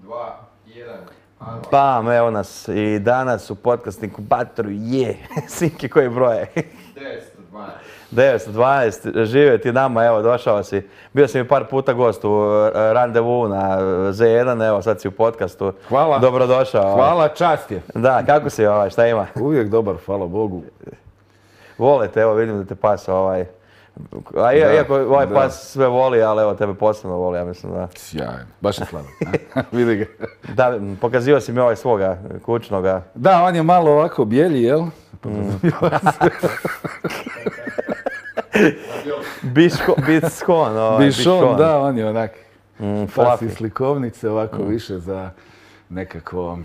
2, 1, Bam, evo nas i danas u podcast inkubatoru je Sinki koji broje. 912, živio ti nama, evo došao si. Bio si mi par puta gost u randevu na Z1, evo sad si u podcastu. Hvala. Dobrodošao. Hvala, čast je. Da, kako si šta ima? Uvijek dobar, hvala Bogu. Volite, evo vidim da te pas A iako ovaj pas sve voli, ali evo tebe posebno voli, ja mislim da. Sjajno, baš je slavan. Vidi ga. Da, pokazivao si mi ovaj svoga kućnoga. Da, on je malo ovako bijeli, jel? Bišon, da, on je onak. Pas iz slikovnice, ovako više za nekako,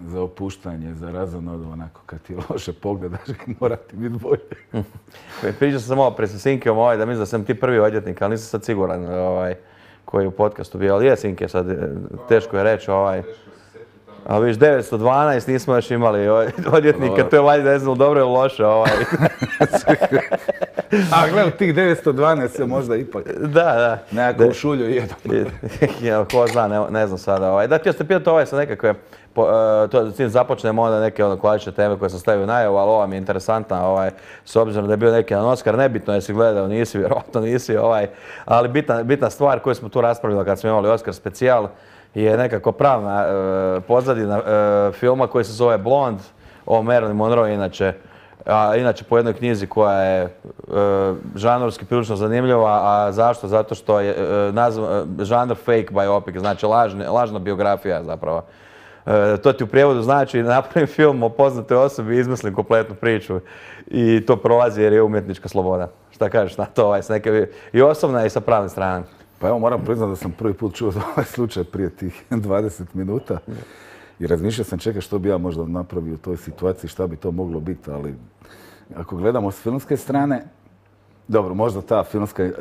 za opuštanje, za razonodu, onako kad ti loše pogledaš i mora ti biti bolje. Pričao sam ovo pred Sinkeom da mislim da sam ti prvi odvjetnik, ali nisam sad siguran koji je u podcastu bio, ali je Sinke sad, teško je reći Ali viš 912 nismo još imali odvjetnika, to je valjda ne znam dobro ili loše A gledaj, tih 912 se možda ipak nekako u šulju jedu. Ko zna, ne znam sada. Da, htio ste pitati sa nekakve, s tim započnemo onda neke klasične teme koje sam stavio u najavu, ali ova mi je interesantna, s obzirom da je bio neki jedan Oskar, nebitno jesi gledao, nisi, vjerojatno nisi, ali bitna stvar koju smo tu raspravili kad smo imali Oskar specijal, je nekako pravna pozadina filma koji se zove Blond, o Marilyn Monroe inače po jednoj knjizi koja je žanrovski prilično zanimljiva, a zašto? Zato što je žanr fake biopic, znači lažna biografija zapravo. To ti u prijevodu znači napravim film o poznatoj osobi i izmislim kompletnu priču i to prolazi jer je umjetnička sloboda. Šta kažeš na to? I osobna i sa pravne strane. Pa evo moram priznati da sam prvi put čuo za ovaj slučaj prije tih 20 minuta i razmišljao sam čekaj što bi ja možda napravio u toj situaciji, šta bi to moglo biti, ali ako gledamo s filmske strane, dobro, možda ta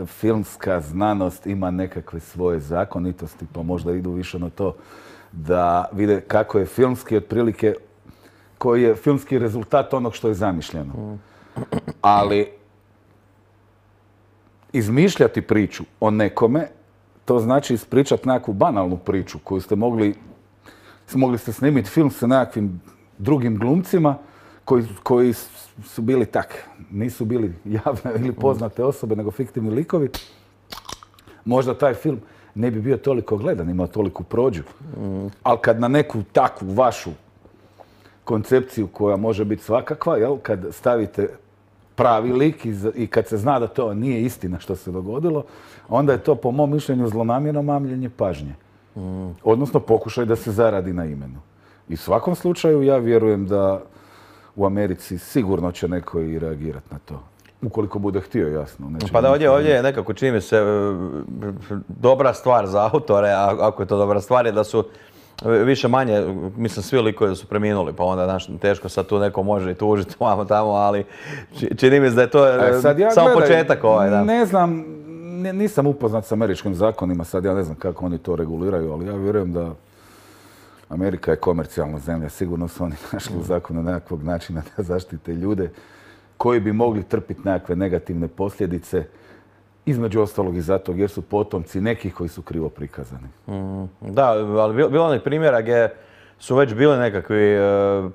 filmska znanost ima nekakve svoje zakonitosti, pa možda idu više na to da vide kako je filmski otprilike, koji je filmski rezultat onog što je zamišljeno. Ali izmišljati priču o nekome, to znači ispričati nekakvu banalnu priču koju mogli ste snimiti film sa nekakvim drugim glumcima koji su bili nisu bili javne ili poznate osobe, nego fiktivni likovi. Možda taj film ne bi bio toliko gledan, imao toliku prođu. Ali kad na neku takvu vašu koncepciju koja može biti svakakva, kad stavite pravi lik i kad se zna da to nije istina što se dogodilo, onda je to po mom mišljenju zlonamjerno mamljenje pažnje. Odnosno pokušaj da se zaradi na imenu. I u svakom slučaju ja vjerujem da u Americi sigurno će neko i reagirati na to. Ukoliko bude htio, jasno. Pa da ovdje je nekako čini mi se dobra stvar za autore, ako je to dobra stvar, je da su više manje, mislim svi likovi da su preminuli, pa onda teško sad tu neko može i tužiti vamo tamo, ali čini mi se da je to samo početak Ne znam, nisam upoznat s američkim zakonima, sad ja ne znam kako oni to reguliraju, ali ja vjerujem da Amerika je komercijalna zemlja, sigurno su oni našli u zakonu nekakvog načina da zaštite ljude koji bi mogli trpiti nekakve negativne posljedice, između ostalog i zato jer su potomci nekih koji su krivo prikazani. Da, ali bilo onih primjera gdje su već bili nekakvi,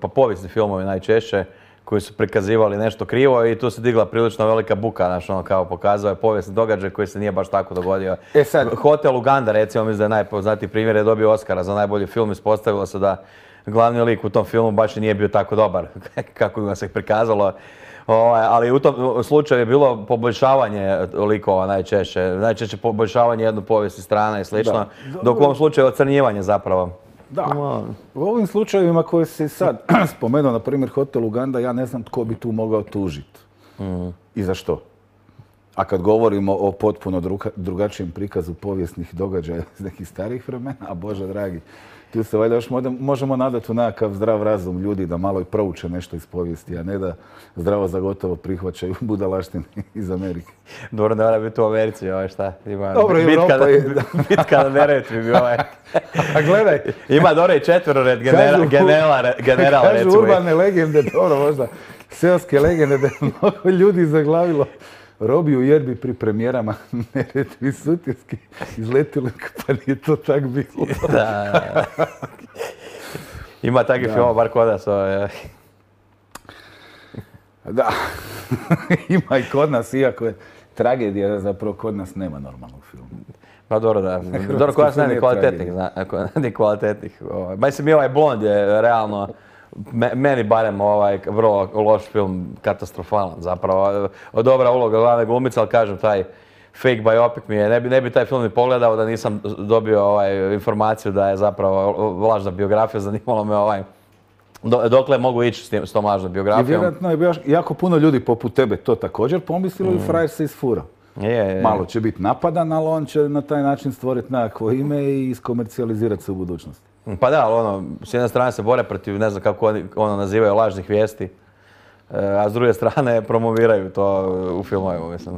pa povijesni filmovi najčešće, koji su prikazivali nešto krivo i tu se digla prilično velika buka, kao pokazao je povijesni događaj koji se nije baš tako dogodio. Hotel Uganda, recimo, mislim da je najpoznatiji primjer, je dobio Oskara za najbolji film, ispostavilo se da glavni lik u tom filmu baš i nije bio tako dobar kako ga se prikazalo. Ali u tom slučaju je bilo poboljšavanje likova najčešće poboljšavanje jednu povijesni strana i slično, dok u ovom slučaju ocrnjivanje zapravo. Da, u ovim slučajevima koje si sad spomenuo, na primjer Hotel Uganda, ja ne znam tko bi tu mogao tužiti i za što. A kad govorimo o potpuno drugačijem prikazu povijesnih događaja iz nekih starih vremena, a Bože dragi, tu se valjda još možemo nadati u nekakav zdrav razum ljudi da malo i prouče nešto iz povijesti, a ne da zdravo za gotovo prihvaćaju budalaštine iz Amerike. Dobro, ne mora biti u Americi, šta? Dobro, Europa je... Bitka na Neretvi bi A gledaj... Ima dobro i četvorored general, recimo. Kažu urbane legende, dobro možda, seoske legende da je mnogo ljudi zaglavilo Robi u Jerbi pri premijerama Neretvi Sutjeski izletili, pa nije to tak bilo. Da. Ima takvih filmova, bar kod nas. Da, ima i kod nas, iako je tragedija da zapravo kod nas nema normalnog filma. Pa dobro, da. Dobro, kod nas nema ni kvalitetnih. Mislim, i ovaj Blond je realno, meni barem vrlo loš film, katastrofalan zapravo. Dobra uloga glavne glumice, ali kažem, taj fake biopic mi je, ne bi taj film ni pogledao da nisam dobio informaciju da je zapravo lažna biografija, zanimalo me dokle mogu ići s tom lažnom biografijom. I vjerojatno je jako puno ljudi poput tebe to također pomislilo i frajer se isfura. Malo će biti napadan, ali on će na taj način stvoriti nekakvo ime i iskomercijalizirati se u budućnosti. Pa da, ali s jedne strane se bore protiv, ne znam kako oni nazivaju, lažnih vijesti, a s druge strane promoviraju to u filmovima, mislim.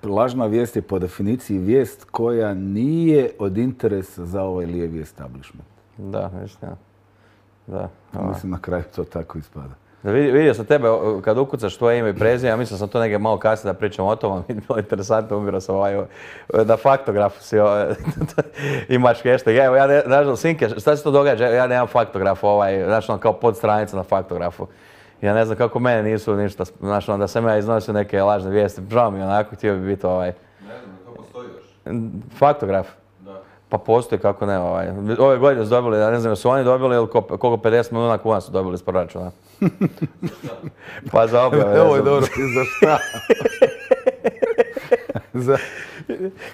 Lažna vijest je po definiciji vijest koja nije od interesa za ovaj lijevi establishment. Da, mislim, da. Mislim, na kraju to tako ispada. Vidio sam tebe kad ukucaš tvoje ime i prezime, ja mislim sam to negdje malo kasnije da pričam o tome, bilo interesantno, umirao sam na Faktografu si imaš hashtag. Evo, ja nažalost, Sinke, šta se to događa? Ja nemam Faktograf, znaš, kao podstranica na Faktografu. Ja ne znam kako mene nisu ništa, znaš, da sam ja iznosio neke lažne vijesti, žao mi onako, htio bi biti Ne znam, to postoji još? Faktograf? Da. Pa postoji, kako ne, ove godine su dobili, ja ne znam, su oni dobili ili koliko 50 milijuna kuna su dobili iz proračuna. Pa za objave. Evo je dobro, za šta?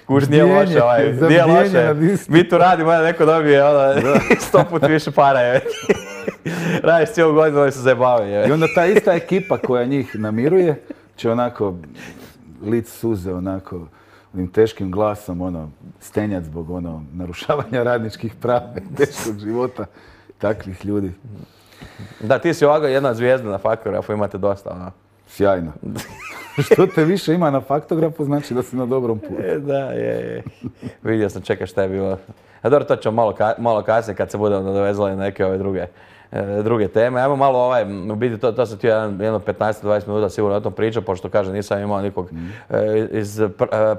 Kuš, nije loše, nije loše. Mi tu radimo, neko dobije 100 puta više para. Radiš cijelu godinu, oni se zajebavaju. I onda ta ista ekipa koja njih namiruje će onako lic suze, onako onim teškim glasom, stenjat zbog narušavanja radničkih prava, teškog života takvih ljudi. Da, ti si ovako jedna zvijezda na Faktografu, imate dosta. Sjajno. Što te više ima na Faktografu, znači da si na dobrom putu. Da, je. Vidio sam, čekaj šta je bilo. A dobro, to ćemo malo kasnije kad se budemo nadovezali na neke ove druge teme. Ajmo malo u biti to sam htio jedno 15-20 minuta sigurno o tom pričao, pošto kažem nisam imao nikog iz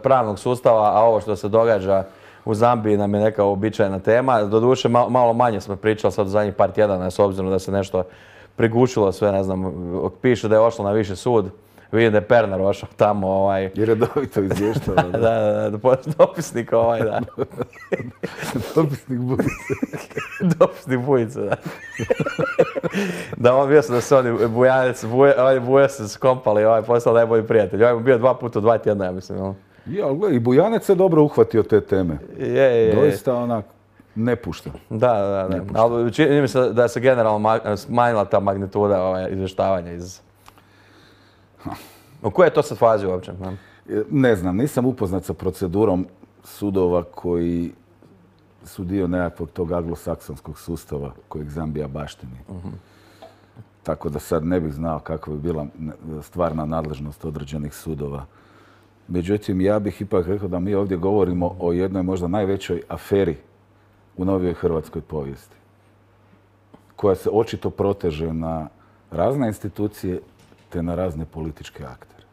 pravnog sustava, a ovo što se događa u Zambiji nam je neka uobičajena tema. Doduše malo manje smo pričali sad u zadnjih par tjedana, s obzirom da se nešto prigušilo sve, ne znam, piše da je ošlo na viši sud. Vidim da je Pernar ošao tamo. I redovito izvještava. Da, dopisnik da. Dopisnik Bujice. Dopisnik Bujice, da. Da, on bio sam da se oni Bujanec se skompali, postao najbolji prijatelj. On je bio 2 puta u 2 tjedna, ja mislim. Ja, gledaj, i Bujanec se dobro uhvatio te teme. Je. Doista onak, ne pušta. Da. Ali čini mi se da se generalno smanjila ta magnituda izvještavanja iz... U kojoj je to sad fazi uopće? Ne znam, nisam upoznat sa procedurom sudova koji su dio nekakvog tog anglosaksonskog sustava kojeg Zambija baštini. Tako da sad ne bih znao kakva bi bila stvarna nadležnost određenih sudova. Međutim, ja bih ipak rekao da mi ovdje govorimo o jednoj možda najvećoj aferi u novijoj hrvatskoj povijesti, koja se očito proteže na razne institucije te na razne političke aktere.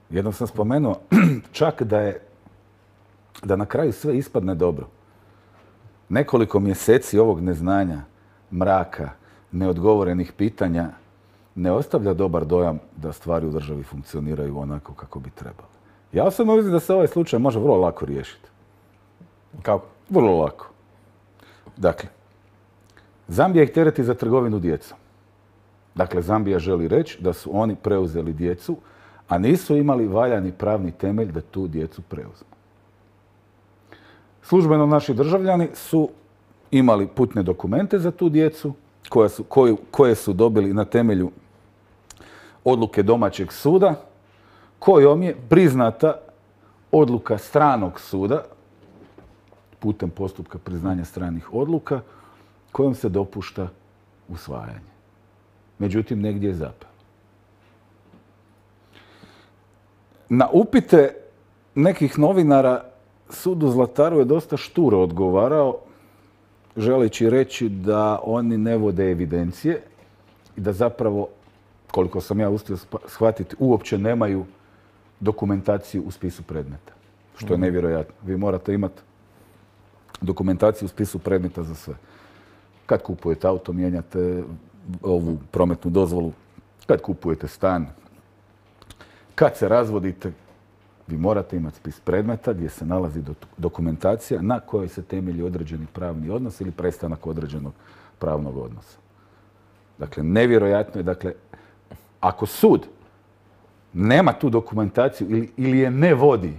Jednom sam spomenuo čak da na kraju sve ispadne dobro. Nekoliko mjeseci ovog neznanja, mraka, neodgovorenih pitanja ne ostavlja dobar dojam da stvari u državi funkcioniraju onako kako bi trebalo. Ja osobno mislim da se ovaj slučaj može vrlo lako riješiti. Kako? Vrlo lako. Dakle, Zambija ih tereti za trgovinu djecom. Dakle, Zambija želi reći da su oni preuzeli djecu, a nisu imali valjani pravni temelj da tu djecu preuzmu. Službeno naši državljani su imali putne dokumente za tu djecu, koje su dobili na temelju odluke domaćeg suda, kojom je priznata odluka stranog suda, putem postupka priznanja stranih odluka, kojom se dopušta usvajanje. Međutim, negdje je zapelo. Na upite nekih novinara sud u Zlataru je dosta šturo odgovarao, želeći reći da oni ne vode evidencije i da zapravo, koliko sam ja uspio shvatiti, uopće nemaju dokumentaciju u spisu predmeta, što je nevjerojatno. Vi morate imati dokumentaciju u spisu predmeta za sve. Kad kupujete auto, mijenjate ovu prometnu dozvolu, kad kupujete stan, kad se razvodite, vi morate imati spis predmeta gdje se nalazi dokumentacija na kojoj se temelji određeni pravni odnos ili prestanak određenog pravnog odnosa. Dakle, nevjerojatno je, dakle, ako sud nema tu dokumentaciju ili je ne vodi,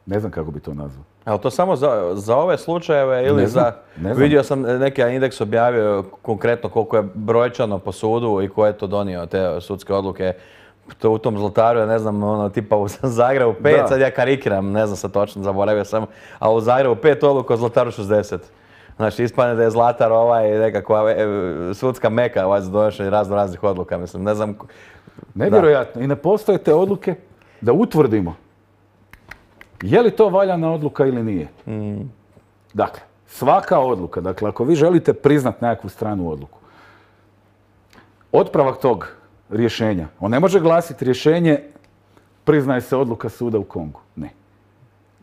ne znam kako bi to nazvao. Ali to samo za ove slučajeve ili Ne znam. Vidio sam neki indeks objavio konkretno koliko je brojčano po sudu i ko je to donio, te sudske odluke. To u tom Zlataru je, ne znam, ono, tipa u Zagrebu 5, Da. sad ja karikiram, ne znam sad točno, zaboravio sam, a u Zagrebu 5 odluka, u Zlataru 60. Znači, ispadne da je Zlatar nekakva sudska meka za donošenje raznih odluka, mislim, ne znam. Nevjerojatno. I ne postoje te odluke da utvrdimo je li to valjana odluka ili nije. Dakle, svaka odluka, dakle, ako vi želite priznat nekakvu stranu odluku, otpravak tog rješenja, on ne može glasiti rješenje priznaje se odluka suda u Kongu. Ne.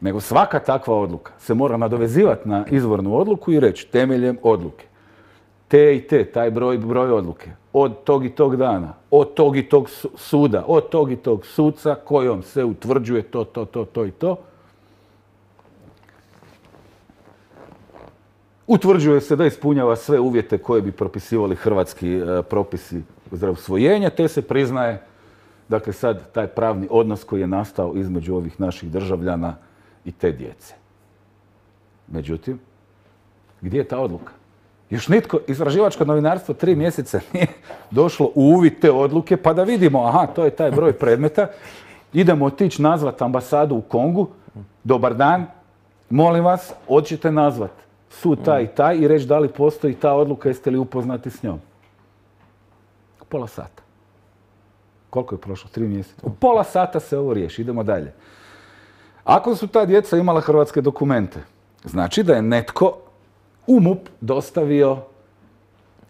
Nego svaka takva odluka se mora nadovezivati na izvornu odluku i reći temeljem odluke. Te i te, taj broj odluke, od tog i tog dana, od tog i tog suda, od tog i tog suca kojom se utvrđuje to i to. Utvrđuje se da ispunjava sve uvjete koje bi propisivali hrvatski propisi za usvojenje, te se priznaje, dakle sad, taj pravni odnos koji je nastao između ovih naših državljana i te djece. Međutim, gdje je ta odluka? Još nitko, istraživačko novinarstvo 3 mjeseca nije došlo u uvid te odluke, pa da vidimo, aha, to je taj broj predmeta, idemo otići nazvat ambasadu u Kongu, dobar dan, molim vas, hoćete nazvat sud taj i taj i reći da li postoji ta odluka, jeste li upoznati s njom. Pola sata. Koliko je prošlo? 3 mjeseca. U pola sata se ovo riješi, idemo dalje. Ako su ta djeca imala hrvatske dokumente, znači da je netko u MUP dostavio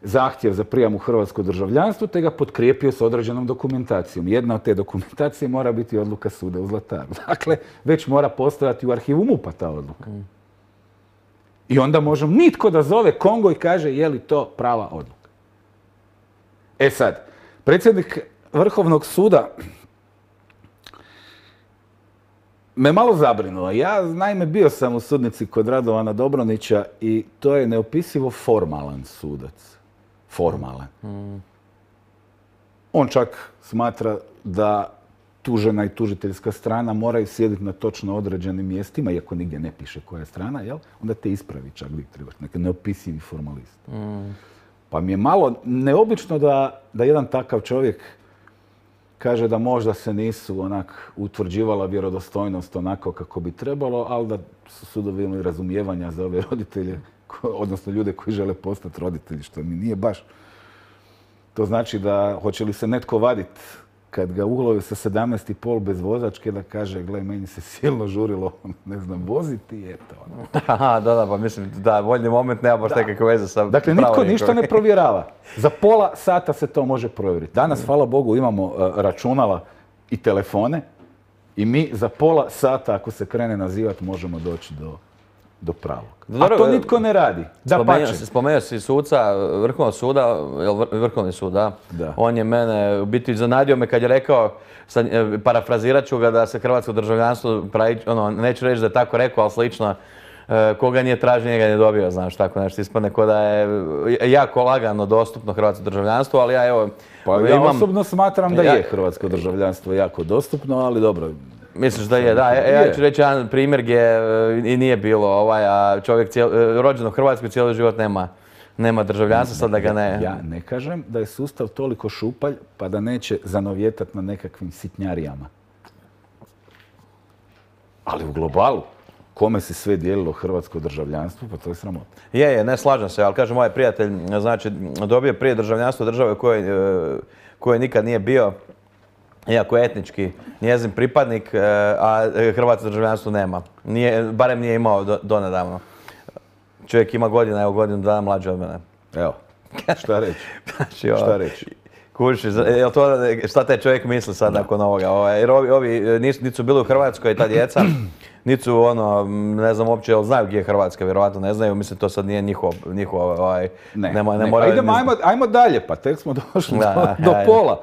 zahtjev za prijam u hrvatsko državljanstvo te ga potkrijepio s određenom dokumentacijom. Jedna od te dokumentacije mora biti odluka suda u Zlataru. Dakle, već mora postojati u arhivu MUP-a ta odluka. I onda može nitko da zove Kongo i kaže je li to prava odluka. E sad, predsjednik Vrhovnog suda me malo zabrinuo. Ja, naime, bio sam u sudnici kod Radovana Dobronića i to je neopisivo formalan sudac. Formalan. On čak smatra da tužena i tužiteljska strana moraju sjediti na točno određenim mjestima, iako nigdje ne piše koja je strana, jel? Onda te ispravi čak uvijek trebaš, neki neopisivi formalist. Pa mi je malo neobično da jedan takav čovjek kaže da možda se nisu onak utvrđivala vjerodostojnost onako kako bi trebalo, ali da su sudovi imali razumijevanja za ove roditelje, odnosno ljude koji žele postati roditelji, što mi nije baš. To znači da hoće li se netko vaditi kad ga ulove sa 17,5 bez vozačke da kaže, gle, meni se silno žurilo, ne znam, voziti i eto. Aha, da, pa mislim, da, voljni moment nema baš nekakve veze sa Dakle, nitko ništa ne provjerava. Za pola sata se to može provjeriti. Danas, hvala Bogu, imamo računala i telefone i mi za pola sata, ako se krene nazivati, možemo doći do pravog. A to nitko ne radi. Spomenuo si suca Vrhovnog suda, Vrhovni sud, da? Da. On je mene, u biti zanadio me kad je rekao, parafrazirat ću ga da se hrvatsko državljanstvo pravi, neću reći da je tako rekao, ali slično, koga nije tražio, njega nije dobio, znaš, tako nešto ispadne ko da je jako lagano dostupno hrvatsko državljanstvo, ali ja evo... Pa ja osobno smatram da je hrvatsko državljanstvo jako dostupno, ali dobro. Misliš da je, da. Ja ću reći jedan primjer gdje i nije bilo a čovjek rođen u Hrvatskoj cijeli život nema državljanstva, sad da ga ne... Ja ne kažem da je sustav toliko šupalj pa da neće zanovjetati na nekakvim sitnjarijama. Ali u globalu, kome se sve dijelilo hrvatsko državljanstvo, pa to je sramota. Ne slažem se, ali kaže moj prijatelj, znači dobio prije državljanstvo države koje nikad nije bio, iako je etnički njezin pripadnik, a hrvatsko državljanstvo nema. Barem nije imao donedavno. Čovjek ima godina, evo godinu dana mlađe od mene. Evo, šta reći? Znači, šta reći? Kužiš, jel to, šta taj čovjek misli sad nakon ovoga? Jer ovi niti su bili u Hrvatskoj, ta djeca, niti su ono, ne znam uopće, jel znaju gdje je Hrvatska, vjerovatno ne znaju, mislim to sad nije njihovo, ne moraju... Ajmo dalje, pa tek smo došli do pola.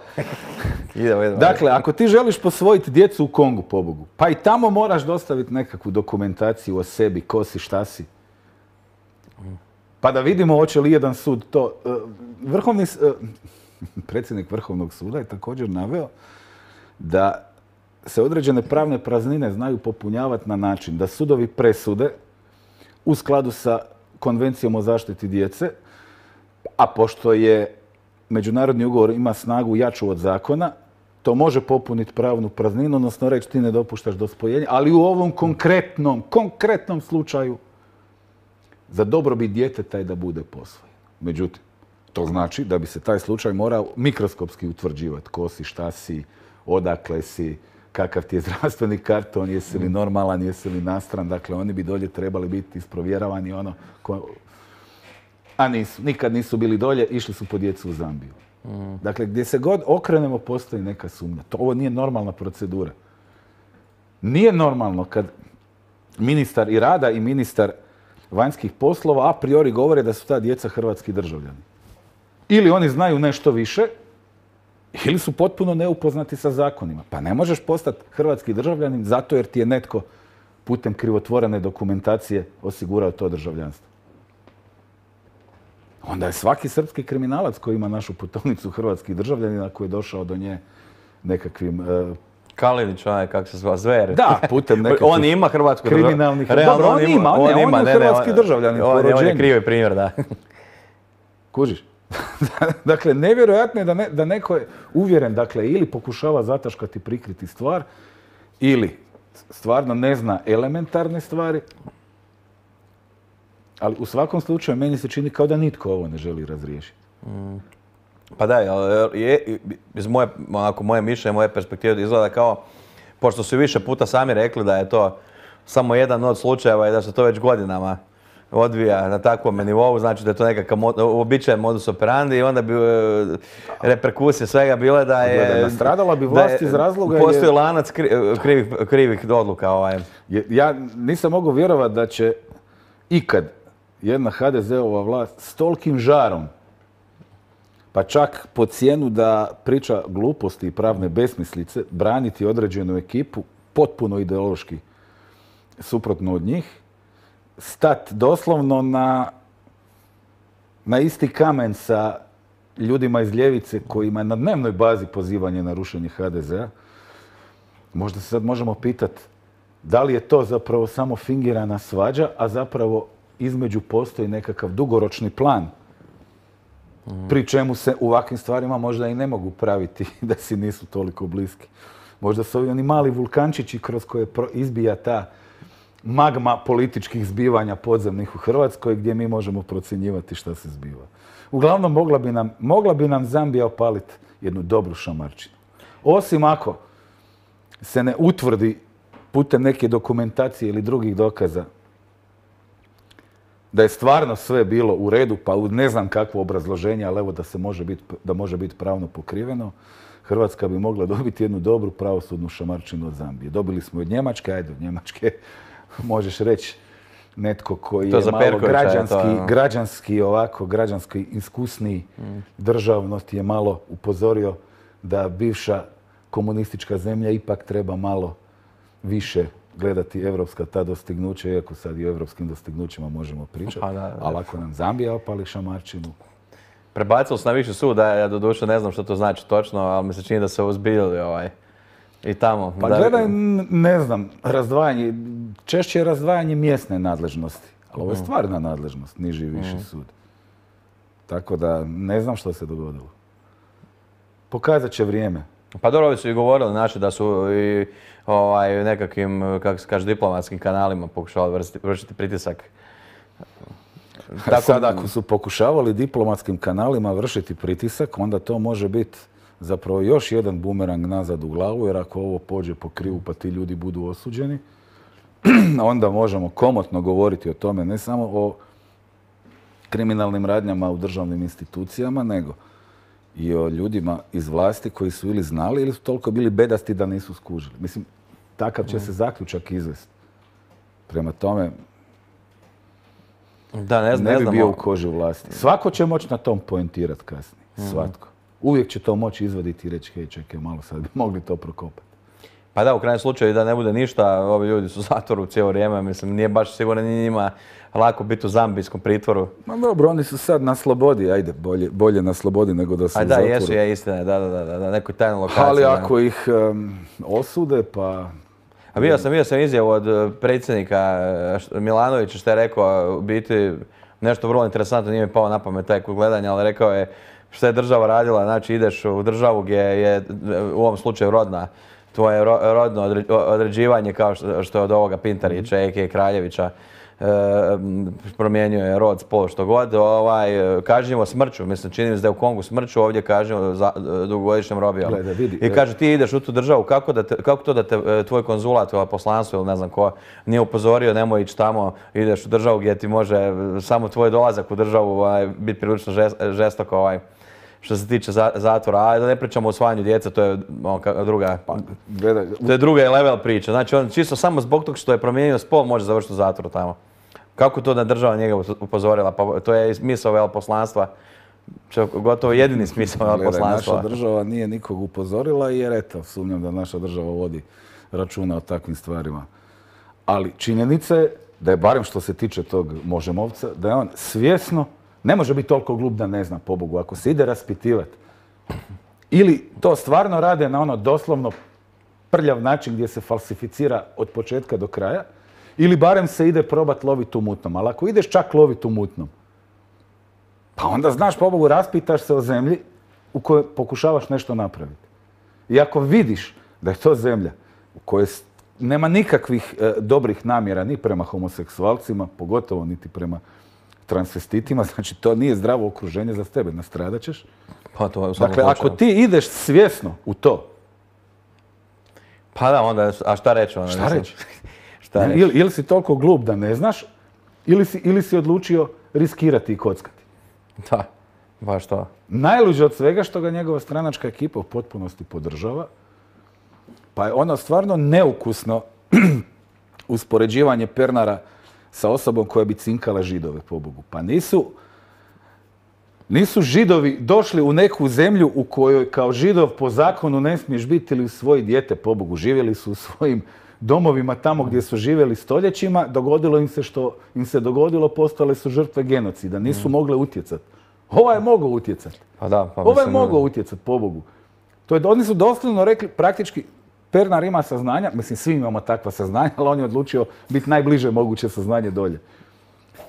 Idemo. Dakle, ako ti želiš posvojiti djecu u Kongu, pobogu, pa i tamo moraš dostaviti nekakvu dokumentaciju o sebi, ko si, šta si. Pa da vidimo hoće li jedan sud to... Predsjednik Vrhovnog suda je također naveo da se određene pravne praznine znaju popunjavati na način da sudovi presude u skladu sa Konvencijom o zaštiti djece, a pošto je međunarodni ugovor ima snagu jaču od zakona, to može popuniti pravnu prazninu, odnosno reći ti ne dopuštaš dospojenje, ali u ovom konkretnom slučaju za dobrobit djeteta je da bude posvojen. Međutim, to znači da bi se taj slučaj morao mikroskopski utvrđivati. Ko si, šta si, odakle si, kakav ti je zdravstveni karton, jesi li normalan, jesi li nastran. Dakle, oni bi dolje trebali biti isprovjeravani a nisu. Nikad nisu bili dolje, išli su po djecu u Zambiju. Dakle, gdje se god okrenemo postoji neka sumnja. Ovo nije normalna procedura. Nije normalno kad ministar i rada i ministar vanjskih poslova a priori govore da su ta djeca hrvatski državljani. Ili oni znaju nešto više, ili su potpuno neupoznati sa zakonima. Pa ne možeš postati hrvatski državljanin zato jer ti je netko putem krivotvorene dokumentacije osigurao to državljanstvo. Onda je svaki srpski kriminalac koji ima našu putovnicu hrvatskih državljanina koji je došao do nje nekakvim... Kalinić, kako se zva, Zver. Da, putem nekakvih... On ima hrvatsku kriminalnih... Dobro, on ima, hrvatski državljanin po rođenju. On je krivi primjer, da. Kužiš? Dakle, nevjerojatno je da neko je uvjeren, dakle, ili pokušava zataškati, prikriti stvar, ili stvarno ne zna elementarne stvari, ali u svakom slučaju meni se čini kao da nitko ovo ne želi razriješiti. Pa da, iz moje mišljenje, moje perspektive izgleda kao, pošto su više puta sami rekli da je to samo jedan od slučajeva i da se to već godinama odvija na takvom nivou, znači da je to nekakav uobičajen modus operandi i onda bi reperkusije svega bile da je... Nastradala bi vlast iz razloga... Postoji lanac krivih odluka. Ja nisam mogao vjerovati da će ikad jedna HDZ-ova vlast s tolikim žarom, pa čak po cijenu da priča gluposti i pravne besmislice, braniti određenu ekipu, potpuno ideološki suprotno od njih, stat doslovno na isti kamen sa ljudima iz ljevice kojima je na dnevnoj bazi pozivanje na rušenje HDZ-a. Možda se sad možemo pitati da li je to zapravo samo fingirana svađa, a zapravo između postoji nekakav dugoročni plan pri čemu se u ovakvim stvarima možda i ne mogu praviti da si nisu toliko bliski. Možda su ovi oni mali vulkančići kroz koje izbija ta magma političkih zbivanja podzemnih u Hrvatskoj gdje mi možemo procjenjivati šta se zbiva. Uglavnom, mogla bi nam Zambija opaliti jednu dobru šamarčinu. Osim ako se ne utvrdi putem neke dokumentacije ili drugih dokaza da je stvarno sve bilo u redu, pa ne znam kakvo obrazloženje, ali evo da može biti pravno pokriveno, Hrvatska bi mogla dobiti jednu dobru pravosudnu šamarčinu od Zambije. Dobili smo od Njemačke, ajde od Njemačke možeš reći netko koji je malo građanski iskusniji državnosti je malo upozorio da bivša komunistička zemlja ipak treba malo više gledati evropska ta dostignuća, iako sad i o evropskim dostignućima možemo pričati. Ali ako nam Zambija opali šamarčinu... Prebacili su na viši sud, ja doduše ne znam što to znači točno, ali mi se čini da se uzbiljili i tamo. Pa gledaj, ne znam, češće je razdvajanje mjesne nadležnosti. Ali ovo je stvarna nadležnost, niži i viši sud. Tako da ne znam što se dogodilo. Pokazat će vrijeme. Pa dobro, ovi su i govorili naši da su i nekakvim, kako se kaže, diplomatskim kanalima pokušavali vršiti pritisak. Sad ako su pokušavali diplomatskim kanalima vršiti pritisak, onda to može biti zapravo još jedan bumerang nazad u glavu, jer ako ovo pođe po krivu pa ti ljudi budu osuđeni, onda možemo komotno govoriti o tome, ne samo o kriminalnim radnjama u državnim institucijama, nego i o ljudima iz vlasti koji su ili znali ili su toliko bili bedasti da nisu skužili. Mislim, takav će se zaključak izvesti. Prema tome, Da, ne bi bio u koži vlasti. Svako će moći na tom poentirati kasnije. Svatko. Uvijek će to moći izvaditi i reći, hej, čekaj, malo sad bi mogli to prokopati. Pa da, u krajnjem slučaju da ne bude ništa, ovi ljudi su u zatvoru cijelo vrijeme, mislim, nije baš sigurno ni njima lako biti u zambijskom pritvoru. Ma dobro, oni su sad na slobodi, ajde, bolje na slobodi nego da su u zatvoru. Da, jesu, je istina, da, nekoj tajnoj lokaciji. Ali ako ih osude, pa... A vidio sam izjavu od predsjednika Milanovića što je rekao, u biti nešto vrlo interesantno, nije mi pao na pamet taj kod gledanja, ali rekao je što je država radila, znači ideš u državu gdje je u ovom slučaju tvoje rodno određivanje kao što je od ovoga Pintarića, a.k.a. Kraljevića, promijenio rod, spol, što god, kažnjivo smrću. Mislim, čini mi se da je u Kongu smrću, ovdje kažnjivo dugogodišnjom robijom. I kaže, ti ideš u tu državu, kako to da te tvoj konzulat ili poslanstvo ili ne znam ko nije upozorio, nemoj ići tamo, ideš u državu gdje ti može samo tvoj dolazak u državu biti prilično žestoko što se tiče zatvora. A da ne pričamo o usvajanju djece, to je druga level priča. Znači, on čisto samo zbog toga što je promijenio spol može završiti u zatvoru tamo. Kako to da država njega upozorila? Pa to je smisao veleposlanstva. Gotovo jedini smisao veleposlanstva. Naša država nije nikog upozorila jer eto, sumnjam da naša država vodi računa o takvim stvarima. Ali činjenica je da je, barem što se tiče tog Možemovca, da je on svjesno, ne može biti toliko glup da ne zna, pobogu, ako se ide raspitivati. Ili to stvarno rade na ono doslovno prljav način gdje se falsificira od početka do kraja, ili barem se ide probati loviti u mutnom. Ali ako ideš čak loviti u mutnom, pa onda znaš, pobogu, raspitaš se o zemlji u kojoj pokušavaš nešto napraviti. I ako vidiš da je to zemlja u kojoj nema nikakvih dobrih namjera ni prema homoseksualcima, pogotovo niti prema transvestitima, znači to nije zdravo okruženje za tebe, nastradat ćeš. Dakle, ako ti ideš svjesno u to... Pa da, onda, a šta reći? Šta reći? Ili si toliko glup da ne znaš, ili si odlučio riskirati i kockati. Da, baš to. Najluđe od svega što ga njegova stranačka ekipa u potpunosti podržava, pa je ono stvarno neukusno uspoređivanje Pernara sa osobom koja bi cinkala Židove, pobogu. Pa nisu Židovi došli u neku zemlju u kojoj kao Židov po zakonu ne smiješ biti ili svoje dijete, pobogu. Živjeli su u svojim domovima tamo gdje su živjeli stoljećima, dogodilo im se što im se dogodilo, postale su žrtve genocida, nisu mogle utjecati. Ovaj je mogao utjecati. Ovaj je mogao utjecati, pobogu. Oni su doslovno rekli, praktički, Pernar ima saznanja, mislim svi imamo takva saznanja, ali on je odlučio biti najbliže moguće saznanje dolje.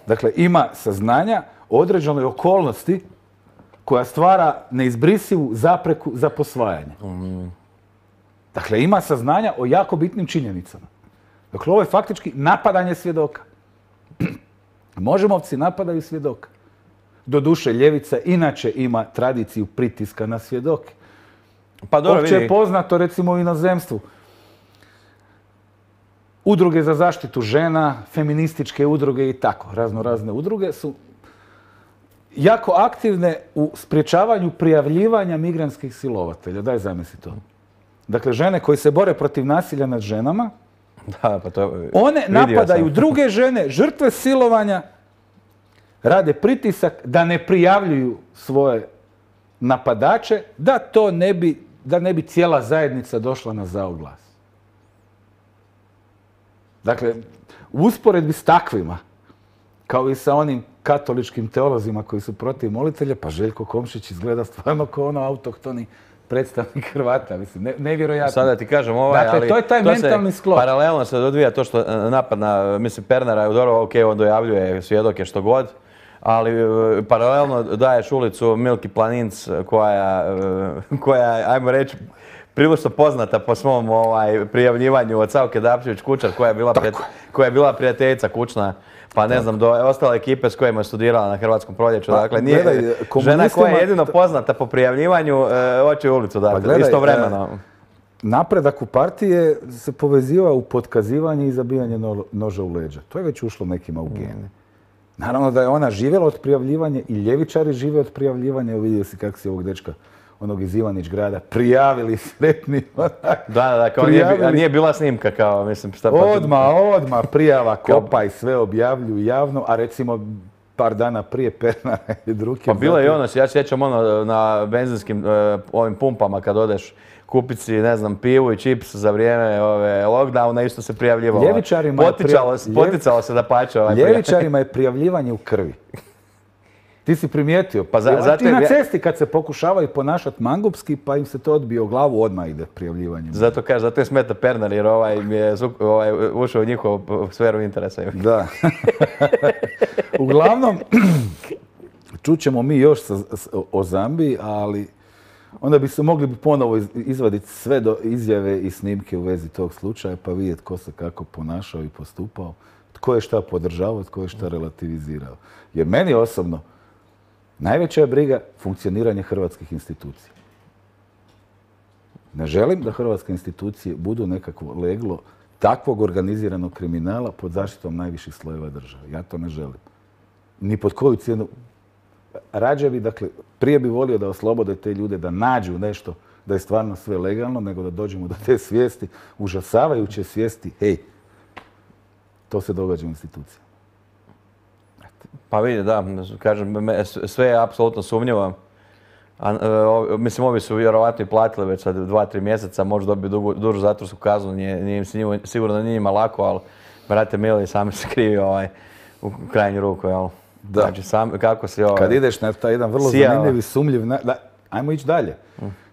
Dakle, ima saznanja o određenoj okolnosti koja stvara neizbrisivu zapreku za posvajanje. Dakle, ima saznanja o jako bitnim činjenicama. Dakle, ovo je faktički napadanje svjedoka. Možemovci napadaju svjedoka. Doduše, ljevica inače ima tradiciju pritiska na svjedoke. Opće je poznato, recimo, u inozemstvu. Udruge za zaštitu žena, feminističke udruge i tako, razne udruge su jako aktivne u sprječavanju prijavljivanja migrantskih silovatelja. Daj zamisli to. Dakle, žene koje se bore protiv nasilja nad ženama, one napadaju druge žene, žrtve silovanja, rade pritisak da ne prijavljuju svoje napadače, da ne bi cijela zajednica došla na zao glas. Dakle, u usporedbi s takvima, kao i sa onim katoličkim teolozima koji su protiv molitelja, pa Željko Komšić izgleda stvarno kao ono autohtoni predstavnik Hrvata, mislim, nevjerojatno. Sada ti kažem dakle, to je taj mentalni sklop. Paralelno se odvija to što napad na, mislim, Pernara je dobro, ok, on dojavljuje svjedoke što god, ali paralelno daješ ulicu Milki Planinc koja, ajmo reći, prilično poznata po svom prijavljivanju od Savke Dapčević-Kučar, koja je bila prijateljica kućna, pa ne znam, do ostale ekipe s kojima je studirala na Hrvatskom proljeću. Dakle, nije žena koja je jedino poznata po prijavljivanju, hoće ulicu dati, istovremeno. Napredak u partije se povezivao u potkazivanje i zabijanje noža u leđa. To je već ušlo nekima u gene. Naravno da je ona živjela od prijavljivanja i ljevičari žive od prijavljivanja. Evo vidio si kako si ovog dečka onog iz Ivanić grada, prijavili sretni. Da, kao nije bila snimka, kao, mislim, šta pa... Odmah, prijava, kopa i sve objavljuju javno, a recimo par dana prije Pernara i Druke. Pa bilo je ono, ja sjećam ono na benzinskim ovim pumpama kad odeš kupiti si, ne znam, pivu i čips za vrijeme lockdowna, isto se prijavljivalo. Poticalo se da pače. Ljevičarima je prijavljivanje u krvi. Ti si primijetio, i na cesti kad se pokušavaju ponašati mangupski, pa im se to odbije o glavu, odmah ide prijavljivanje. Zato je smeta Pernar, jer mi je ušao u njihovu sferu interesa. Da. Uglavnom, čućemo mi još o Zambiji, ali onda bi se mogli ponovo izvaditi sve izjave i snimke u vezi tog slučaja, pa vidjeti ko se kako ponašao i postupao, tko je šta podržavao, tko je šta relativizirao. Jer meni osobno najveća je briga funkcioniranje hrvatskih institucija. Ne želim da hrvatske institucije budu nekakvo leglo takvog organiziranog kriminala pod zaštitom najviših slojeva države. Ja to ne želim. Ni pod koju cijenu. Rađe bi, dakle, prije bi volio da oslobode te ljude, da nađu nešto, da je stvarno sve legalno, nego da dođemo do te svijesti, užasavajuće svijesti, hej, to se događa u institucijama. Pa vidi, da, kažem, sve je apsolutno sumnjivo. Mislim, ovi su vjerovatno i platili već sad 2-3 mjeseca, možda dobiju dužu zatvorsku kaznu, sigurno da nije njima lako, ali, brate mili, sami se krivi u krajnju ruku, jel? Da. Znači, kako si Kad ideš na taj jedan vrlo zanimljiv i sumljiv... Ajmo ići dalje.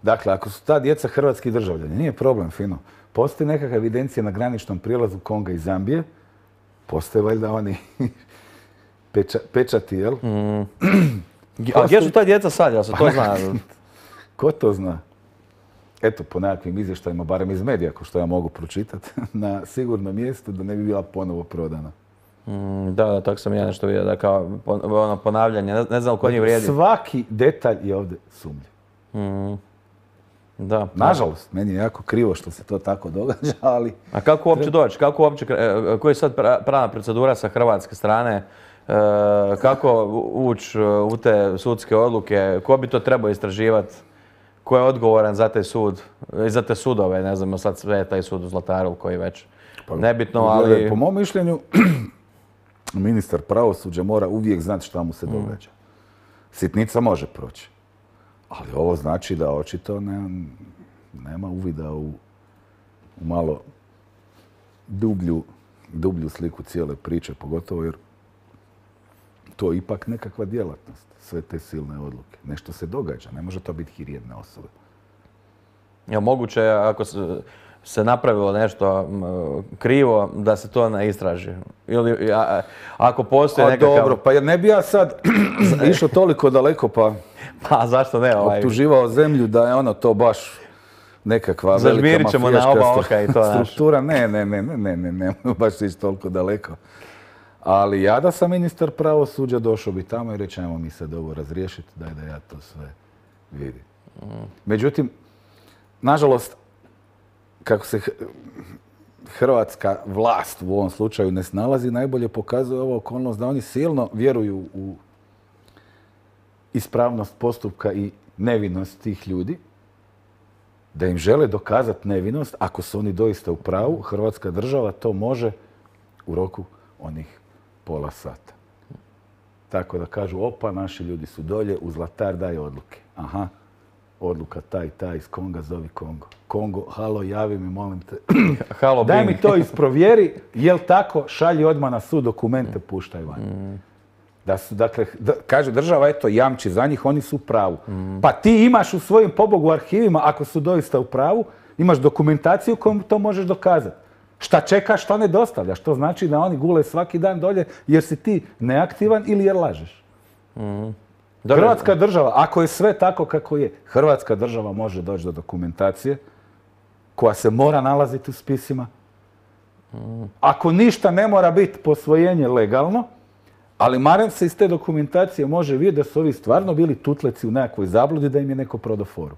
Dakle, ako su ta djeca hrvatski državljani, nije problem, fino. Postoji nekakva evidencija na graničnom prijelazu Konga i Zambije. Postoje valjda oni pečati, jel? A gdje su ta djeca sad, jel se to zna? Ko to zna? Eto, po nekakvim izvještajima, barem iz medija, ko što ja mogu pročitati, na sigurnom mjestu da ne bi bila ponovo prodana. Da, tako sam ja nešto vidio, da kao ponavljanje, ne znam ko njih vrijedi. Svaki detalj je ovdje sumnjiv. Da. Nažalost, meni je jako krivo što se to tako događa, ali... A kako uopće doći? Koja je sad pravna procedura sa hrvatske strane? Kako ući u te sudske odluke? Ko bi to trebao istraživati? Ko je odgovoran za taj sud? I za te sudove, ne znam, sad sve je taj sud u Zlataru koji već nebitno, ali... Po mom mišljenju, ministar pravosuđa mora uvijek znati šta mu se događa. Sitnica može proći. Ali ovo znači da očito nema uvida u malo dublju sliku cijele priče, pogotovo jer to je ipak nekakva djelatnost, sve te silne odluke. Nešto se događa, ne može to biti hir jedne osobe. Je moguće ako se napravilo nešto krivo da se to ne istraži? Ili ako postoji nekakav... Dobro, pa jer ne bi ja sad išao toliko daleko pa... Pa zašto ne? Optuživao zemlju da je ono to baš nekakva velika mafijaška struktura. Ne, baš ići toliko daleko. Ali ja da sam ministar pravosuđa došao bi tamo i reći ajmo mi sad ovo razriješiti, daj da ja to sve vidim. Međutim, nažalost, kako se hrvatska vlast u ovom slučaju ne snalazi, najbolje pokazuje ova okolnost da oni silno vjeruju u ispravnost postupka i nevinost tih ljudi, da im žele dokazati nevinost, ako su oni doista u pravu, Hrvatska država to može u roku onih pola sata. Tako da kažu, opa, naši ljudi su dolje, u Zlatar daj odluke. Aha, odluka taj iz Konga, zovi Kongo. Kongo, halo, javi mi, molim te. Halo, daj mi to isprovjeri, jel tako, šalji odmah na sud, dokumente puštaj van. Dakle, kaže država, eto, jamči za njih, oni su u pravu. Pa ti imaš u svojim pobogu arhivima, ako su doista u pravu, imaš dokumentaciju kojom to možeš dokazati. Šta čekaš, šta ne dostavljaš. To znači da oni gule svaki dan dolje jer si ti neaktivan ili jer lažeš. Hrvatska država, ako je sve tako kako je, Hrvatska država može doći do dokumentacije koja se mora nalaziti u spisima. Ako ništa ne mora biti posvojenje legalno, ali barem se iz te dokumentacije može vidjeti da su ovi stvarno bili tutleci u nekakvoj zabludi da im je neko prodao foru.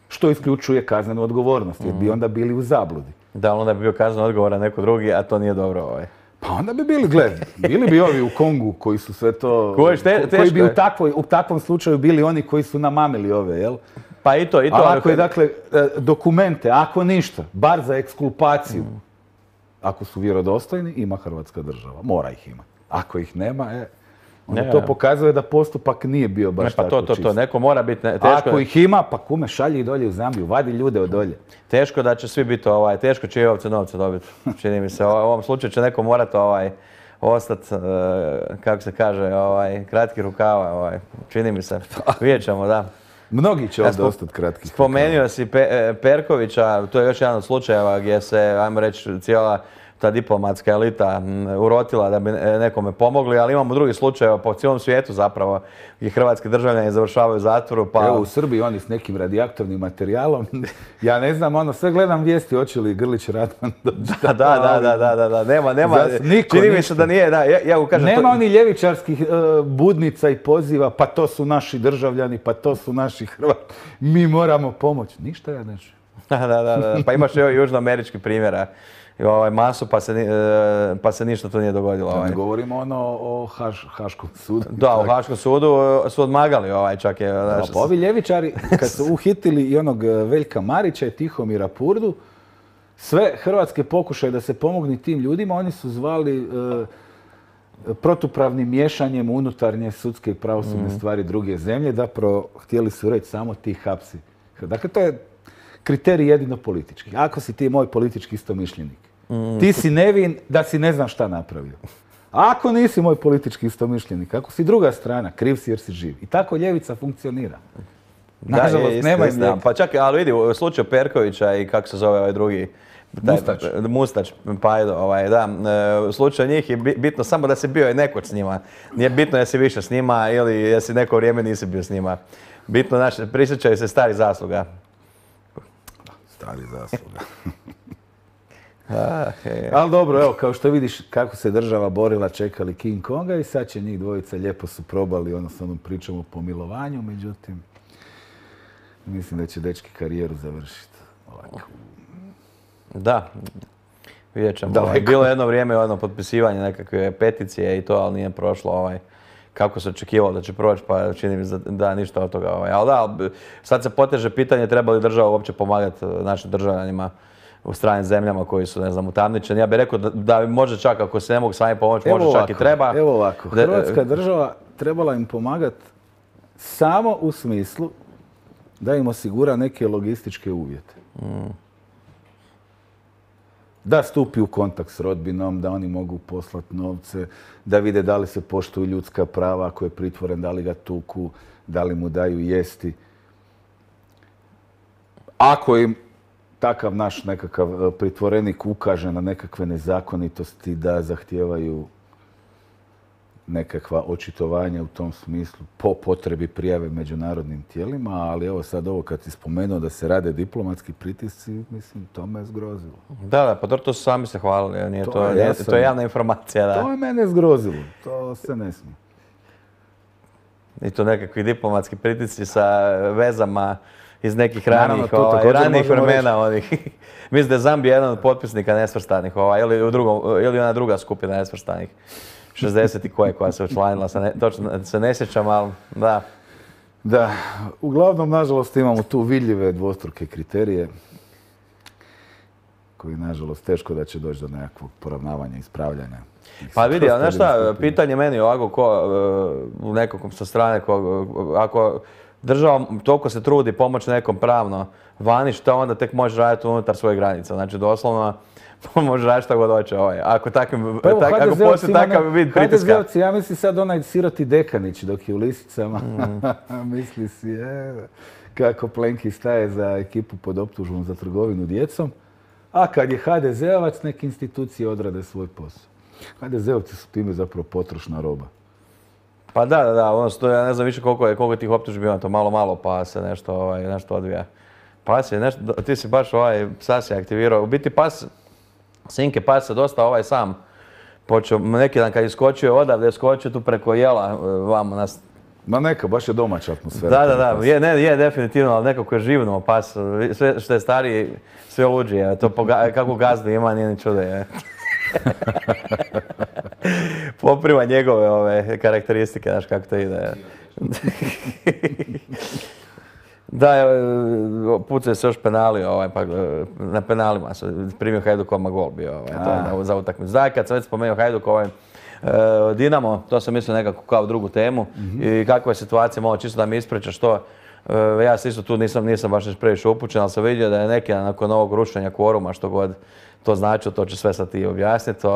Što isključuje kaznenu odgovornost, jer bi onda bili u zabludi. Da, onda bi bio kazneno odgovoran neko drugi, a to nije dobro. Pa onda bi bili bi ovi u Kongu koji su sve to... Koji bi u takvom slučaju bili oni koji su namamili ove, jel? Pa i to. Ali ako je, dakle, dokumente, ako ništa, bar za ekskulpaciju, ako su vjerodostojni, ima Hrvatska država. Mora ih imati. Ako ih nema, onda to pokazuje da postupak nije bio baš tako čist. To, neko mora biti... Ako ih ima, pa kume, šalji ih dolje u Zambiju, vadi ljude od dolje. Teško da će svi biti, teško će i ovce novce dobiti, čini mi se. U ovom slučaju će neko morati ostati, kako se kaže, kratki rukava, čini mi se. Vidjet ćemo, da. Mnogi će ovdje ostati kratki. Spomenuo si Perkovića, to je još jedan od slučajeva gdje se, ajmo reći, cijela ta diplomatska elita urotila da bi nekome pomogli, ali imamo drugi slučajeva po cijelom svijetu zapravo gdje hrvatski državljani završavaju u zatvoru. Evo u Srbiji oni s nekim radioaktivnim materijalom, ja ne znam, sve gledam vijesti hoće li Grlić Radman doći. Da, nema, čini mi se da nije, ja kažem... Nema oni ljevičarskih budnica i poziva, pa to su naši državljani, pa to su naši Hrvati, mi moramo pomoći. Ništa ja neću. Da, pa imaš i južnoamerički primjera. Masu pa se ništa tu nije dogodilo. Da ne govorimo o Haškom sudu. Da, u Haškom sudu su odmagali čak je... Pa ovi ljevičari, kad su uhitili i onog Veljka Marića i Tihomira Purdu, sve hrvatske pokušaje da se pomogne tim ljudima, oni su zvali protupravnim miješanjem unutarnje sudske i pravosudne stvari druge zemlje, zapravo htjeli su reći samo ti hapsi. Dakle, to je kriterij jedino politički. Ako si ti moj politički istomišljenik, ti si nevin da si ne znam šta napravio. Ako nisi moj politički istomišljenik, ako si druga strana, kriv si jer si živ. I tako ljevica funkcionira. Nažalost, nema izlijeka. Pa čak, ali vidi, u slučaju Perkovića i kako se zove ovaj drugi... Mustač, Pajdo, da. U slučaju njih je bitno samo da si bio i nekoć s njima. Nije bitno jesi više s njima ili jesi neko vrijeme nisi bio s njima. Bitno, prisjećaju se starih zasluga. Stari zasluga. Ali dobro, evo, kao što vidiš kako se država borila, čekali King Konga i sad će njih dvojica lijepo su probali s onom pričom o pomilovanju, međutim, mislim da će dečki karijeru završiti ovako. Da, vidjet ćemo. Bilo je jedno vrijeme potpisivanje nekakve peticije i to, ali nije prošlo kako se očekivalo da će proći, pa čini mi se da ništa od toga. Ali da, sad se poteže pitanje treba li država uopće pomagati našim državljanima u stranim zemljama koji su, ne znam, utamničeni. Ja bih rekao da može čak, ako se ne mogu sami pomoći, može čak i treba. Evo ovako, Hrvatska država trebala im pomagati samo u smislu da im osigura neke logističke uvjete. Da stupi u kontakt s rodbinom, da oni mogu poslati novce, da vide da li se poštuju ljudska prava, ako je pritvoren, da li ga tuku, da li mu daju jesti. Ako im takav naš nekakav pritvorenik ukaže na nekakve nezakonitosti, da zahtijevaju nekakva očitovanja u tom smislu, po potrebi prijave međunarodnim tijelima, ali evo sad ovo kad si spomenuo da se rade diplomatski pritisci, mislim, to me je zgrozilo. Da, pa to su sami se hvalili, to je javna informacija. Da. To je mene zgrozilo, to se ne smije. I to nekakvi diplomatski pritisci sa vezama iz nekih ranijih vremena. Mislim da je Zambija jedan od potpisnika nesvrstanih, ili ona druga skupina nesvrstanih. 60 i koja se učlanila, točno se ne sjećam, ali da. Da, uglavnom, nažalost, imamo tu vidljive dvostruke kriterije koji, nažalost, teško da će doći do nekakvog poravnavanja, ispravljanja. Pa vidi, znaš šta, pitanje meni ovako, nekom sa strane, ako država toliko se trudi pomoći nekom pravno vani, šta onda tek može raditi unutar svoje granica. Znači, doslovno, može raditi šta god hoće. Ako postoji takav vid pritiska. HDZ-ovci, ja mislim sad onaj siroti Dekanić dok je u Lisicama. Misli si, kako Plenki staje za ekipu pod optužbom za trgovinu djecom. A kad je HDZ-ovac, neke institucije odrade svoj posao. HDZ-ovci su time zapravo potrošna roba. Pa da, ja ne znam više koliko tih optužbi ima, to malo pa se nešto odvija. Pas je nešto, ti si baš psa se aktivirao. U biti Sinke pas se dosta sam počeo, neki dan kad je skočio odavde, skočio tu preko jela vamo nas. Ma neka, baš je domaća atmosfera. Da, je definitivno, ali nekako je živno pas, sve što je stariji, sve luđi, to kako gazdu ima, nije ni čudo. Poprima njegove karakteristike, znaš kako to ide. Da, pucaju se još penali, pa na penalima su primio Hajduk odmah gol bio to je za utakmicu. Da, kad sam već spomenuo Hajduk, Dinamo, to sam mislio nekako kao drugu temu i kakva je situacija, malo čisto da mi ispričaš to. Ja se isto tu nisam baš previše upućen, ali sam vidio da je neki nakon ovog rušenja kvoruma, što god to znači, to će sve sad ti objasniti.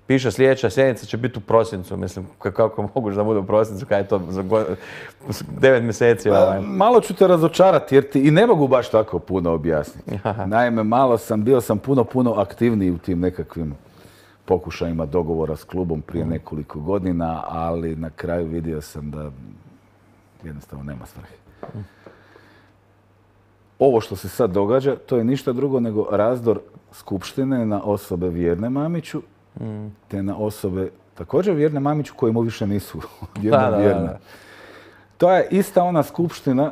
Piše sljedeća sjednica će biti u prosincu, mislim, kako moguće da bude u prosincu, kada je to za 9 mjeseci. Malo ću te razočarati jer ti i ne mogu baš tako puno objasniti. Naime, bio sam puno aktivniji u tim nekakvim pokušajima dogovora s klubom prije nekoliko godina, ali na kraju vidio sam da jednostavno nema svrhe. Ovo što se sad događa, to je ništa drugo nego razdor skupštine na osobe vjerne Mamiću, te na osobe također vjerne Mamiću koje mu više nisu vjerne. To je ista ona skupština,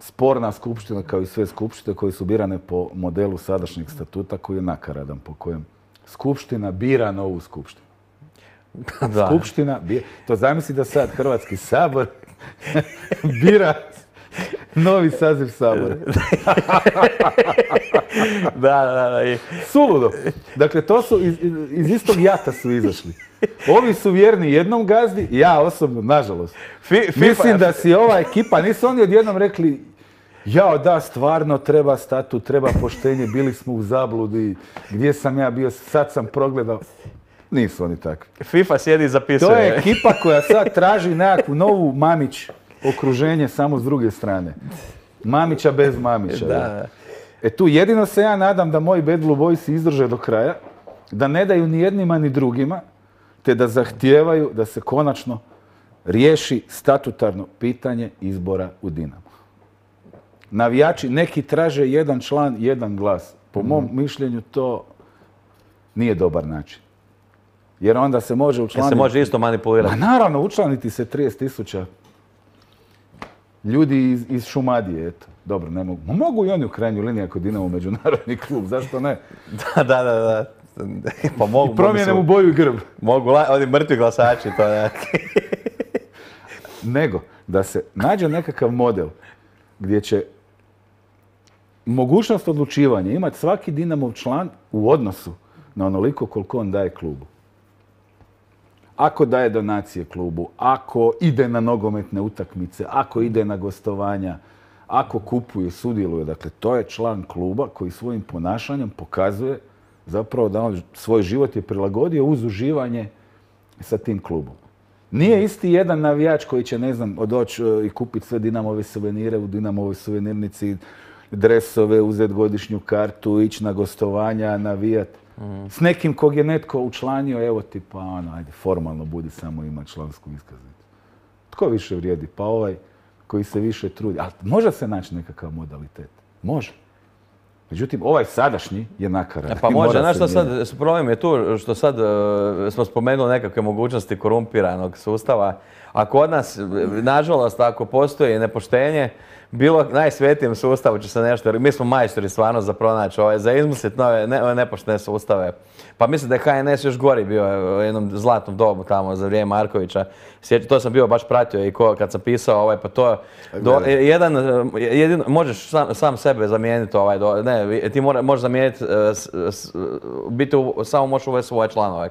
sporna skupština kao i sve skupštine koje su birane po modelu sadašnjeg statuta koji je nakaradan, po kojem skupština bira novu skupštinu. Skupština bira, to zamisli da sad Hrvatski sabor bira novi saziv Sabora. Da. Suludo. Dakle, to su iz istog jata su izašli. Ovi su vjerni jednom gazdi, ja osobno, nažalost. Mislim da si ova ekipa, nisu oni odjednom rekli jao da, stvarno treba statut, treba poštenje, bili smo u zabludi, gdje sam ja bio, sad sam progledao. Nisu oni takvi. FIFA sjedi i zapisuje. To je ekipa koja sad traži nekakvu novu Mamić okruženje samo s druge strane. Mamića bez Mamića. Da. Tu jedino se ja nadam da moji Bad Blue Boysi izdrže do kraja, da ne daju ni jednima ni drugima, te da zahtijevaju da se konačno riješi statutarno pitanje izbora u Dinamo. Navijači neki traže jedan član, jedan glas. Po mom mišljenju to nije dobar način. Jer onda se može učlaniti... Se može isto manipulirati. Ma naravno, učlaniti se 30.000 ljudi iz Šumadije, eto. Dobro, ne mogu. Mogu i oni u krajnjoj liniji ako Dinamo međunarodni klub, zašto ne? Da. Pa mogu. I promijene mu boju i grb. Mogu, oni mrtvi glasači, to je. Nego, da se nađe nekakav model gdje će mogućnost odlučivanja imati svaki Dinamov član u odnosu na onoliko koliko on daje klubu. Ako daje donacije klubu, ako ide na nogometne utakmice, ako ide na gostovanja, ako kupuje, sudjeluje. Dakle, to je član kluba koji svojim ponašanjem pokazuje zapravo da on svoj život je prilagodio uz uživanje sa tim klubom. Nije isti jedan navijač koji će, ne znam, doći i kupiti sve Dinamove suvenire u Dinamovoj suvenirnici, dresove, uzeti godišnju kartu, ići na gostovanja, navijati. S nekim kog je netko učlanio, evo ti pa ajde, formalno budi samo ima člansku iskaznicu. Tko više vrijedi? Pa ovaj koji se više trudi. Ali može se naći nekakav modalitet. Može. Međutim, ovaj sadašnji je nakaradan. Pa može, znaš što sad, problem je tu što sad smo spomenuli nekakve mogućnosti korumpiranog sustava, a kod nas, nažalost, ako postoji nepoštenje, bilo najsvetijem sustavu će se nešto, jer mi smo majstori stvarno za pronaći, za izmisliti nove nepoštene sustave. Pa mislim da je HNS još gori bio u jednom zlatnom dobu tamo za vrijeme Markovića. To sam bio baš pratio i kad sam pisao, pa to možeš sam sebe zamijeniti, ti možeš zamijeniti, biti samo možeš uvesti svoje članove,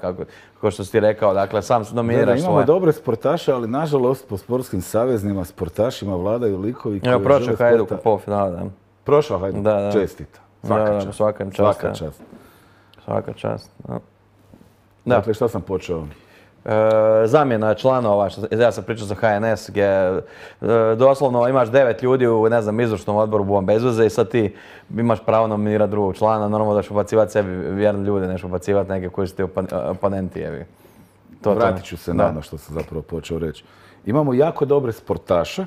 kao što si ti rekao, dakle sam nominiraš svoje. Imamo dobre sportaše, ali nažalost po sportskim saveznima, sportašima vladaju likovi koji žele prošao Hajduk u polufinale, da. Prošao Hajduk, čestita. Svaka čast. Svaka čast. Dakle, šta sam počeo? Zamjena članova, ja sam pričao za HNS, gdje doslovno imaš 9 ljudi u, ne znam, izvršnom odboru Buvom bez veze i sad ti imaš pravo nominirati drugog člana, normalno da ćeš ubacivati sebi vjerne ljude, neš ubacivati neke koji su ti oponenti. Vratit ću se na ono što sam zapravo počeo reći. Imamo jako dobre sportaše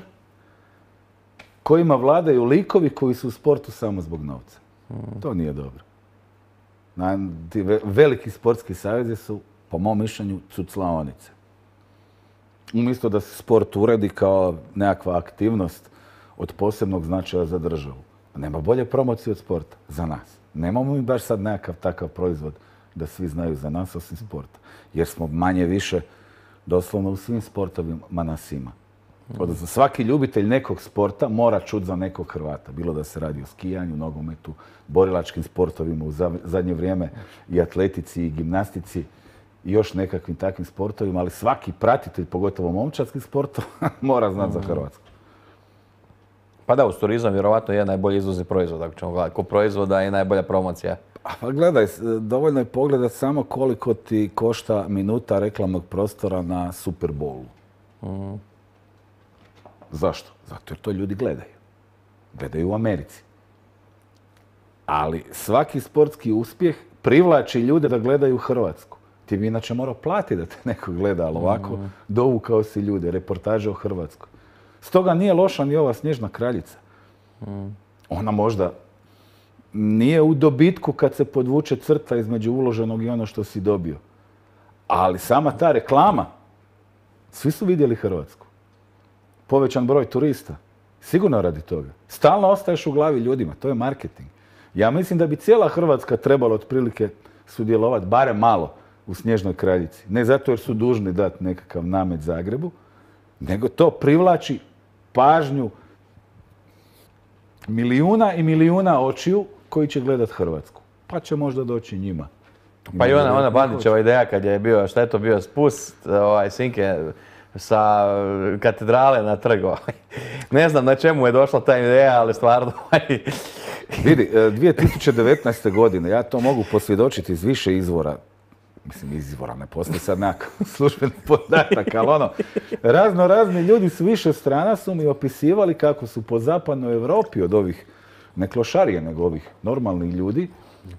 kojima vladaju likovi koji su u sportu samo zbog novca. To nije dobro. Ti veliki sportski savezi su, po mom mišljenju, cuclaonice. Umjesto da se sport uredi kao nekakva aktivnost od posebnog značaja za državu. Nema bolje promocije od sporta za nas. Nemamo mi baš sad nekakav takav proizvod da svi znaju za nas osim sporta. Jer smo manje više doslovno u svim sportovima nas ima. Odnosno, svaki ljubitelj nekog sporta mora čuti za nekog Hrvata. Bilo da se radi o skijanju, nogometu, borilačkim sportovima u zadnje vrijeme i atletici i gimnastici i još nekakvim takvim sportovima, ali svaki pratitelj, pogotovo momčadskih sportova, mora znati za Hrvatsku. Pa da, uz turizam vjerovatno je najbolji izvozni proizvod, ako ćemo gledati. Ko proizvoda je najbolja promocija. Pa gledaj, dovoljno je pogledati samo koliko ti košta minuta reklamnog prostora na Super Bowlu. Zašto? Zato jer to ljudi gledaju. Gledaju u Americi. Ali svaki sportski uspjeh privlači ljude da gledaju Hrvatsku. Ti bi inače morao platiti da te neko gleda, ali ovako dovukao si ljude, reportaže o Hrvatskoj. Stoga nije loša ni ova Snježna kraljica. Ona možda nije u dobitku kad se podvuče crta između uloženog i ono što si dobio. Ali sama ta reklama, svi su vidjeli Hrvatsku. Povećan broj turista. Sigurno radi toga. Stalno ostaješ u glavi ljudima. To je marketing. Ja mislim da bi cijela Hrvatska trebala otprilike sudjelovati, barem malo, u Snježnoj kraljici. Ne zato jer su dužni dati nekakav namet Zagrebu, nego to privlači pažnju milijuna i milijuna očiju koji će gledat Hrvatsku. Pa će možda doći njima. Pa i ona Bandićeva ideja kad je bio, šta je to bio, spust Sinke sa katedrale na trg. Ne znam na čemu je došla ta ideja, ali stvarno... Vidi, 2019. godine, ja to mogu posvjedočiti iz više izvora, mislim izvora, ne postoji sad nekakav službeni podatak, ali razni ljudi s više strana su mi opisivali kako su po zapadnoj Europi od ovih, ne klošarije, nego ovih normalnih ljudi,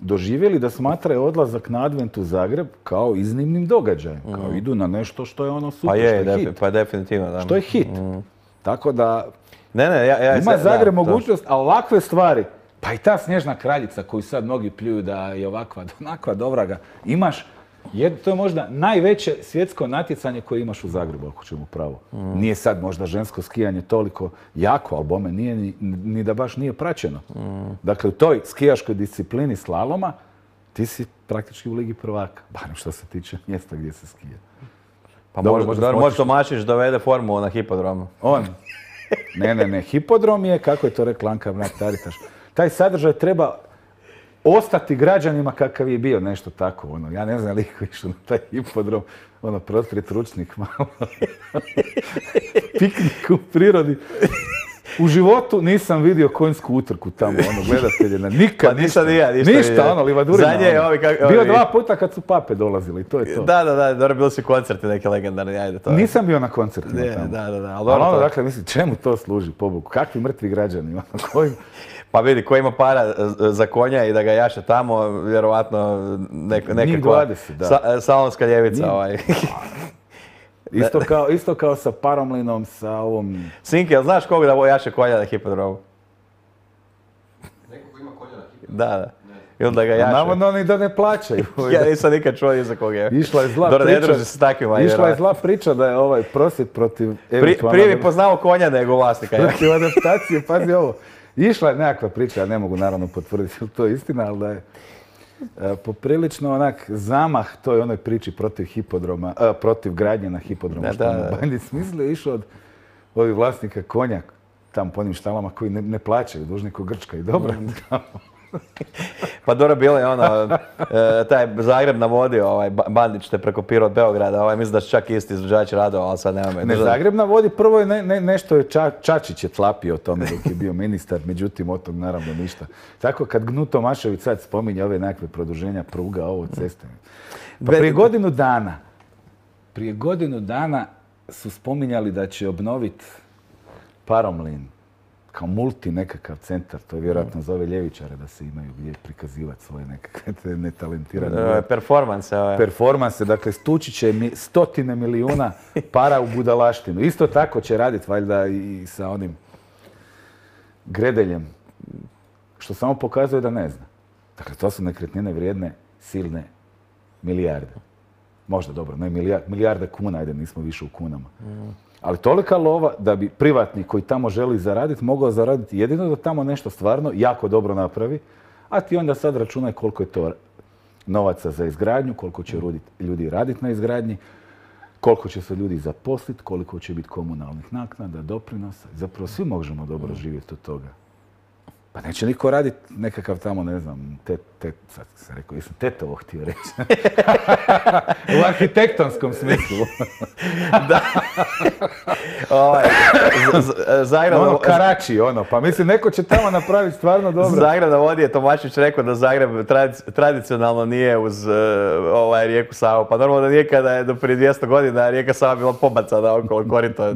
doživjeli da smatraju odlazak na Advent u Zagreb kao iznimnim događajem, kao idu na nešto što je ono super, što je hit. Pa definitivno, da. Što je hit. Tako da ja ima Zagreb mogućnost, a ovakve stvari, pa i ta Snježna kraljica koju sad mnogi pljuju da je ovakva, onakva, dobra ga, imaš, to je možda najveće svjetsko natjecanje koje imaš u Zagrebu, ako ćemo pravo. Nije sad možda žensko skijanje toliko jako, ali bome nije ni da baš nije praćeno. Dakle, u toj skijaškoj disciplini slaloma ti si praktički u Ligi prvaka, barem što se tiče mjesta gdje se skija. Pa možda Tomašić dovede formulu na hipodromu. On? Ne, hipodrom je, kako je to rekla Anka Mrak-Taritaš, taj sadržaj treba ostati građanima kakav je bio, nešto tako. Ja ne znam liko išao na taj hipodrom, prostrijet ručnik malo. Piknik u prirodi. U životu nisam vidio konjsku utrku tamo, gledatelje, nikad, ništa, livadurina. Bio 2 puta kad su pape dolazili, to je to. Da, dobro, bili su koncerti neke legendarni, ajde to. Nisam bio na koncertima tamo. Da. Ali dakle, mislim, čemu to služi, pobogu? Kakvi mrtvi građani, Pa vidi, ko ima para za konja i da ga jaše tamo, vjerovatno nekakva salonska ljevica. Isto kao sa Paromlinom, sa ovom... Sinke, jel znaš koga da jaše konja na hipodromu? Neko ko ima konja na hipodromu? Da. I onda ga jaše. Navodno oni da ne plaćaju. Ja nisam nikad čuo ni za koga je. Išla je zla priča da je ovaj prosvjed protiv... Prije bi poznao konja nego vlasnika. Protiv adaptacije, pazi ovo. Išla je nekakva priča, ja ne mogu naravno potvrditi je li to istina, ali da je poprilično onak zamah toj onoj priči protiv hipodroma, protiv gradnje na hipodromu. Što je Bandić smislio, išao od ovih vlasnika konja tam po onim štalama koji ne plaćaju, dužni ko Grčka i dobro. Pa dobro, bilo je taj Zagreb na vodi, Bandić te prekopirao od Beograda, mislim da su čak isti izvođač radova, ali sad nemamo. Ne, Zagreb na vodi prvo je nešto je Čačić je tlapio o tome dok je bio ministar, međutim od tog naravno ništa. Tako kad Gnu Tomašević sad spominje ove nekakve produženja pruga, ovo ceste. Pa prije godinu dana su spominjali da će obnoviti Paromlin kao multi nekakav centar, to je vjerojatno za ove ljevičare da se imaju gdje prikazivati svoje nekakve netalentirane... Performanse, dakle stući će stotine milijuna para u budalaštinu. Isto tako će raditi valjda i sa onim Gredeljem, što samo pokazuje da ne zna. Dakle, to su nekretnine vrijedne silne milijarde. Možda dobro, ne milijarde kuna, ajde nismo više u kunama. Ali tolika lova da bi privatnik koji tamo želi zaraditi, mogao zaraditi jedino da tamo nešto stvarno jako dobro napravi, a ti onda sad računaj koliko je to novaca za izgradnju, koliko će ljudi raditi na izgradnji, koliko će se ljudi zaposliti, koliko će biti komunalnih naknada, doprinosa. Zapravo svi možemo dobro živjeti od toga. Pa neće niko raditi nekakav tamo, ne znam, sad sam rekao, jesam tetovo htio reći. U arhitektonskom smislu. Da. Zagreb... Ono Karači, pa mislim, neko će tamo napraviti stvarno dobro. Zagreb na vodi je Tomašević rekao da Zagreb tradicionalno nije uz rijeku Savu. Pa normalno da nije kada je do prije 200 godina rijeka Sava bila pobacana okolo korito.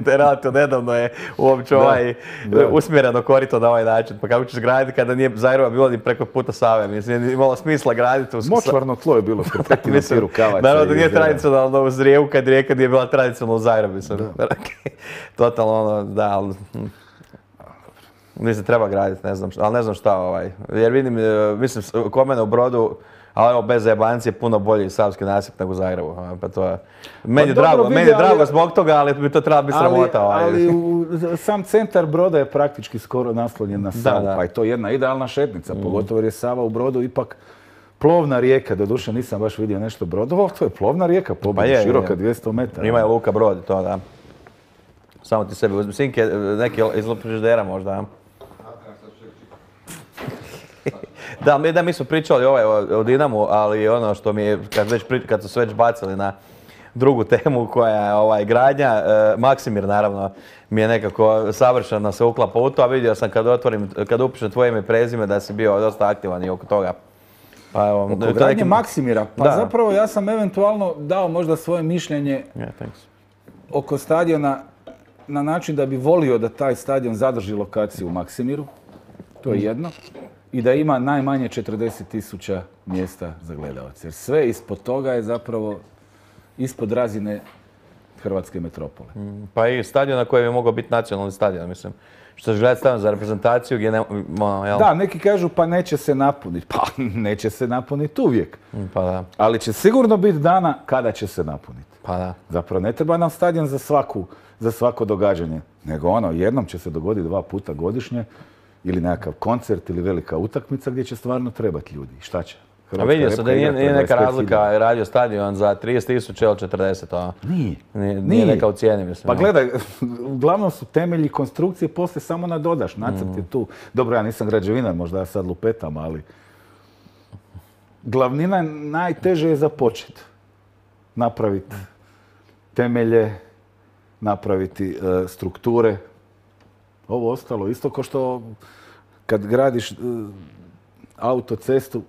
Relativno nedavno je uopće usmjereno korito na ovaj način. Pa kako ćeš graditi kada nije Zagreba bilo ni preko puta Save? Mislim, nije imalo smisla graditi uz... Močvarno tlo je bilo što pretina siru kavaca. Naravno da nije tradicionalno uz rijeku kad rijeka nije bila tradicionalno u Zagrebu. Totalno da, mislim, treba graditi, ne znam, ali ne znam šta, jer vidim, mislim, kod mene u Brodu, ali evo, bez zajebancije, puno bolji savski nasip nego u Zagrebu, pa to je, meni je drago zbog toga, ali bi to trebalo biti sramota. Ali sam centar Broda je praktički skoro naslonjen na Savu, pa je to jedna idealna šetnica, pogotovo jer je Sava u Brodu ipak plovna rijeka, doduše nisam baš vidio nešto Brodovo, to je plovna rijeka, široka 200 metara. Ima je luka Brod, to da. Samo ti sebi uzmi sinke, neki iz frižidera možda. Da, mi smo pričali o Dinamu, ali ono što mi je, kad su se već bacili na drugu temu koja je gradnja, Maksimir naravno mi je nekako savršeno se uklapa u to, a vidio sam kad upišem tvoje ime i prezime da si bio dosta aktivan i oko toga. Oko gradnje Maksimira, pa zapravo ja sam eventualno dao možda svoje mišljenje oko stadiona na način da bi volio da taj stadion zadrži lokaciju u Maksimiru, to je jedno, i da ima najmanje 40.000 mjesta za gledalce. Jer sve ispod toga je zapravo ispod razine hrvatske metropole. Pa i stadion na kojem je mogao biti nacionalni stadion, mislim. Što će gledati stadion za reprezentaciju gdje jel? Da, neki kažu pa neće se napuniti. Pa neće se napuniti uvijek. Pa da. Ali će sigurno biti dana kada će se napuniti. Pa da. Zapravo ne treba nam stadion za svako događanje. Nego jednom će se dogoditi 2 puta godišnje ili nekakav koncert ili velika utakmica gdje će stvarno trebati ljudi. Šta će? A vidio sam da nije neka razlika radio stadion za 30.000 ili 40, Nije neka u cijeni, mislim. Pa gledaj, uglavnom su temelji konstrukcije, poslije samo nadodaš, nacrt je tu. Dobro, ja nisam građevinar, možda ja sad lupetam, ali glavnina najteže je započeti. Napraviti temelje, napraviti strukture. Ovo ostalo, isto kao što kad gradiš autocestu,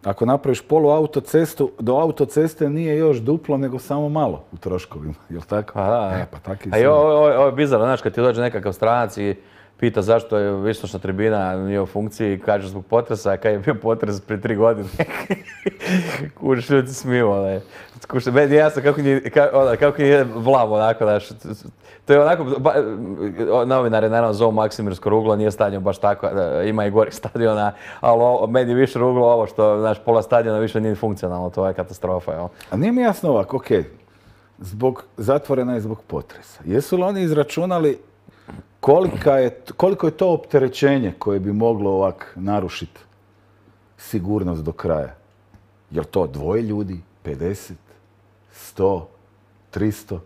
ako napraviš poluautocestu, do autoceste nije još duplo, nego samo malo u troškovima, jel tako? Pa tako i ovo je bizarno, znaš, kad ti dođe nekakav stranac i pita zašto je istočna tribina nije u funkciji, kaže zbog potresa, a kad je bio potres prije 3 godine. Kužiš, ljudi se smiju, meni je jasno kako je vlam, onako, znaš. To je onako, novinari naravno zovu Maksimirsko ruglo, nije stadion baš tako, ima i gorih stadiona, ali meni je više ruglo ovo što, znaš, pola stadiona više nije funkcionalno, to je katastrofa, jel? A nije mi jasno ovako, zatvorena je zbog potresa. Jesu li oni izračunali koliko je to opterećenje koje bi moglo ovak narušiti sigurnost do kraja? Jel to 2 ljudi, 50, 100, 300?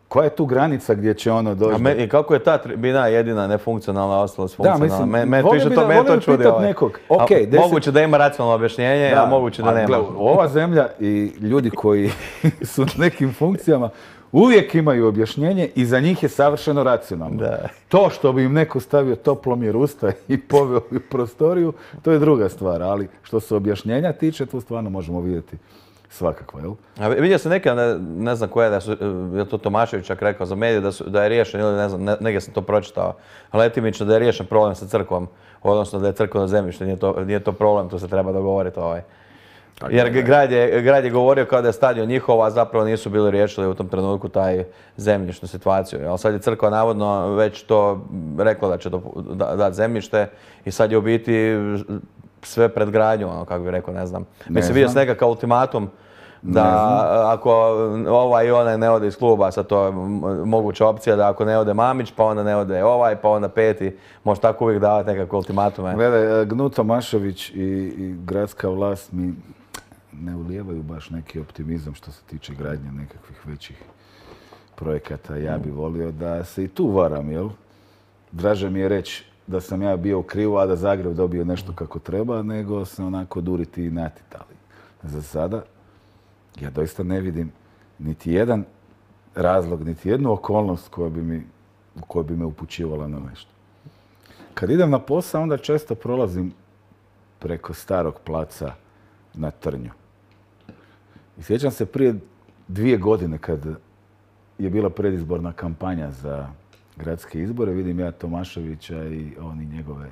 Koja je tu granica gdje će ono doći? I kako je ta tribina jedina nefunkcionalna, ostalo funkcionalna? Da, mislim, volim pitat nekog. Moguće da ima racionalno objašnjenje, a moguće da nema. Ova zemlja i ljudi koji su na nekim funkcijama uvijek imaju objašnjenje i za njih je savršeno racionalno. To što bi im neko stavio toplomjer usta i poveo u prostoriju, to je druga stvar, ali što se objašnjenja tiče, tu stvarno možemo vidjeti svakako, jel? A vidio sam neke, ne znam koja je to Tomašević čak rekao za medije, da je riješen, ili ne znam, negdje sam to pročitao, letimično da je riješen problem sa crkvom, odnosno da je crkveno zemljište, nije to problem, tu se treba dogovoriti. Jer grad je govorio kao da je stadion njihov, a zapravo nisu bili riješili u tom trenutku taj zemljišnu situaciju. Ali sad je crkva navodno već to rekla da će dati zemljište i sad je u biti sve pred gradnju, kako bih rekao, ne znam. Mislim, vidio sam nekakav ultimatum da ako ovaj i onaj ne ode iz kluba, sad to je moguća opcija da ako ne ode Mamić, pa onda ne ode ovaj, pa onda peti, može tako uvijek davati nekakve ultimatume. Gledaj, Gnut Tomašević i gradska vlast mi ne ulijevaju baš neki optimizam što se tiče gradnje nekakvih većih projekata. Ja bi volio da se i tu varam, jel? Draže mi je reći da sam ja bio u krivu, a da Zagreb dobio nešto kako treba, nego se onako duriti i natitali. Za sada ja doista ne vidim niti jedan razlog, niti jednu okolnost koja bi me upućivala na nešto. Kad idem na posao, onda često prolazim preko starog placa na Trnju. I sjećam se prije 2 godine kad je bila predizborna kampanja za gradske izbore, vidim ja Tomaševića i oni njegove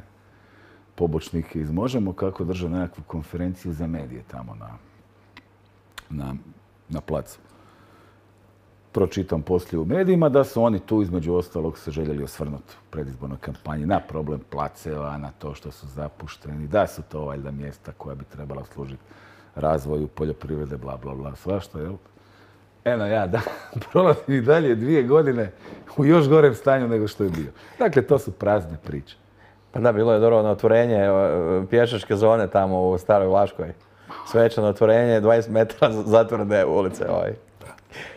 pobočnike iz Možemo kako drže nekakvu konferenciju za medije tamo na placu. Pročitam poslije u medijima da su oni tu između ostalog se željeli osvrnuti u predizbornoj kampanji na problem placeva, na to što su zapušteni, da su to valjda mjesta koja bi trebala služiti razvoju poljoprivrede, bla, bla, bla, svašta, jel? Eno ja, da, prolazim i dalje 2 godine u još gorem stanju nego što je bio. Dakle, to su prazne priče. Pa da, bilo je dobro na otvorenje pješačke zone tamo u Staroj Vlaškoj. Svečano otvorenje, 20 metara zatvorene ulice.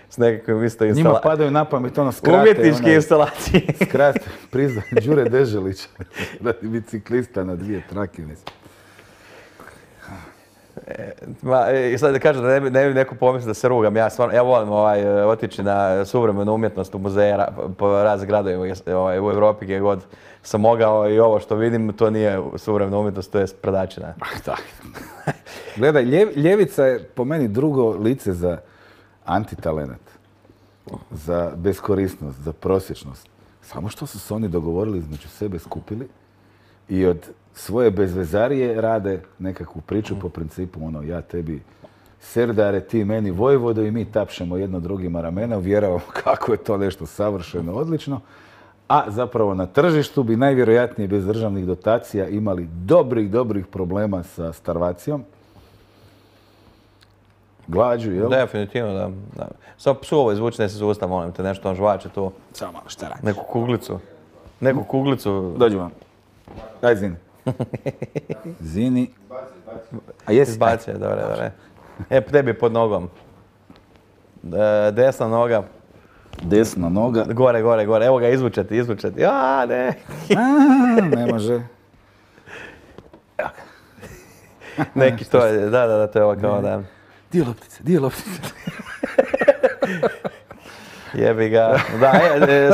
S nekakvim isto instalacijama. Njima padaju na pamet ono skrate. Umjetničke instalacije. Skrate, prizna Đure Deželića radi biciklista na 2 trake. I sad da kažem da ne bi neko pomislio da se rugam. Ja volim otići na suvremenu umjetnost u muzeje po raznim gradovima u Europi gdje god sam mogao i ovo što vidim, to nije suvremena umjetnost, to je sprdačina. Gledaj, ljevica je po meni drugo lice za antitalenat, za beskorisnost, za prosječnost. Samo što su se oni dogovorili između sebe, skupili i od svoje bezvezarije rade nekakvu priču po principu ono ja tebi Serdare, ti meni Vojvodo i mi tapšemo jedno drugima ramena, uvjeravamo kako je to nešto savršeno, odlično. A zapravo na tržištu bi najvjerojatnije bez državnih dotacija imali dobrih problema sa starvacijom. Glađu, jel? Definitivno, da. Samo psuovo izvuči ne se sustav, molim te, nešto on žvače tu. Samo malo, šta radiš? Neku kuglicu. Dođi vam. Daj Zini. Zini. A jesi? Izbacio, dobre. Tebi pod nogom. Desna noga. Desna noga. Gore. Evo ga, izvučeti. Ja, ne. Ne može. Neki to je, da, to je ovo kao da. Dio loptice. Jebi ga. Da,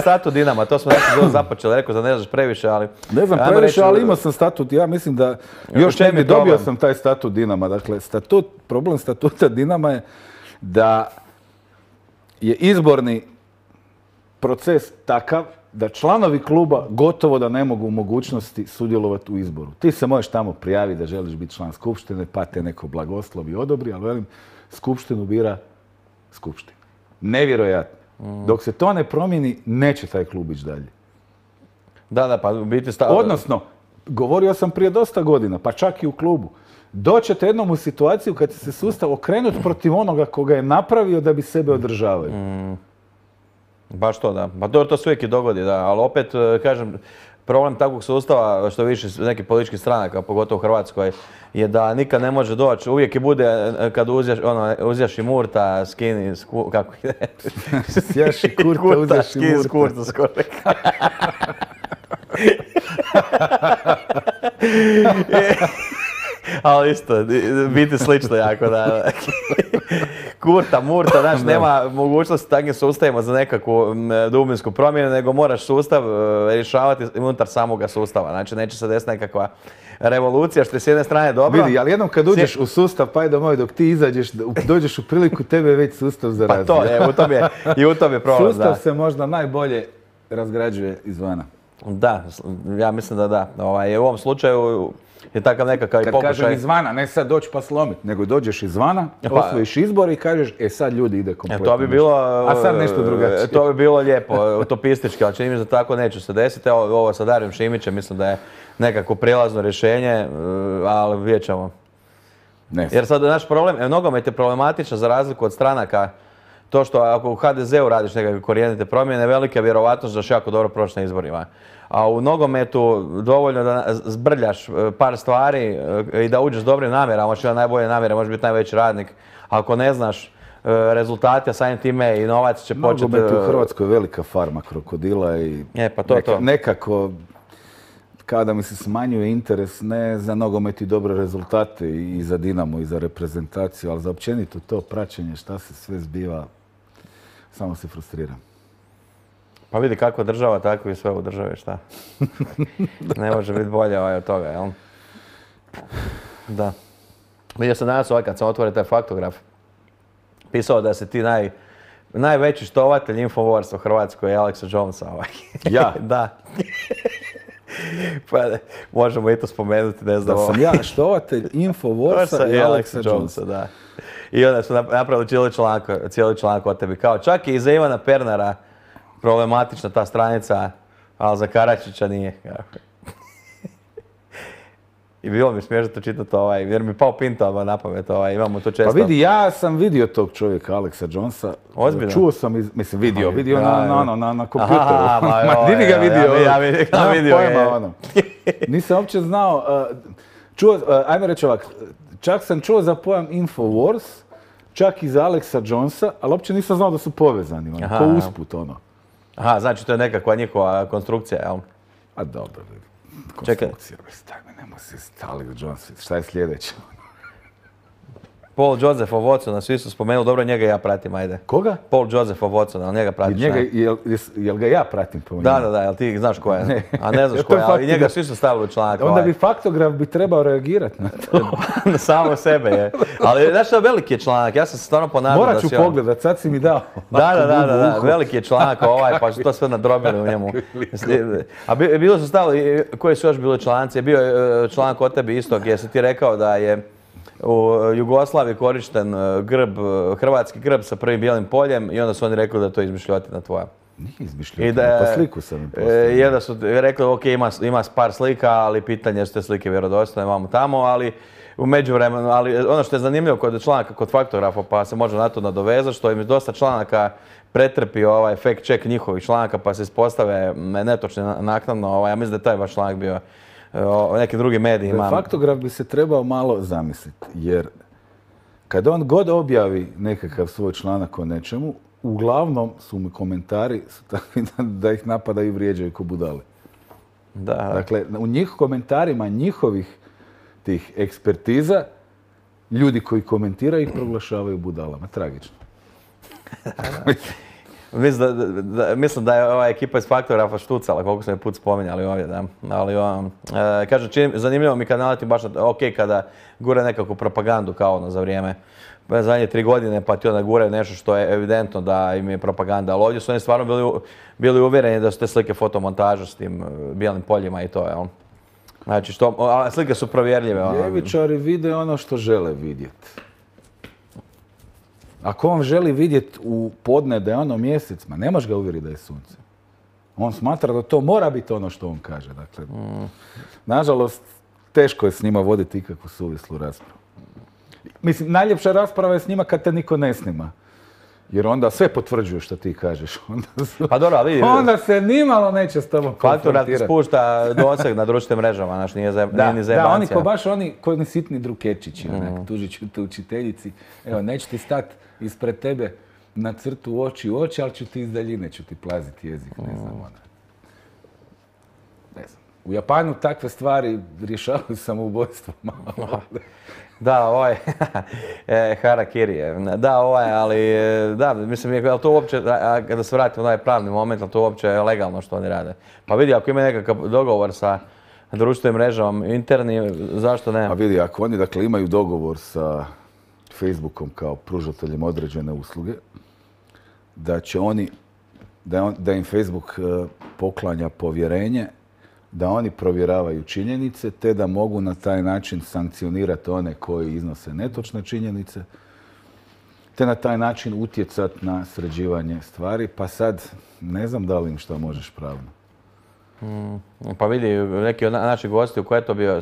statut Dinama, to smo nešto započeli, rekao da ne znaš previše, ali... Ne znam previše, ali imao sam statut, ja mislim da još ne dobio sam taj statut Dinama. Dakle, problem statuta Dinama je da je izborni proces takav da članovi kluba gotovo da ne mogu u mogućnosti sudjelovati u izboru. Ti se možeš tamo prijaviti da želiš biti član skupštine, pa te neko blagoslovi odobri, ali velim, skupštinu bira skupština. Nevjerojatno. Dok se to ne promijeni, neće taj klub ići dalje. Da, pa u biti Odnosno, govorio sam prije dosta godina, pa čak i u klubu, doćete jednom u situaciju kad će se sustav okrenuti protiv onoga koga je napravio da bi sebe održavaju. Baš to, da. Pa to se uvijek i dogodi, da. Ali opet, kažem, problem takvog sustava, što više nekih političkih stranaka, pogotovo u Hrvatskoj, je da nikad ne može doći. Uvijek i bude kad uzjaš i Murta, skini, kako ide? Sjaš i Kurta, uzjaš i Murta. Kurta, skoro. Ali isto, biti slično jako, da. Kurta, Murta, znaš, nema mogućnosti takvim sustavima za nekakvu dubinsku promjenu, nego moraš sustav rješavati unutar samoga sustava. Znači, neće se desiti nekakva revolucija, što je s jedne strane dobro. Vidi, ali jednom kad uđeš u sustav, pa moj, dok ti izađeš, dođeš u priliku, tebe je već sustav zarazio. Pa to, i u tom je problem, da. Sustav se možda najbolje razgrađuje izvana. Da, ja mislim da da. U ovom slučaju je takav nekakav i pokušaj. Kad kažem izvana, ne sad doći pa slomit, nego dođeš izvana, osvojiš izbor i kažeš, sad ljudi ide kompletno. To bi bilo, a sad nešto drugačije. To bi bilo lijepo, utopistički, ali čini mi se da tako neće se desiti. Ovo sa Darijom Šimićem mislim da je nekako prijelazno rješenje, ali vidjet ćemo. Jer sad naš problem, nogomet je problematičan za razliku od stranaka. to što ako u HDZ-u radiš nekakve korijenite promjene, velika je vjerovatnost da ćeš jako dobro proći na izborima. A u nogometu dovoljno da zbrljaš par stvari i da uđeš s dobrim namjerama, možeš imati najbolje namjere, možeš biti najveći radnik. Ako ne znaš rezultate, a samim time i novac će početi... Nogomet u Hrvatskoj je velika farma krokodila i pa nekako kao da mi se smanjuje interes ne za nogomet i dobre rezultate i za Dinamo i za reprezentaciju, ali za općenito to praćenje šta se sve zbiva, samo se frustriram. Pa vidi kako država, tako i sve u državi, šta? Ne može biti bolje od toga, jel? Da. Vidio sam danas kad sam otvorio taj faktograf, pisao da si ti najveći štovatelj Infowars u Hrvatskoj je Alexa Jonesa. Ja? Da. Pa možemo i to spomenuti, ne znam. Da sam ja štovatelj Infowarsa i Alexa Jonesa. Da. I onda su napravili cijeli članak o tebi. Kao čak i za Ivana Pernara problematična ta stranica, ali za Karačića nije. I bilo mi smiješno to čitati jer mi pao Pinto na pamet, imamo to često. Pa vidi, ja sam vidio tog čovjeka, Alexa Jonesa. Ozbiljno? Čuo sam, vidio na kompjuteru. Di ga vidio? Ja vidio. Nisam uopće znao, ajme reći ovak, čak sam čuo za pojam Infowars, čak i za Alexa Jonesa, ali uopće nisam znao da su povezani, ko usput, Aha, znači to je nekakva njihova konstrukcija, jel? A dobro, vidi. Konstrukcija, nemoj se Alex Jones, šta je sljedeće? Paul Joseph of Watsona, svi su spomenuli, dobro njega ja pratim, ajde. Koga? Paul Joseph of Watsona, ali njega pratiš, ne? Jel ga ja pratim po njemu? Da, jel ti znaš ko je? A ne znaš ko je, ali njega svi su stavili u članak. Onda bi faktograf trebao reagirati na to. Samo sebe je. Ali znaš što, veliki je članak, ja sam se stvarno ponadao da si... Morat ću pogledat, sad si mi dao. Da, veliki je članak pa su to sve nadrobili u njemu. A bilo su stavili, koji su još bili članci, bio je članak o tebi isto gdje si ti rekao da je u Jugoslaviji korišten hrvatski grb sa prvim bijelim poljem i onda su oni rekli da je to izmišljotina tvoja. Nije izmišljotina, pa sliku sam im postavio. Jer da su rekli, ok, ima par slika, ali pitanje je su te slike vjerodostojne, imamo tamo, ali u međuvremenu, ali ono što je zanimljivo kod članaka, kod faktografa, pa se može na to nadovezati, što im dosta članaka pretrpi fact check njihovih članaka, pa se ispostave netočni naknadno, ja mislim da je taj vaš članak bio neki drugi mediji imam. Faktograf bi se trebao malo zamisliti, jer kad on god objavi nekakav svoj članak o nečemu, uglavnom su mu komentari takvi da ih napadaju i vrijeđaju ko budale. Da. Dakle, u komentarima njihovih tih ekspertiza, ljudi koji komentiraju ih proglašavaju budalama. Tragično. Mislim da je ova ekipa iz Faktografa štucala, koliko smo je put spominjali ovdje, da. Ali, kažem, zanimljivo mi kad naletim baš, kada gure nekakvu propagandu kao za vrijeme zadnje 3 godine, pa ti onda gure nešto što je evidentno da im je propaganda. Ali ovdje su oni stvarno bili uvjereni da su te slike fotomontaža s tim bijelim poljima i to, jel? Znači, slike su provjerljive. Ljevičari vide ono što žele vidjeti. Ako on želi vidjeti u podne da je ono mjesec, ne možeš ga uvjeriti da je sunce. On smatra da to mora biti ono što on kaže. Dakle, nažalost, teško je s njima voditi ikakvu suvislu raspravu. Mislim, najljepša rasprava je s njima kad te niko ne snima. Jer onda sve potvrđuje što ti kažeš. Pa dobro, ali vidi. Onda se nimalo neće s tobom konfrontirati. Faktorat spušta doseg na društvenim mrežama, znaš, nije ni zajebancija. Da, oni baš ko ni sitni drukečići, tužit ću te učiteljici. Evo, neću ti stati ispred tebe na crtu oči u oči, ali ću ti iz daljine, ću ti plaziti jezik, ne znam ona. Ne znam. U Japanu takve stvari rješavaju samoubojstvo malo. Da, harakiri je. Da, ali da, mislim, ali to uopće, kada se vratimo na ovaj pravni moment, ali to uopće je legalno što oni rade. Pa vidi, ako ima nekakav dogovor sa društvenim mrežama interni, zašto ne? Pa vidi, ako oni dakle imaju dogovor sa Facebookom kao pružateljem određene usluge, da će oni, da im Facebook poklanja povjerenje, da oni provjeravaju činjenice, te da mogu na taj način sankcionirati one koji iznose netočne činjenice, te na taj način utjecati na sređivanje stvari, pa sad ne znam da li im što možeš pravno. Pa vidi, neki od naših gosti u koje je to bio,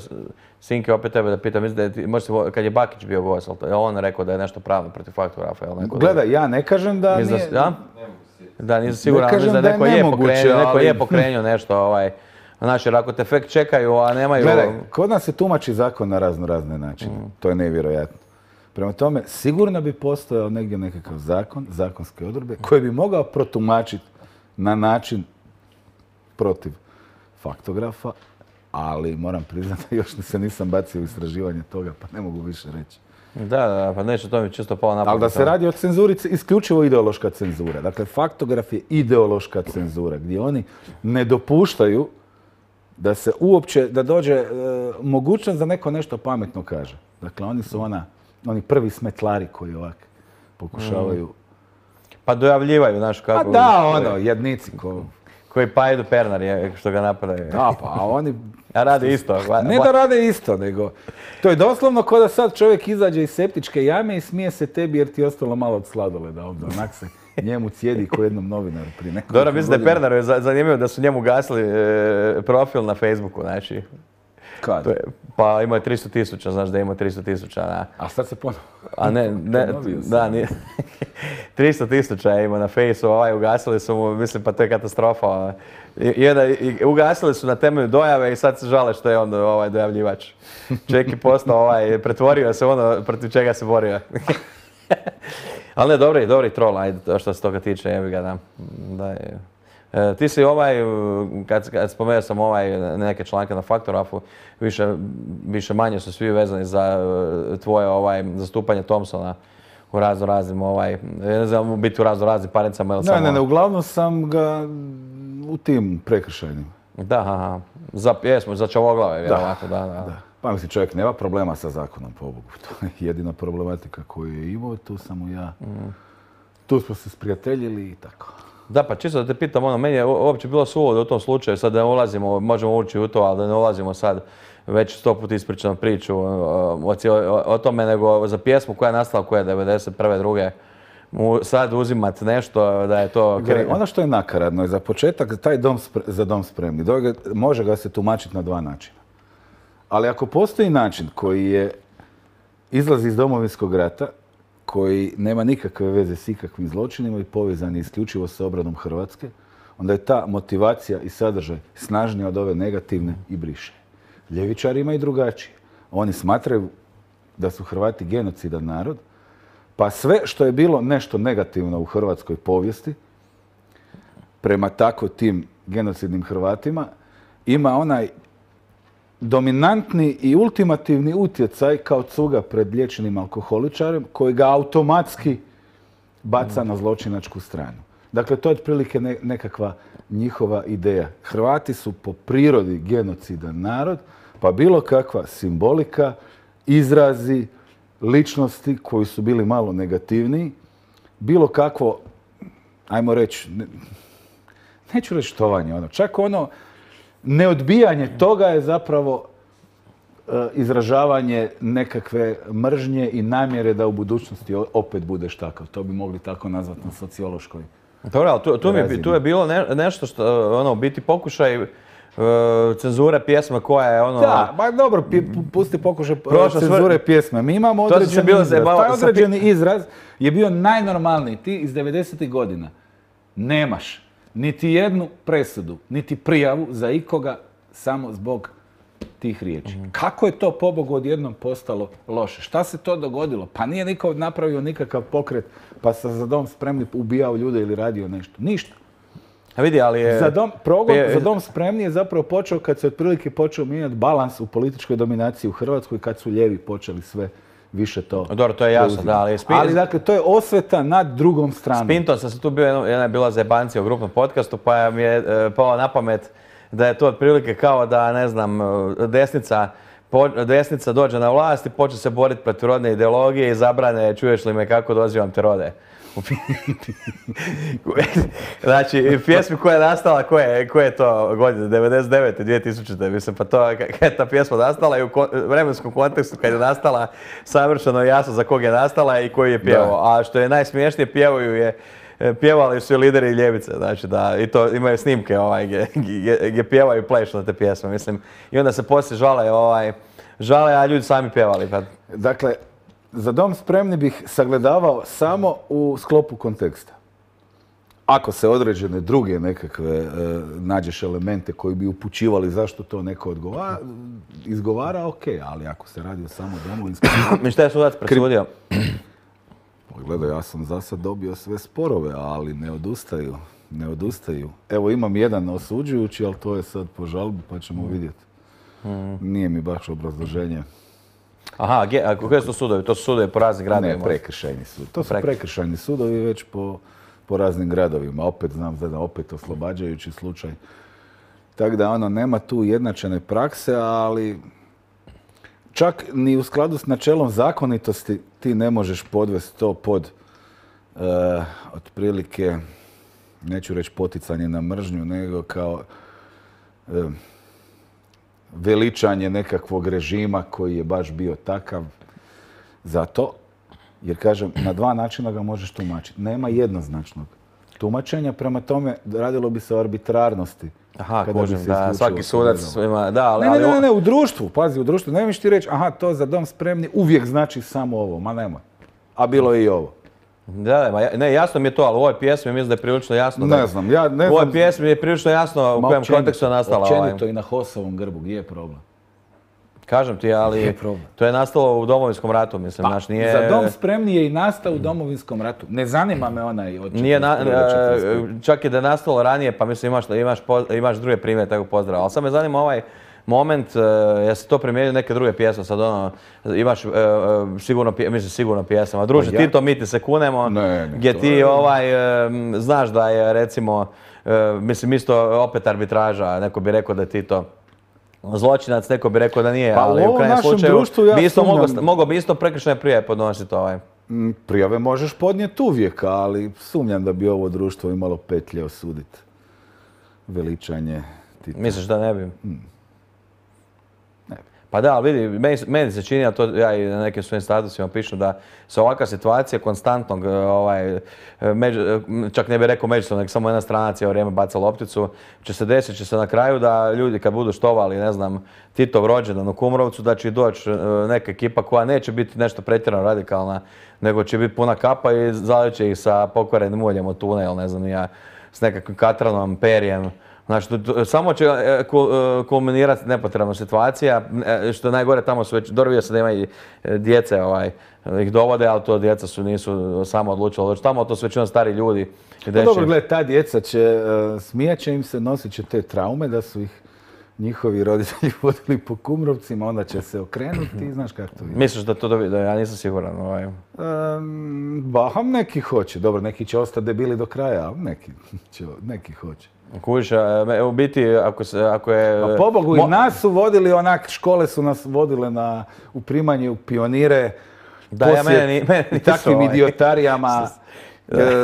Sinke, opet tebe da pitam, mislim da je, možda kad je Bakić bio gost, je on rekao da je nešto pravno protiv faktografa, jel neko? Gledaj, ja ne kažem da nije... Ja? Da, nisam siguran, ne kažem mislim da neko ali... je pokrenuo nešto, Znači, jer ako te fakt čekaju, a nemaju... Gledaj, kod nas se tumači zakon na razne načine. To je nevjerojatno. Prema tome, sigurno bi postojao negdje nekakav zakon, zakonske odredbe, koji bi mogao protumačiti na način protiv faktografa, ali moram priznati da još se nisam bacio u istraživanje toga, pa ne mogu više reći. Da, pa neće, to mi čisto palo na pamet. Ali da se radi o cenzuri, isključivo ideološka cenzura. Dakle, faktograf je ideološka cenzura, gdje oni ne dopuštaju da se uopće, da dođe mogućnost da neko nešto pametno kaže. Dakle, oni su oni prvi smetlari koji ovak pokušavaju... Pa dojavljivaju, znaš kako... A da, jednici koji Pajdu Pernar je, što ga napadaju. Da, pa oni... A rade isto. Ne da rade isto, nego... To je doslovno kao da sad čovjek izađe iz septičke jame i smije se tebi jer ti je ostalo malo od sladoleda ovdje. Onak se njemu cijedi ko jednom novinaru prije nekoliko godina. Dobro, mislim da je Pernaru zanimljivo da su njemu gasili profil na Facebooku, znači... Kad? Pa imao je 300.000, znaš da je imao 300.000, da. A sad se ponovno... A ne, da, nije. 300.000 je imao na Fejsu, ugasili su mu, mislim, pa to je katastrofa. Ugasili su na temelju dojave i sad se žale što je on dojavljivač. Čovjek je postao, pretvorio se ono protiv čega se borio. Ali ne, dobri troll, ajde, što se toga tiče, jebi ga, da. Ti si kad spomenuo sam neke članke na Faktografu, više manje su svi vezani za tvoje zastupanje Thompsona u raznoraznim, ne znam, biti u raznoraznim parnicama ili samo... Ne, uglavnom sam ga u tim prekršajnim. Da, za pjesmu, za Čavoglave, vjerovatno, da. Pa mislim, čovjek nema problema sa zakonom, pobogu. To je jedina problematika koju je imao, tu sam mu ja... Tu smo se sprijateljili i tako. Da, pa čisto da te pitam, meni je uopće bilo suludo u tom slučaju, sad da ne ulazimo, možemo ući u to, ali da ne ulazimo sad već 100 puta ispričanu priču o tome, nego za pjesmu koja je nastala, koja je 91. druge, sad uzimat nešto da je to... Ono što je nakaradno je za početak taj za dom spremni. Može ga se tumačiti na dva načina. Ali ako postoji način koji izlazi iz Domovinskog rata, koji nema nikakve veze s ikakvim zločinima i povezan je isključivo sa obranom Hrvatske, onda je ta motivacija i sadržaj snažnija od ove negativne i briše. Ljevičari imaju drugačije. Oni smatraju da su Hrvati genocidan narod, pa sve što je bilo nešto negativno u hrvatskoj povijesti, prema tako tim genocidnim Hrvatima, ima onaj dominantni i ultimativni utjecaj kao cuga pred liječenim alkoholičarem koji ga automatski baca na zločinačku stranu. Dakle, to je otprilike nekakva njihova ideja. Hrvati su po prirodi genocidan narod, pa bilo kakva simbolika, izrazi, ličnosti koji su bili malo negativniji, bilo kakvo, ajmo reći, neću reći štovanje, čak neodbijanje toga je zapravo izražavanje nekakve mržnje i namjere da u budućnosti opet budeš takav. To bi mogli tako nazvati na sociološkoj Dobro, ali tu je bilo nešto što, biti pokušaj cenzure pjesme koja je Da, ba dobro, pusti pokušaj cenzure pjesme. Mi imamo određeni izraz. Taj određeni izraz je bio najnormalniji. Ti iz 90. godina nemaš niti jednu presudu, niti prijavu za ikoga samo zbog tih riječi. Kako je to, pobogu, odjednom postalo loše? Šta se to dogodilo? Pa nije niko napravio nikakav pokret, pa sa Za dom spremni ubijao ljude ili radio nešto. Ništa. A vidi, ali je... Za dom spremni je zapravo počeo kad se otprilike počeo mijenjati balans u političkoj dominaciji u Hrvatskoj, kad su lijevi počeli sve više to... Dobro, to je jasno, da, ali... Ali dakle, to je osveta nad drugom stranom. S Pintom sam se tu bio, jedna je bila zebancija u grupnom podcastu, pa mi je palo na pamet da je to otprilike kao da, ne znam, desnica dođe na vlast i počne se boriti protiv rodne ideologije i zabrane čuješ li me kako dozivam te rode. Znači, pjesmi koja je nastala, koje je to godine, 99. 2000. Mislim, pa to, kada je ta pjesma nastala i u vremenskom kontekstu kad je nastala, savršeno jasno za kog je nastala i koji je pjevao. A što je najsmiješnije, pjevaju je pjevali su i lideri ljevice, znači da, i to imaju snimke gdje pjevaju i plešu na te pjesme, mislim. I onda se poslije žale, a ljudi sami pjevali. Pa. Dakle, Za dom spremni bih sagledavao samo u sklopu konteksta. Ako se određene druge nekakve nađeš elemente koji bi upućivali zašto to neko izgovara, ok, ali ako se radi o samo domovinskom... Mi šta je sudac presudio? Gledaj, ja sam za sad dobio sve sporove, ali ne odustaju. Evo, imam jedan osuđujući, ali to je sad po žalbi, pa ćemo vidjeti. Nije mi baš obrazloženje. Aha, a koje su to sudovi? To su sudovi po raznim gradovima? Ne, prekršajni sud. To su prekršajni sudovi već po raznim gradovima. Opet znam da opet oslobađajući slučaj. Tako da nema tu ujednačene prakse, ali čak ni u skladu s načelom zakonitosti ti ne možeš podvesti to pod otprilike, neću reći poticanje na mržnju, nego kao veličanje nekakvog režima koji je baš bio takav. Zato, jer kažem, na dva načina ga možeš tumačiti. Nema jednoznačnog tumačenja, prema tome radilo bi se o arbitrarnosti. Aha, kužim, da, svaki sudac ima, da, ali... Ne, u društvu, pazi, u društvu. Ne miš ti reći, aha, to za dom spremni uvijek znači samo ovo, ma nema. A bilo je i ovo. Da, ne, jasno mi je to, ali u ovoj pjesmi mislim da je prilično jasno. Ne znam, ja ne znam. U ovoj pjesmi je prilično jasno u kojem kontekstu je nastala. Općenito i na HOS-ovom grbu, gdje je problem? Kažem ti, ali to je nastalo u Domovinskom ratu, mislim, znaš, nije... Za dom spremni je i nastao u Domovinskom ratu. Ne zanima me onaj od 45. Čak i da je nastalo ranije, pa mislim imaš druge primjere takvog pozdrava. Ali sad me zanima ovaj moment, ja se to primijenio neke druge pjesme, sad imaš sigurno pjesama. Druže, Tito, mi ti se kunemo, gdje ti znaš da je recimo, mislim isto opet arbitraža, neko bi rekao da je Tito zločinac, neko bi rekao da nije, ali u krajnjem slučaju mogao bi isto prekršajne prijave podnositi Prijave možeš podnijeti uvijek, ali sumnjam da bi ovo društvo imalo petlje osuditi veličanje Tita. Misliš da ne bi? Pa da, ali vidi, meni se čini, a to ja i na nekim svojim statusima pišu, da se ovakva situacija konstantnog, čak ne bih rekao međusobno, nego samo jedna strana cijelo vrijeme baca lopticu, će se na kraju da ljudi kad budu štovali, ne znam, Titov rođendan u Kumrovcu, da će doći neka ekipa koja neće biti nešto pretjerano radikalna, nego će biti puna kapa i zalit će ih sa pokvarenim uljem od tune, ili ne znam ja, s nekakvim katranom, perjem. Znači, samo će kulminirati nepotrebna situacija, što je najgore, tamo su već, dobro se da ima i djece, ih dovode, ali to djeca nisu samo odlučila, tamo to su većinom stari ljudi. Dobro, gledaj, ta djeca će, smijat će im se, nosit će te traume da su ih njihovi roditelji vodili po Kumrovcima, onda će se okrenuti i znaš kako to ide. Misliš da to da ja nisam siguran? Neki hoće, dobro, neki će ostati debili do kraja, ali neki hoće. Kužiš, u biti, ako je... Pa pobogu, i nas su vodili onak, škole su nas vodile u primanje u pionire, takvim idiotarijama,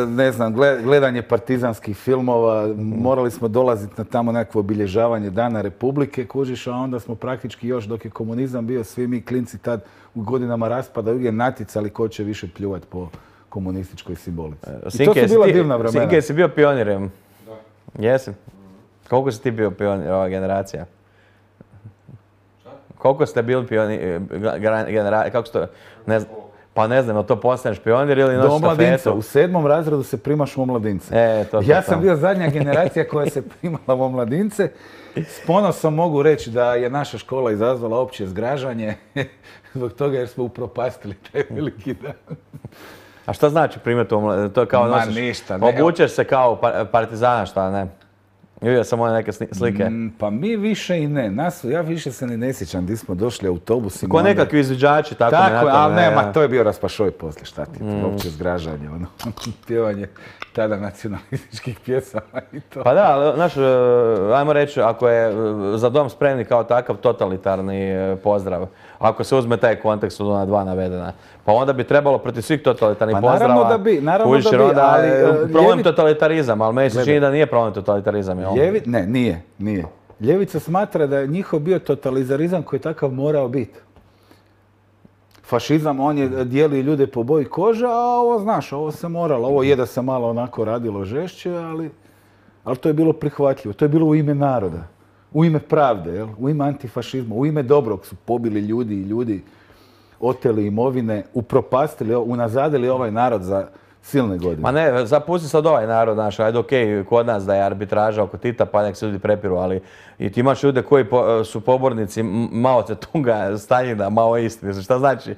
ne znam, gledanje partizanskih filmova, morali smo dolaziti na tamo nekakvo obilježavanje Dana Republike, kužiš, a onda smo praktički još dok je komunizam bio, svi mi klinci tad u godinama raspada uvijek natjecali ko će više pljuvati po komunističkoj simbolici. I to su bila divna vremena. Sinke, si bio pionirem? Jesi. Koliko si ti bio pionir, ova generacija? Šta? Koliko ste bili pionir, generacija, kako se to, ne znam, pa ne znam, je li to postaneš pionir ili nosiš štafetu? U 7. razredu se primaš u omladince. Ja sam bio zadnja generacija koja se primala u omladince. S ponosom mogu reći da je naša škola izazvala opće zgražanje zbog toga jer smo upropastili taj veliki dan. A šta znači primati u omladince? To kao nosiš, ništa. obučeš se kao partizana, šta ne? Vidio sam one neke slike. Pa mi više i ne. Ja više se ne sjećam gdje smo došli autobusima. Ko nekakvi izviđači, tako ali nema, to je bio raspašoj poslije, šta ti, uopće zgražanje, pjevanje tada nacionalističkih pjesama i to. Pa da, ali, znaš, ajmo reći, ako je za dom spremni kao takav totalitarni pozdrav, ako se uzme taj kontekst od ona dva navedena, pa onda bi trebalo protiv svih totalitarnih pozdrava... Naravno da bi, ali... Problem totalitarizam, ali meni se čini da nije problem totalitarizam, jel? Ne, nije. Ljevica smatra da je njihov bio totalitarizam koji je takav morao biti. fašizam, on je dijeli ljude po boji kože, a ovo, znaš, ovo se moralo, ovo je da se malo onako radilo žešće, ali to je bilo prihvatljivo, to je bilo u ime naroda, u ime pravde, jel? U ime antifašizma, u ime dobrog su pobili ljudi i ljudi oteli imovine, upropastili, unazadili ovaj narod za silne godine. Ma ne, zapusti sad ovaj narod, znaš, ajde okej, kod nas da je arbitraža oko Tita, pa nek se ljudi prepiru, ali i ti imaš ljude koji su pobornici Mao Tse-tunga, Staljina, Maoisti, mislim, šta znači?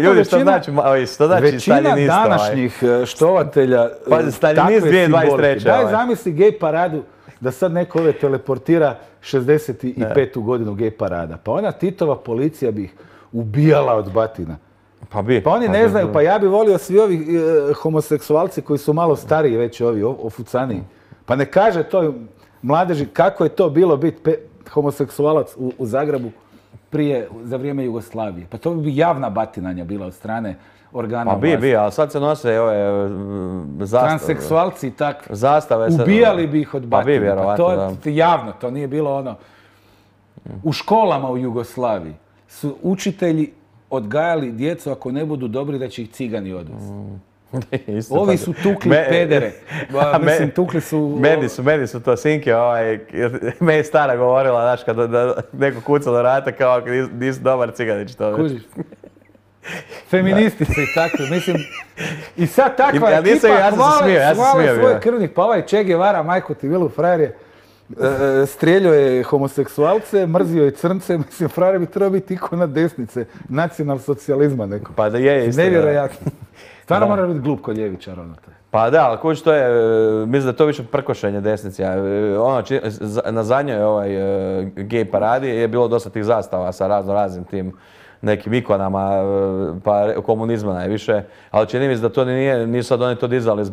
Ljudi, šta znači Maoist, šta znači Staljinista? Većina današnjih štovatelja Staljinist 2023. Daj zamisli gej paradu, da sad neko ove teleportira 65. godinu gej parada. Pa ona Titova policija bi ih ubijala od batina. Pa oni ne znaju, pa ja bi volio svi ovi homoseksualci koji su malo stariji već ovi, ofucaniji. Pa ne kaže toj mladeži kako je to bilo biti homoseksualac u Zagrebu za vrijeme Jugoslavije. Pa to bi javna batinanja bila od strane organa vlasti. Pa bi, ali sad se nose ove zastave. Transseksualci i takvi. Zastave se... Ubijali bi ih od batina. Pa bi, vjerovatno, da. To javno, to nije bilo ono... U školama u Jugoslaviji su učitelji odgajali djecu ako ne budu dobri da će ih cigani odvesti. Ovi su tukli pedere. Mislim, tukli su... Meni su to sinke, meni je stara govorila, znaš, kad neko kuca do vrata kao ako nisi dobar ciganić. Kužiš. Feministi su i takvi, mislim... I sad takva ekipa hvale svoj krvnik, pa ovaj Che Guevara, majko ti vilu, frajer je strijeljao je homoseksualce, mrzio je crnce, mislim, frajer bi trebao biti ikona desnice, nacionalsocijalizma neko. Pa da je isto. Nevjerojatno. Stvarno mora biti glup kod ljevičara. Pa da, ali kući to je, mislim da je to više prkošenje desnice. Na zadnjoj gej paradi je bilo dosta tih zastava sa raznim tim nekim ikonama, pa komunizma najviše, ali čini mi se da to nisu sad oni to dizali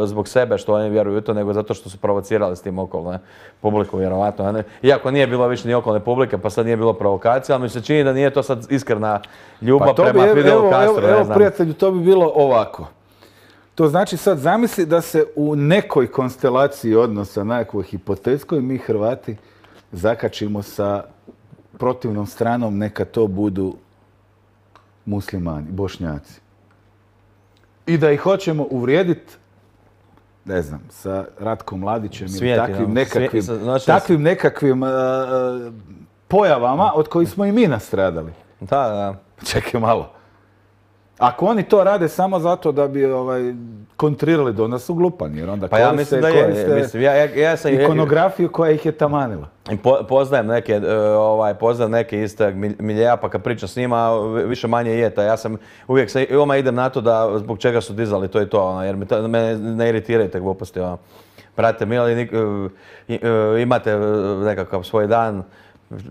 zbog sebe što oni vjeruju u to, nego zato što su provocirali s tim okolne publiku, vjerovatno. Iako nije bilo više ni okolne publike, pa sad nije bilo provokacija, ali mi se čini da nije to sad iskrena ljubav prema Fidelu Castru. Evo, prijatelju, to bi bilo ovako. To znači sad zamisli da se u nekoj konstelaciji odnosa, nekakvoj hipotetskoj, mi Hrvati zakačimo sa protivnom stranom, neka to budu muslimani, Bošnjaci. I da ih hoćemo uvrijediti, ne znam, sa Ratkom Mladićem ili takvim nekakvim pojavama od kojih smo i mi nastradali. Da. Čekaj malo. Ako oni to rade samo zato da bi kontrirali do nas su glupani, jer onda koriste ikonografiju koja ih je tamanila. Poznajem neke istog miljeja, pa kad pričam s njima, više manje je ta. Ja sam uvijek idem na to da zbog čega su dizali to i to, jer me ne iritiraju te gluposti. Brate mili, imate nekakav svoj dan,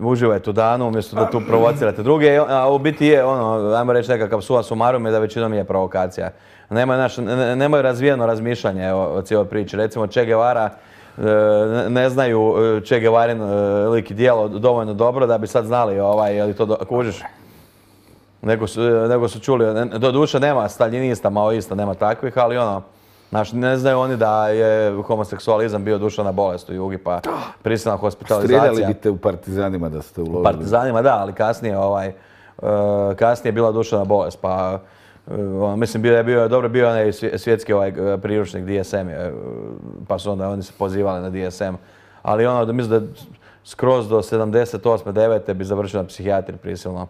uživajte u danu umjesto da tu provocirate druge, a u biti je ajmo reći nekakav sua sumarum je da većinom je provokacija. Nemaju razvijeno razmišljanje o cijeloj priči. Recimo Che Guevara ne znaju Che Guevarin lik i djelo dovoljno dobro da bi sad znali je li to kužiš. Nego su čuli, doduše nema staljinista, maoista, nema takvih, ali ne znaju oni da je homoseksualizam bio duševna bolest u Jugi, pa prisilna hospitalizacija. Strijeljali biste u partizanima da ste ulovili. Partizanima da, ali kasnije je bila duševna bolest, pa mislim bio onaj svjetski priručnik DSM, pa su onda oni se pozivali na DSM, ali mislim da skroz do 78. 9. bi završio na psihijatriji prisilno.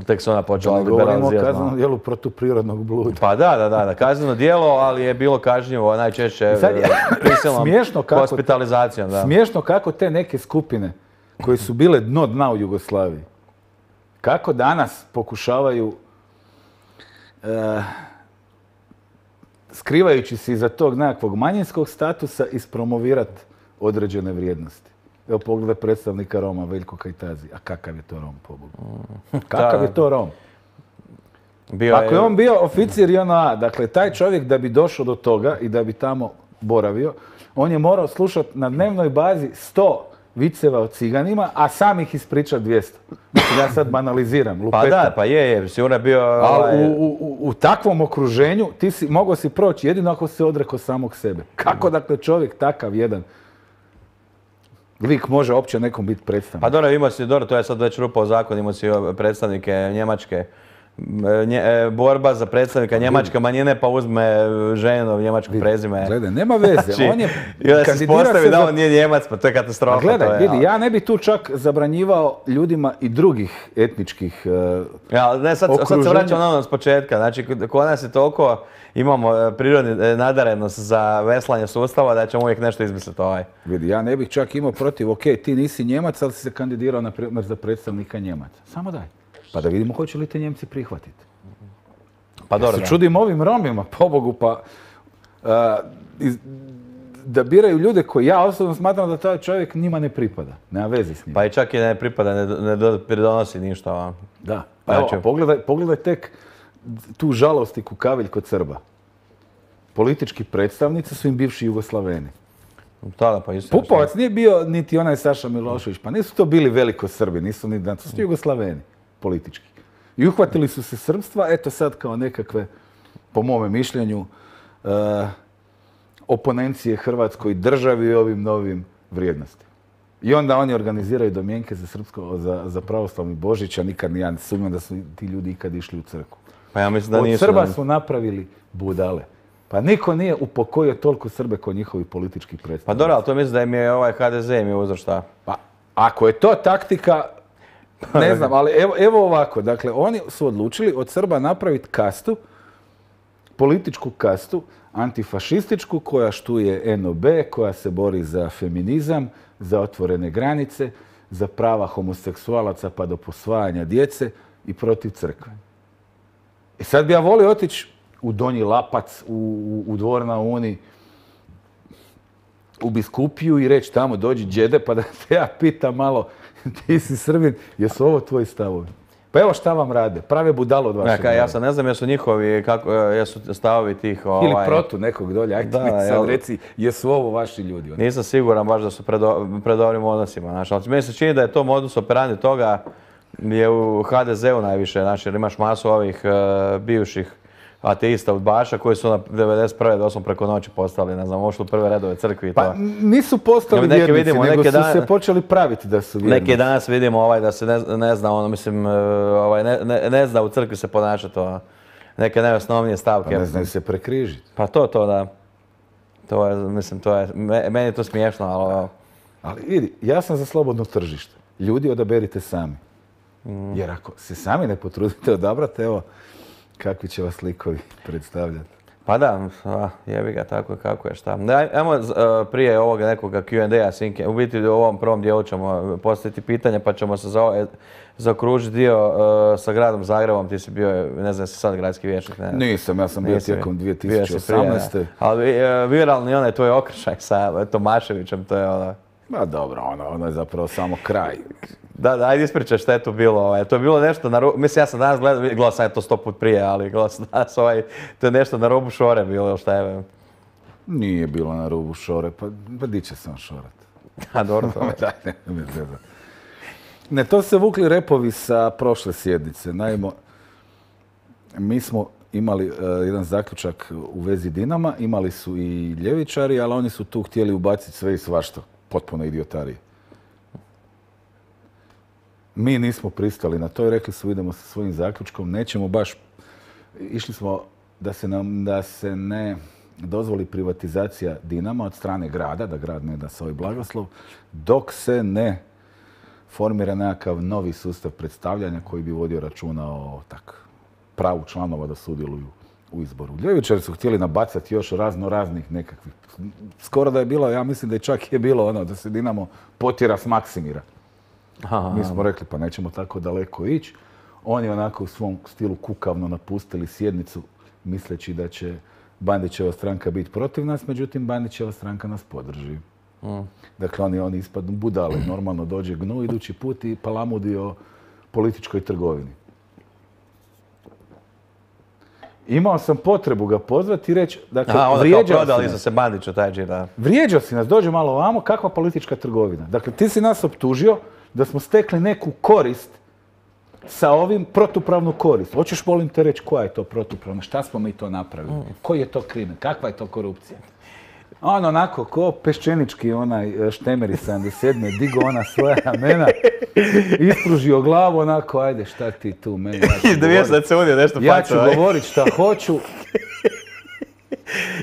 Tek se ona počela liberalizirati. Govorimo o kaznenom djelu protuprirodnog bluda. Pa da, kazneno djelo, ali je bilo kažnjivo najčešće prisilnom hospitalizacijom. Smiješno kako te neke skupine koje su bile dno dna u Jugoslaviji, kako danas pokušavaju, skrivajući se iza tog nekakvog manjinskog statusa, ispromovirati određene vrijednosti. Evo pogledaj predstavnika Roma, Veljko Kajtazi. A kakav je to Rom, pobogu? Kakav je to Rom? Ako je on bio oficir JNA, dakle taj čovjek da bi došao do toga i da bi tamo boravio, on je morao slušati na dnevnoj bazi 100 viceva o ciganima, a sam ih ispričati 200. Mislim, ja sad banaliziram, lupetam. Pa da, pa je, sigurno je bio... Ali u takvom okruženju ti mogao si proći jedino ako si odrekao samog sebe. Kako dakle čovjek takav jedan lik može uopće nekom biti predstavnik? Pa dobro, to je sad već rupa u zakon, imao si predstavnike Njemačke borba za predstavnika njemačke manjine pa uzme ženu njemačko prezime. Gledaj, nema veze. On je i onda se ispostavi da on nije Njemac, pa to je katastrofa. Gledaj, vidi, ja ne bi tu čak zabranjivao ljudima i drugih etničkih sad se vraćam na ono s početka. Znači, kod nas je toliko, imamo prirodni nadarenost za veslanje sustava da ćemo uvijek nešto izmisliti Vidi, ja ne bih čak imao protiv, ok, ti nisi Njemac, ali si se kandidirao na primjer za predstavnika Njemaca. Samo daj. Pa da vidimo hoće li te Njemci prihvatiti. Pa dobro, ja se čudim ovim Romima, pobogu, pa da biraju ljude koji ja osobno smatram da taj čovjek njima ne pripada. Nema veze s njim. Pa i čak i ne pripada, ne pridonosi ništa. Da. Pa evo, pogledaj tek tu žalost i kukaviljko Srba. Politički predstavnici su im bivši Jugoslaveni. Pupovac nije bio niti onaj Saša Milošević, pa nisu to bili veliko Srbi, nisu ni to su Jugoslaveni politički. I uhvatili su se srpstva, eto sad kao nekakve, po mome mišljenju, oponencije Hrvatskoj državi i ovim novim vrijednostima. I onda oni organiziraju domjenke za pravoslavni Božić, a nikad ja ne sumnjam da su ti ljudi ikad išli u crkvu. Pa ja mislim da nisu. Od Srba su napravili budale. Pa niko nije upokojio toliko Srbe kao njihovi politički predstavnici. Pa dobro, ali to mislim da im je HDZ im je uzor šta? Pa ako je to taktika, ne znam, ali evo ovako. Dakle, oni su odlučili od Srba napraviti kastu, političku kastu, antifašističku, koja štuje NOB, koja se bori za feminizam, za otvorene granice, za prava homoseksualaca pa do posvajanja djece i protiv crkve. I sad bi ja volio otići u Donji Lapac, u Dvor na Uni, u Biskupiju i reći tamo dođi džede pa da te ja pitam malo, ti si Srbin, jesu ovo tvoji stavovi? Pa evo šta vam rade, prave budalo od vašeg naroda. Ja sad ne znam jesu njihovi, jesu stavovi tih... Ili protu nekog dolje, ajde mi sad reci, jesu ovo vaši ljudi? Nisam siguran baš da su pred dobrim odnosima. Meni se čini da je to modus operandi toga je u HDZ-u najviše, jer imaš masu ovih bivših ateista udbaša koji su na 91. doslovno preko noći postali, ne znam, ušli u prve redove crkvi i to. Pa nisu postali vjernici, nego su se počeli praviti da su vjernici. Neki danas vidimo da se ne zna, mislim, ne zna u crkvi se ponašati neke najosnovnije stavke. Pa ne znaju se prekrižiti. Pa to da. To je, mislim, meni je to smiješno, ali... Ali vidi, ja sam za slobodno tržište. Ljudi odaberite sami. Jer ako se sami ne potrudite odabrati, evo, kakvi će vas likovi predstavljati? Pa da, jebi ga tako kako je šta. Ajmo prije ovoga nekoga Q&A, Sinke, u biti u ovom prvom dijelu ćemo postaviti pitanje pa ćemo se zaokružiti dio sa gradom Zagrebom. Ti si bio, ne znam, si sad gradski vijećnik, ne? Nisam, ja sam bio tijekom 2018. Ali viralni onaj tvoj okršaj sa Tomaševićem, to je ono... Ma dobro, ono je zapravo samo kraj. Da, ajde ispričaj šta je to bilo. To je bilo nešto na rubu, mislim ja sam danas gledao sam je to 100 put prije, ali gledao sam danas to je nešto na rubu šore bilo, šta je? Nije bilo na rubu šore, pa di će sam šorat? A dobro to je. Ne, to se vukli repovi sa prošle sjednice. Naime, mi smo imali jedan zaključak u vezi Dinama, imali su i ljevičari, ali oni su tu htjeli ubaciti sve i svašta. Potpuno idiotarije. Mi nismo pristali na to i rekli su idemo sa svojim zaključkom, nećemo baš, išli smo da se ne dozvoli privatizacija Dinama od strane grada, da grad ne da svoj blagoslov, dok se ne formira nekakav novi sustav predstavljanja koji bi vodio računa o pravu članova da sudjeluju u izboru. Ljevičari su htjeli nabacati još raznih nekakvih. Skoro da je bilo, ja mislim da je čak je bilo ono da se Dinamo potjera s Maksimira. Mi smo rekli pa nećemo tako daleko ići. Oni onako u svom stilu kukavno napustili sjednicu misleći da će Bandićeva stranka biti protiv nas, međutim Bandićeva stranka nas podrži. Dakle, oni ispadnu budale. Normalno dođe Gnu idući put i palamudi o političkoj trgovini. Imao sam potrebu ga pozvati i reći, dakle, vrijeđao si nas. Se Bandiću, taj da. Vrijeđao si nas, dođe malo ovamo, kakva politička trgovina. Dakle, ti si nas optužio da smo stekli neku korist sa ovim, protupravnu korist. Hoćeš, molim te reći, koja je to protupravna? Šta smo mi to napravili? Koji je to krimen? Kakva je to korupcija? On onako, ko peščenički onaj Štemeri 77. digo ona svoja ramena, ispružio glavu onako, ajde šta ti tu meni, ja ću govorit šta hoću.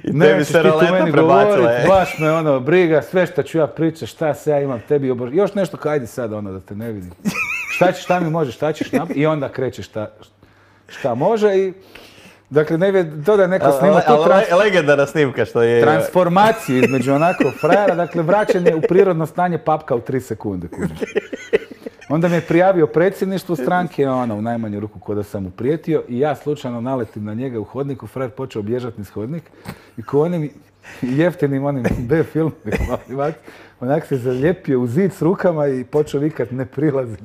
Nećeš ti tu meni govorit, baš me ono briga, sve što ću ja pričati, šta se ja imam tebi obožiti. Još nešto kao, ajde sad ono da te ne vidim. Šta mi može, šta ćeš napraviti? I onda kreće šta može i... Dakle, to da je neko snima tu legendarna snimka što je... transformaciju između onako frajera, dakle vraćanje u prirodno stanje papka u 3 sekunde. Onda me je prijavio predsjedništvo stranke, u najmanju ruku ko da sam mu prijetio i ja slučajno naletim na njega u hodniku, frajer počeo bježati niz hodnik i ko onim jeftinim onim B-filmima, onak se zalijepio u zid s rukama i počeo vikat ne prilazi.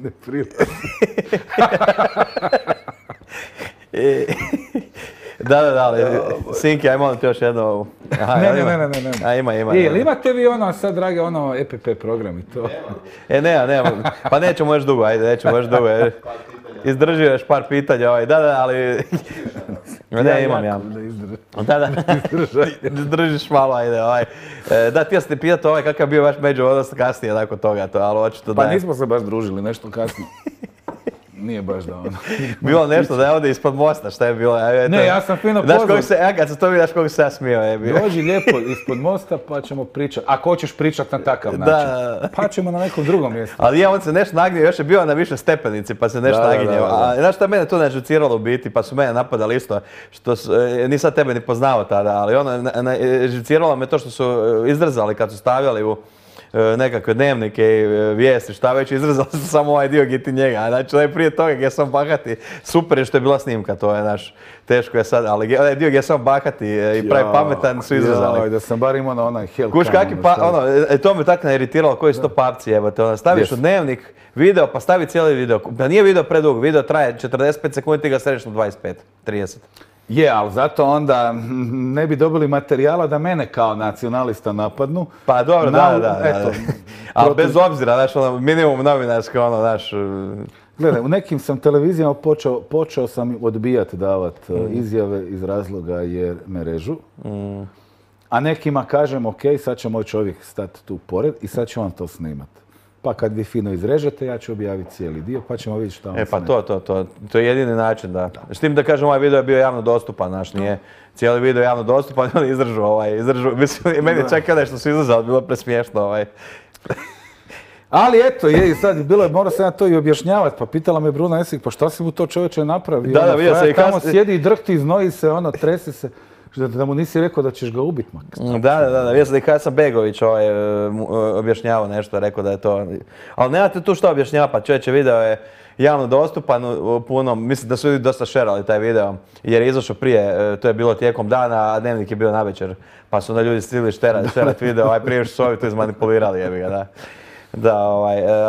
Da, Sinki, aj molim ti još jedno. Ne. Ima. Jel imate vi sad, drage, EPP program i to? Nema. Pa nećemo još dugo, Izdrži još par pitanja, ali... Ne, imam ja. Da. Izdržiš malo, ajde, Da, ti ja sam te pitati kakav je bio vaš međuodnos kasnije nakon toga, ali očito da... Pa nismo se baš družili, nešto kasnije. Nije baš da ono. Bilo nešto da je ovdje ispod mosta, šta je bilo? Ne, ja sam fino pozvao. Kad sam to vidio, znaš koga se ja smio. Dođi lijepo ispod mosta pa ćemo pričati. Ako hoćeš pričati na takav način, pa ćemo na nekom drugom mjestu. Ali on se nešto nagnio, još je bio na više stepenici pa se nešto naginjao. A znaš šta mene tu nažuciralo u biti, pa su mene napadali isto, što nisam tebe ni poznao tada, ali žuciralo me to što su izrezali kad su stavljali u nekakve dnevnike i vijesti, šta već, izrezali su samo ovaj dio gdje ti njega. Znači, prije toga gdje sam bahati, super je što je bila snimka, to je naš, teško je sad, ali onaj dio gdje sam bahati i pravi pametan su izrezali. Da sam bar imao na onaj Hellcam. Kuš kaki to me tako nairitiralo, koji su to papci, evo te, staviš u dnevnik video, pa stavi cijeli video, da nije video predug, video traje 45 sekundi, ti ga središ na 25, 30. Je, ali zato onda ne bi dobili materijala da mene kao nacionalista napadnu. Pa dobro, da. Ali bez obzira, znaš, minimum novinarske, znaš... Gledaj, u nekim sam televizijama počeo sam odbijati davati izjave iz razloga jer me režu. A nekima kažem, ok, sad će moj čovjek stati tu pored i sad će on to snimati. Pa kad vi fino izrežete, ja ću objaviti cijeli dio, pa ćemo vidjeti šta on pa to je jedini način, da. S tim da kažem, ovaj video je bio javno dostupan, znaš, nije cijeli video javno dostupan, on je izdržao, mislim, meni čak kada što su izlazali, bilo presmiješno, Ali eto, i sad bilo je, morao sam ja to i objašnjavati, pa pitala me Bruna Esih, pa šta si mu to čovječe napravio? Da, vidio sam i tamo sjedi i drhti, znoji se, trese se. Da mu nisi rekao da ćeš ga ubiti, mak. Da, vidio sam da i Hasan Begović objašnjavao nešto, rekao da je to... Ali nemate tu što objašnjavati, pa čovječe, video je javno dostupan u punom, mislim da su ljudi dosta šerali taj video, jer je izašao prije, to je bilo tijekom dana, a dnevnik je bio navečer, pa su onda ljudi stigli šerati video, prije što su ovi to izmanipulirali, jebi ga, da.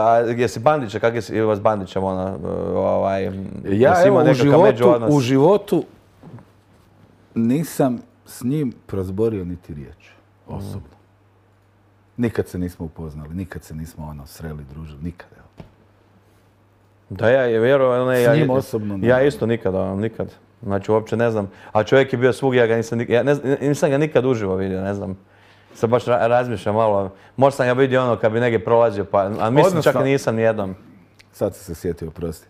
A jesi Bandića, kak je vas Bandićem, ja evo u životu nisam s njim prozborio niti riječ, osobno. Nikad se nismo upoznali, nikad se nismo sreli, družili, nikad. Da, ja vjerujem, s njim osobno ne. Ja isto nikad. Znači, uopće ne znam. A čovjek je bio svugdje, ja ga nisam ga nikad uživo vidio, ne znam. Sad baš razmišljam malo. Možda sam ga vidio kad bi negdje prolazio, a mislim čak nisam nijednom. Sad sam se sjetio, prosti.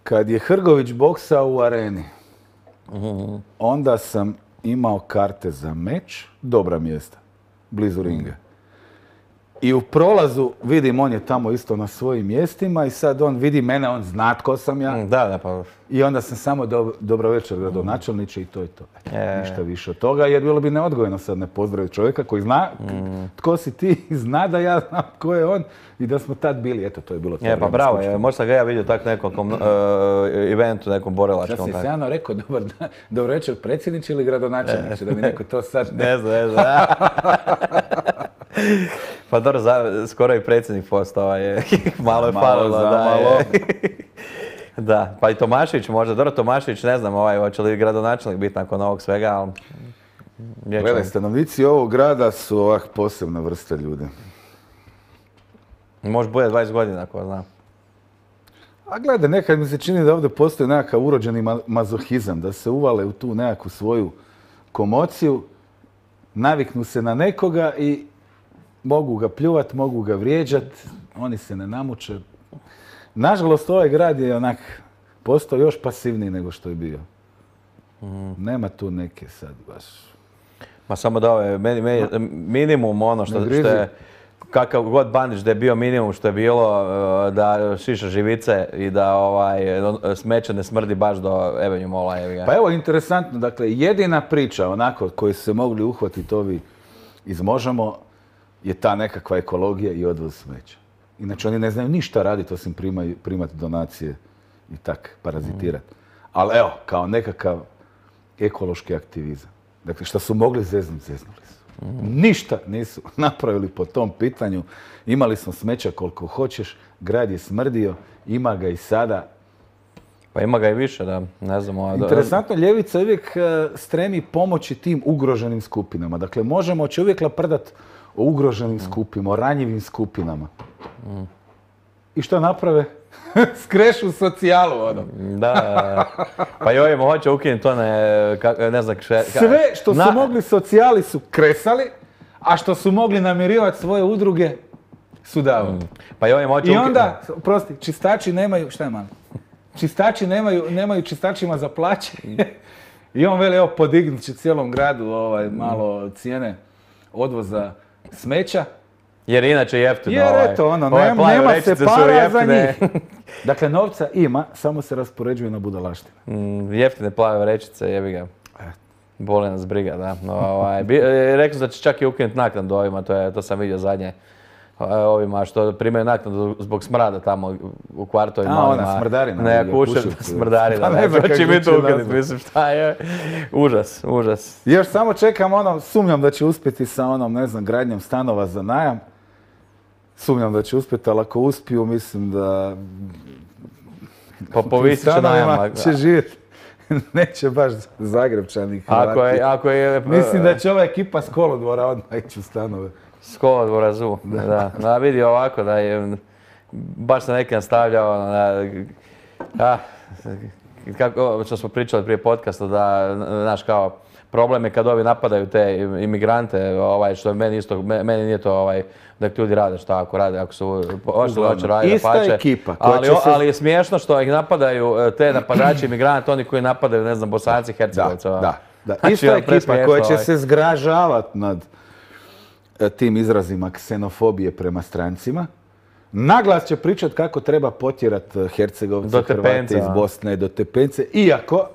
Kad je Hrgović boksao u areni, onda sam imao karte za meč, dobra mjesta, blizu ringa. I u prolazu vidim, on je tamo isto na svojim mjestima i sad on vidi mene, on zna tko sam ja. Da, pa... I onda sam samo dobro večer gradonačelniče i to je to. Ništa više od toga, jer bilo bi neodgojno sad ne pozdraviti čovjeka koji zna tko si ti i zna da ja znam tko je on i da smo tad bili. Eto, to je bilo to. Pa bravo, možda sam ga ja vidio tako nekom eventu, nekom borilačkom. Sad si se Jano rekao, dobro večer, predsjedniče ili gradonačelniče, da mi neko to sad ne znam. Pa dobro, skoro i predsjednik postao je, malo je falilo, da. Da, pa i Tomašević možda, dobro Tomašević, ne znam, hoće li gradonačelnik biti nakon ovog svega, ali... Gledaj, stanovnici ovog grada su ovak posebna vrsta ljudi. Može bude 20 godina, ko zna. A gledaj, nekad mi se čini da ovdje postoji nekakav urođeni mazohizam, da se uvale u tu nekakvu svoju komociju naviknu se na nekoga i mogu ga pljuvat, mogu ga vrijeđat, oni se ne namuče. Nažalost, ovaj grad je onak postao još pasivniji nego što je bio. Nema tu neke sad baš... Ma samo da ovo je minimum ono što je, kakav god Bandić da je bio minimum što je bilo, da šiša živice i da smeće ne smrdi baš do Avenue Malla. Pa evo, interesantno, dakle, jedina priča onako koju su se mogli uhvatiti ovi iz Možemo je ta nekakva ekologija i odvoz smeća. Inače, oni ne znaju ništa raditi osim primati donacije i tak parazitirati. Ali evo, kao nekakav ekološki aktivizam. Dakle, što su mogli zeznuli su. Ništa nisu napravili po tom pitanju. Imali smo smeća koliko hoćeš, grad je smrdio, ima ga i sada. Pa ima ga i više, da, ne znam. Interesantno, ljevica uvijek stremi pomoći tim ugroženim skupinama. Dakle, će uvijek laprdat o ugroženim skupinama, o ranjivim skupinama. I što naprave? Skrešu socijalu, ono. Da, pa i ovim hoće ukinuti to ne znam sve što su mogli socijali su kresali, a što su mogli namirivati svoje udruge su davali. Pa i ovim hoće I onda, prosti, čistači nemaju, šta je malo? Čistači nemaju čistačima za plaće. I on veli, evo, podignut će cijelom gradu malo cijene odvoza smeća. Jer inače jeftino. Jer eto, nema se para za njih. Dakle, novca ima, samo se raspoređuje na budalaštine. Jeftine plave vrećice, jebi ga. Boli nas briga, da. Rekli su da će čak i ukinuti naknadu ovima, to sam vidio zadnje. Ovima što primaju naknadu zbog smrada tamo u kvartovima. Ona smrdarina. Ne, smrdarina. To će biti ukinuti, mislim šta je. Užas. Još samo čekam sumnjam da će uspjeti sa gradnjom stanova za najam. Sumnjam da će uspjeti, ali ako uspiju, mislim da... Pa povisit će najam. Će živjeti. Neće baš Zagrebčani. Ako je... Mislim da će ova ekipa s kolodvora odmah ići u stanove. S kolodvora ZU, da. Da, vidi ovako da je... Baš se neki nastavljao, kako što smo pričali prije podcasta, da, znaš, kao, problem je kad ovi napadaju te imigrante, što meni nije to, da ljudi rade šta ako rade, ako su hoće raditi ista pače. Ekipa. Ali je smiješno što ih napadaju te napadači imigrante, oni koji napadaju, ne znam, Bosanci, Hercegovci. Da. Ista ekipa koja će se zgražavati nad tim izrazima ksenofobije prema strancima. Naglas će pričat kako treba potjerat Hercegovce, Hrvate iz Bosne do Tepence, iako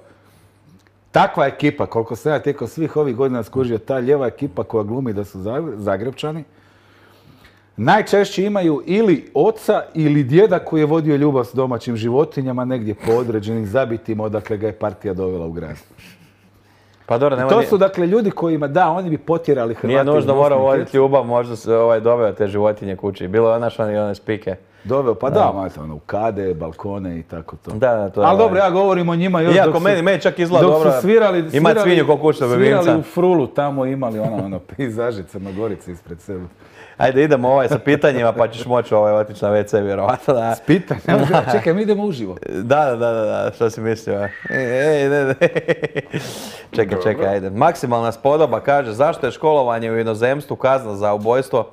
takva ekipa, koliko sam ja tijekom svih ovih godina skužio, ta lijeva ekipa koja glumi da su Zagrebčani, najčešće imaju ili oca ili djeda koji je vodio ljubav s domaćim životinjama negdje po određenim zabitima odakle ga je partija dovela u grad. Pa dobro, to su dakle ljudi kojima, da, oni bi potjerali Hrvati. Nije nužno morao voditi ljubav, možda se doveo te životinje kući. Bilo je one spike. Doveo, pa da, u kade, balkone i tako to. Da, to je. Ali dobro, ja govorim o njima još iako meni čak izgleda dobro. Dok su svirali svinju ko kućnog ljubimca. Svirali u Frulu, tamo imali pejzaži Crnogorice ispred sebe. Ajde, idemo sa pitanjima, pa ćeš moći otići na WC, vjerovatno. S pitanjima? Čekaj, mi idemo uživo. Da, što si mislio? Ne. Čekaj, ajde. Maksimalna spodoba kaže, zašto je školovanje u inozemstvu kazna za ubojstvo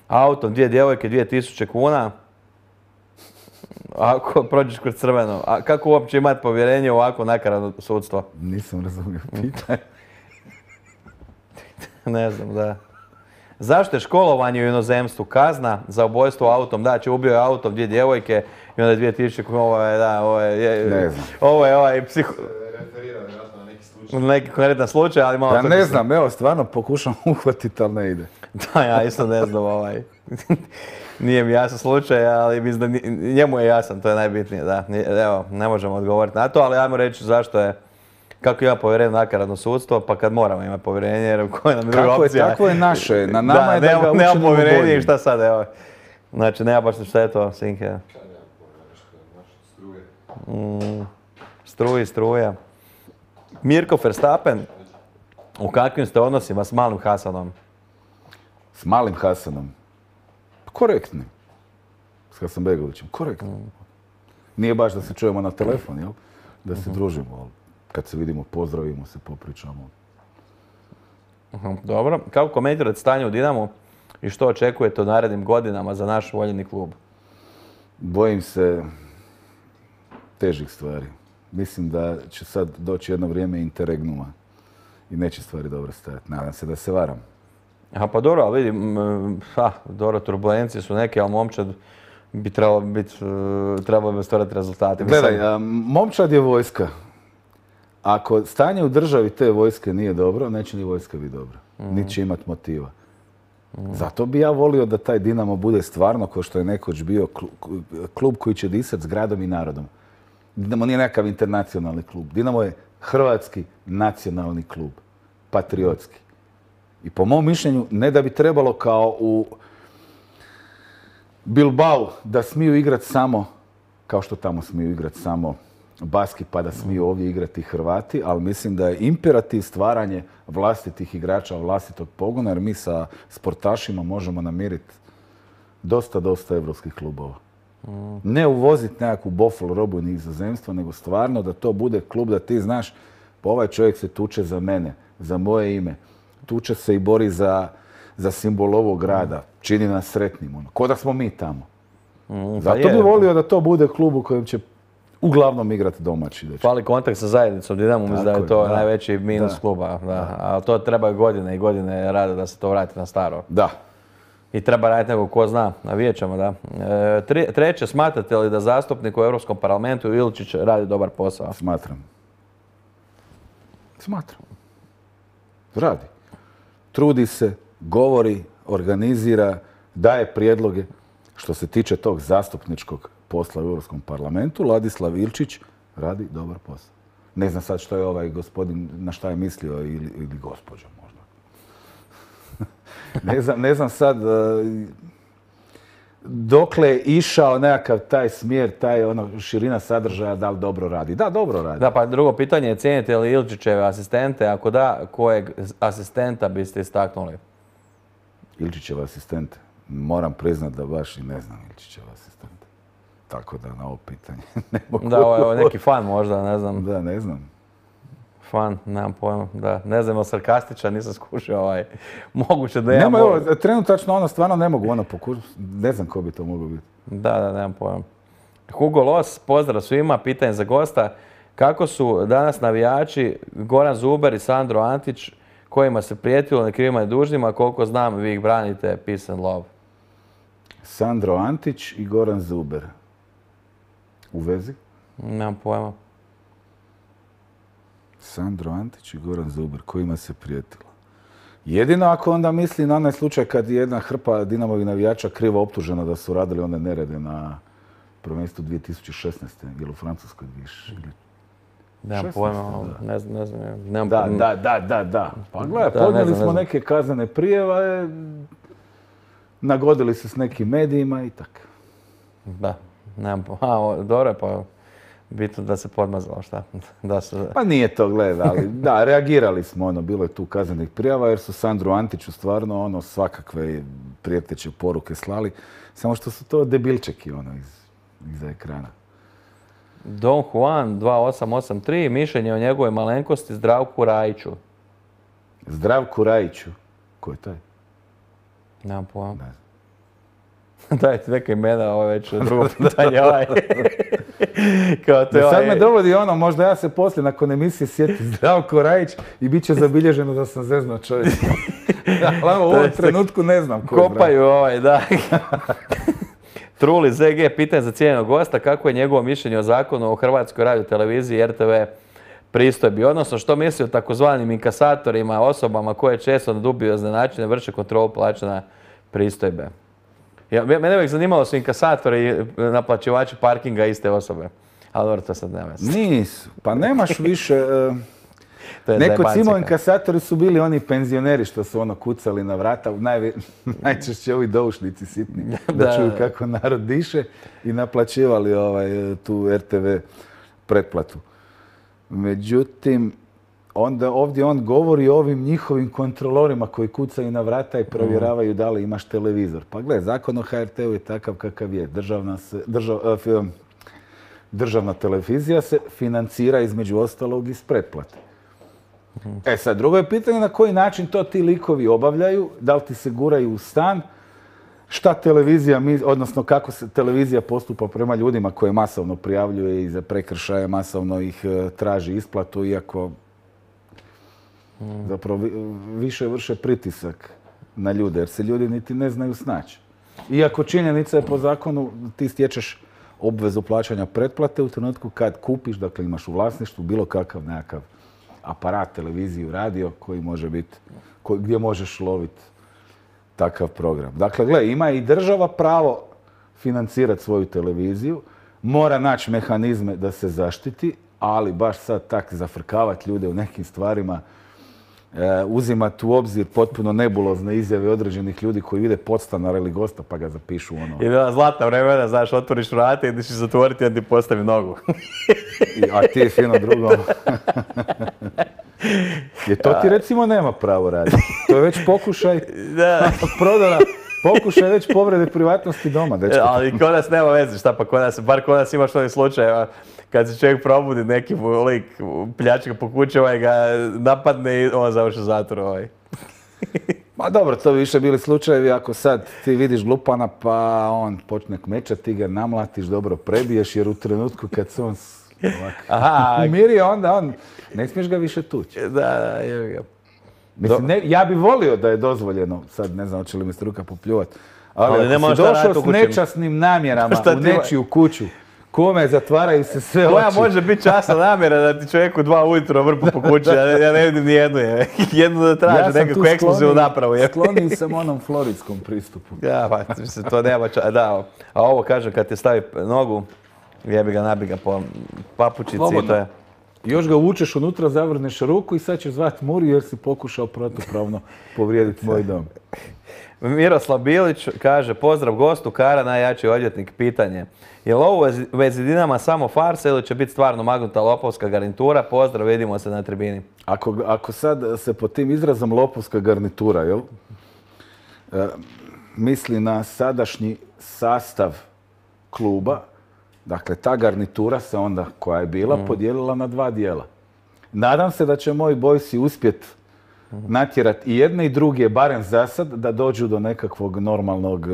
autom 2 djevojke 2000 kuna? Ako prođeš kroz crveno. A kako uopće imati povjerenje u ovako nakaradno sudstvo? Nisam razumio pitanje. Ne znam, da. Zašto je školovanje u inozemstvu kazna za ubojstvo autom? Da, ubio je autom 2 djevojke i onda 2000 kuna, ovo je Referira vjerojatno na neki slučaj. Neki konkretan slučaj, ali malo... Ja ne znam, evo, stvarno pokušam uhvatiti, ali ne ide. Da, ja isto ne znam, nije mi jasan slučaj, ali mislim da njemu je jasan, to je najbitnije, da. Evo, ne možemo odgovoriti na to, ali ajmo reći zašto je, kako ima povjerenje nakaradno sudstvo, pa kad moramo imati povjerenje, jer koja nam je druga opcija. Tako je naše, na nama je da ga učinimo bolje. Nema povjerenje i šta sad, evo. Znači, nema baš šta je to, Sinke. Struja. Mirko Verstappen, u kakvim ste odnosima s Malim Hasanom? S Malim Hasanom? Korektni. S Hasanbegovićem, korektni. Nije baš da se čujemo na telefon, jel? Da se družimo, ali kad se vidimo, pozdravimo se, popričamo. Dobro. Kako komentirate stanje u Dinamu i što očekujete u narednim godinama za naš voljeni klub? Bojim se težih stvari. Mislim da će sad doći jedno vrijeme interregnuma i neće stvari dobro stajati. Nadam se da se varam. Aha, pa dobro, ali vidim, dobro, turbulencije su neke, ali momčad bi trebalo bi stvarati rezultate. Gledaj, momčad je vojska. Ako stanje u državi te vojske nije dobro, neće ni vojska biti dobra. Niti će imati motiva. Zato bi ja volio da taj Dinamo bude stvarno, kao što je nekoć bio, klub koji će disati s gradom i narodom. Dinamo nije nekakav internacionalni klub. Dinamo je hrvatski nacionalni klub. Patriotski. I po mom mišljenju, ne da bi trebalo kao u Bilbao da smiju igrati samo, kao što tamo smiju igrati samo Baski, pa da smiju ovdje igrati Hrvati, ali mislim da je imperativ stvaranje vlastitih igrača, vlastitog pogona, jer mi sa sportašima možemo namiriti dosta evropskih klubova. Ne uvoziti nekakvu bofl robu ni izozemstva, nego stvarno da to bude klub da ti znaš, pa ovaj čovjek se tuče za mene, za moje ime, tuče se i bori za simbol ovog grada, čini nas sretnim, ko da smo mi tamo. Zato bi volio da to bude klub u kojem će uglavnom igrati domaći. Fali kontakt sa zajednicom Dinamo, mislim da je to najveći minus kluba. Ali to treba godine i godine rada da se to vrati na staro. Da. I treba raditi nego ko zna, navijat ćemo, da. Treće, smatrate li da zastupnik u Europskom parlamentu Ilčić radi dobar posao? Smatram. Radi. Trudi se, govori, organizira, daje prijedloge. Što se tiče tog zastupničkog posla u Europskom parlamentu, Ladislav Ilčić radi dobar posao. Ne znam sad što je ovaj gospodin, na šta je mislio, ili gospođa možda. ne znam sad dokle je išao nekakav taj smjer, širina sadržaja, da li dobro radi. Da, dobro radi. Da, pa drugo pitanje je, cijenite li Ilčićeve asistente? Ako da, kojeg asistenta biste istaknuli? Ilčićeva asistente? Moram priznat da baš i ne znam Ilčićeva asistenta. Tako da na ovo pitanje ne mogu. Da, ovo je neki fan možda, ne znam. Da, ne znam. Fan, nemam pojma, da. Ne znam, sarkastičan, nisam skušao moguće da Nema, trenutačno stvarno ne mogu pokušati. Ne znam ko bi to moglo biti. Da, nemam pojma. Hugo Los, pozdrav svima, pitanje za gosta. Kako su danas navijači Goran Zuber i Sandro Antić, kojima se prijetilo nekrivima i dužnima, koliko znam, vi ih branite, peace and love. Sandro Antić i Goran Zuber. U vezi? Nemam pojma. Sandro Antić i Goran Zuber, kojima se prijetilo. Jedino ako onda misli na onaj slučaj kad je jedna hrpa Dinamovih navijača krivo optužena da su radili one nerede na prvenstvu 2016. ili u Francuskoj više. Nemam pojma, ne znam. Da. Pa gledaj, podnijeli smo neke kaznene prijeve, nagodili se s nekim medijima i tako. Da, nemam pojma. Dobro je, pa bitno da se podmazalo, šta? Pa nije to, gledaj, ali da, reagirali smo, bilo je tu kaznenih prijava jer su Sandru Antiću stvarno svakakve prijeteće poruke slali, samo što su to debilčeki iza ekrana. Don Juan 2883, mišljenje o njegove malenkosti Zdravku Rajiću. Zdravku Rajiću? Ko je taj? Nemam pojma. Ne znam. Dajte neka imena, ovo je već drugo pitanje. Sad me dovodi možda ja se poslije nakon emisije sjeti Zdravko Rajić i bit će zabilježeno da sam zeznuo čovjek. U ovom trenutku ne znam ko je. Kopaju da. Truli ZG, pitanje za cijenjenog gosta, kako je njegovo mišljenje o zakonu o Hrvatskoj radioteleviziji i RTV pristojbi, odnosno što misli o takozvanim inkasatorima, osobama koje često na dubiozne načine vrše kontrolu plaćanja pristojbe. Mene uvijek zanimalo su inkasatori i naplaćivači parkinga iste osobe. Ali dobro, to sad nema. Nisu, pa nemaš više. Nekoć inkasatori su bili oni penzioneri što su kucali na vrata, najčešće ovi doušnici sitni, da čuju kako narod diše i naplaćivali tu RTV pretplatu. Međutim, ovdje on govori o ovim njihovim kontrolorima koji kucaju na vrata i provjeravaju da li imaš televizor. Pa gle, zakon o HRT-u je takav kakav je. Državna televizija se financira između ostalog iz pretplate. E sad, drugo je pitanje na koji način to ti likovi obavljaju, da li ti se guraju u stan, šta televizija, odnosno kako se televizija postupa prema ljudima koje masovno prijavljuje i za prekršaje, masovno ih traži isplatu, iako zapravo više vrše pritisak na ljude, jer se ljudi niti ne znaju snaći. Iako činjenica je po zakonu, ti stječeš obvezu plaćanja pretplate u trenutku kad kupiš, dakle imaš u vlasništvu bilo kakav nekakav aparat, televiziju, radio koji može biti, gdje možeš loviti takav program. Dakle, gle, ima i država pravo financirati svoju televiziju, mora naći mehanizme da se zaštiti, ali baš sad tak zafrkavati ljude u nekim stvarima, uzimati u obzir potpuno nebulozne izjave određenih ljudi koji vide podstanara ili gosta pa ga zapišu ono. I bila zlatna vremena, znaš, otvoriš vrata i ideš zatvoriti i ti postavi nogu. A ti je fino drugo. Jer to ti recimo nema pravo raditi. To je već pokušaj prodana, pokušaj već povrede privatnosti doma. Dečko. Ali kod nas nema veze, šta pa bar kod nas imaš onih slučajeva kad se čovjek probudi, neki lik pljačka po kući, ga napadne i on završi zatvor. Ma dobro, to bi više bili slučajevi ako sad ti vidiš glupana pa on počne kmečati, ti ga namlatiš, dobro prebiješ jer u trenutku kad se on umirio, onda on, ne smiješ ga više tući. Da, je ga. Mislim, ja bi volio da je dozvoljeno, sad ne znam hoće li mi struka popljuvati, ali ako si došao s nečasnim namjerama u nečiju kuću, kome zatvaraju se sve oči. Koja može biti časna namjera da ti čovjeku 2 ujutro vrpu po kući, ja ne vidim ni jednu. Jednu da traži nekakvu ekskluzivnu napravu. Skloniji sam onom floridskom pristupu. Ja, pa to nema da. A ovo kažem, kad ti stavi nogu, jebi ga, nabi ga po papučici i to je. Još ga uvučeš unutra, zavrneš ruku i sad ćeš zvati Muri jer si pokušao protupravno povrijediti moj dom. Miroslav Bilić kaže, pozdrav gostu, Kara, najjači odvjetnik, pitanje. Je li ovo u vezi Dinama samo farsa ili će biti stvarno magnuta lopovska garnitura? Pozdrav, vidimo se na tribini. Ako sad se pod tim izrazom lopovska garnitura, jel? Misli na sadašnji sastav kluba, dakle ta garnitura se onda, koja je bila, podijelila na 2 dijela. Nadam se da će moji bojsi uspjeti natjerati i jedne i druge, barem za sad, da dođu do nekakvog normalnog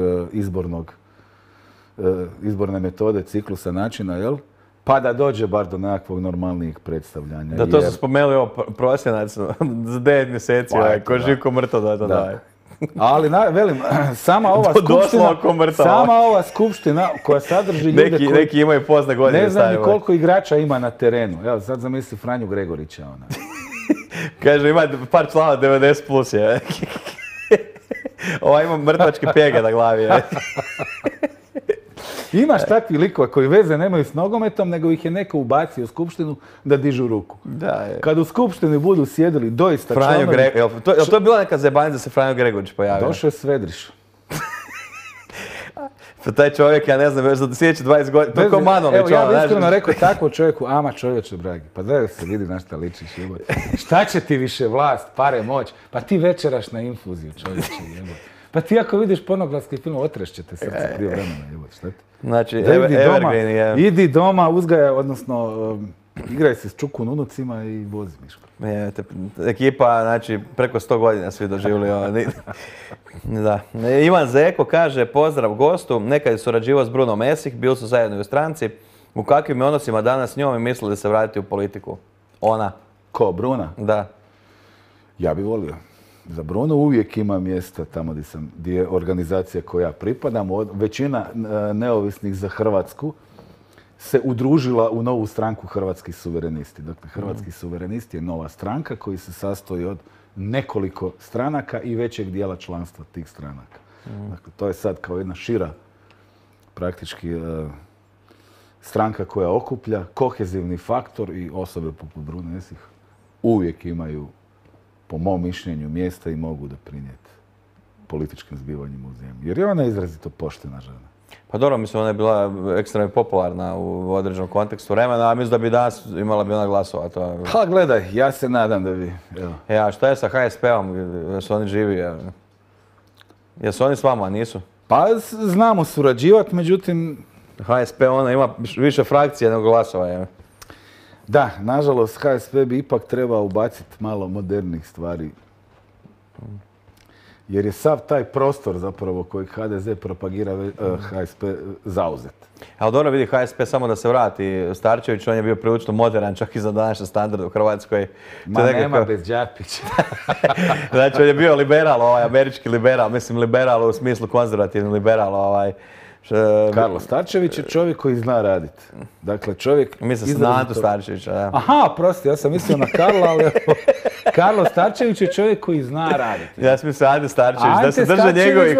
izborne metode, ciklusa, načina, jel? Pa da dođe bar do nekakvog normalnijih predstavljanja. Da, to su spomenuli ovo prosjenac za 9 mjeseci, ko živ ko mrtav da to daje. Ali, velim, sama ova skupština koja sadrži ljude koji... Neki imaju pozne godine. Ne znam ni koliko igrača ima na terenu. Evo, sad zamisli Franju Gregorića. Kaže, ima par člana 90 plus je. Ova ima mrtvačke pjege na glavi. Imaš takvi likova koji veze nemaju s nogometom, nego ih je neko ubacio u skupštinu da dižu ruku. Kad u skupštini budu sjedili doista članovi... Jel to je bila neka zebanica da se Franjo Gregorić pojavio? Došao je Svedriš. Taj čovjek, ja ne znam, već za sljedeće 20 godina, to je ko Manolić. Evo, ja bih iskreno rekao takvom čovjeku, ama čovječe, dragi, pa da se vidi na šta ličiš, jebote. Šta će ti više vlast, pare, moć? Pa ti večeraš na infuziju, čovječe, jebote. Pa ti ako vidiš pornografski film, otrešće te srce prije vremena, jebote, šta ti? Znači, evergreen je... Idi doma, uzgajaj, odnosno, igraj se s čukun unucima i vozi Miško. Ekipa, znači, preko 100 godina svi doživjeli. Da. Ivan Zeko kaže, pozdrav gostu, nekad je surađivao s Brunom Esih, bili su zajedno u stranci. U kakvim je odnosima danas s njom i misli da se vratiti u politiku? Ona. Ko, Bruna? Da. Ja bi volio. Za Brunu uvijek ima mjesta tamo gdje je organizacija koja pripadam. Većina neovisnih za Hrvatsku se udružila u novu stranku Hrvatski suverenisti. Dakle, Hrvatski suverenisti je nova stranka koji se sastoji od nekoliko stranaka i većeg dijela članstva tih stranaka. Dakle, to je sad kao jedna šira praktički stranka koja okuplja kohezivni faktor i osobe poput Brune Esih uvijek imaju, po mom mišljenju, mjesta i mogu doprinijeti političkim zbivanjima u zemlji. Jer je ona izrazito poštena žena. Pa dobro, mislim, ona je bila ekstremno popularna u određenom kontekstu vremena, a mislim da bi danas imala bi ona glasova. Pa gledaj, ja se nadam da bi. A šta je sa HSP-om? Jesu oni živi? Jesu oni s vama, nisu? Pa znamo surađivati, međutim... HSP ona ima više frakcije nego glasova. Da, nažalost, HSP bi ipak trebao ubaciti malo modernih stvari. Jer je sav taj prostor zapravo koji HDZ propagira HSP zauzet. Ali dobro vidi HSP, samo da se vrati Starčević, on je bio prilično modern, čak i za današnji standard u Hrvatskoj. Ma nema bez Đapića. Znači on je bio liberal, američki liberal, mislim liberal u smislu konzervativni liberal. Karlo Starčević je čovjek koji zna raditi. Dakle, čovjek... Mislim na Antu Starčevića, da. Aha, prosti, ja sam mislio na Karla, ali... Karlo Starčević je čovjek koji zna raditi. Ja sam mislio Ante Starčević, da se drže njegovih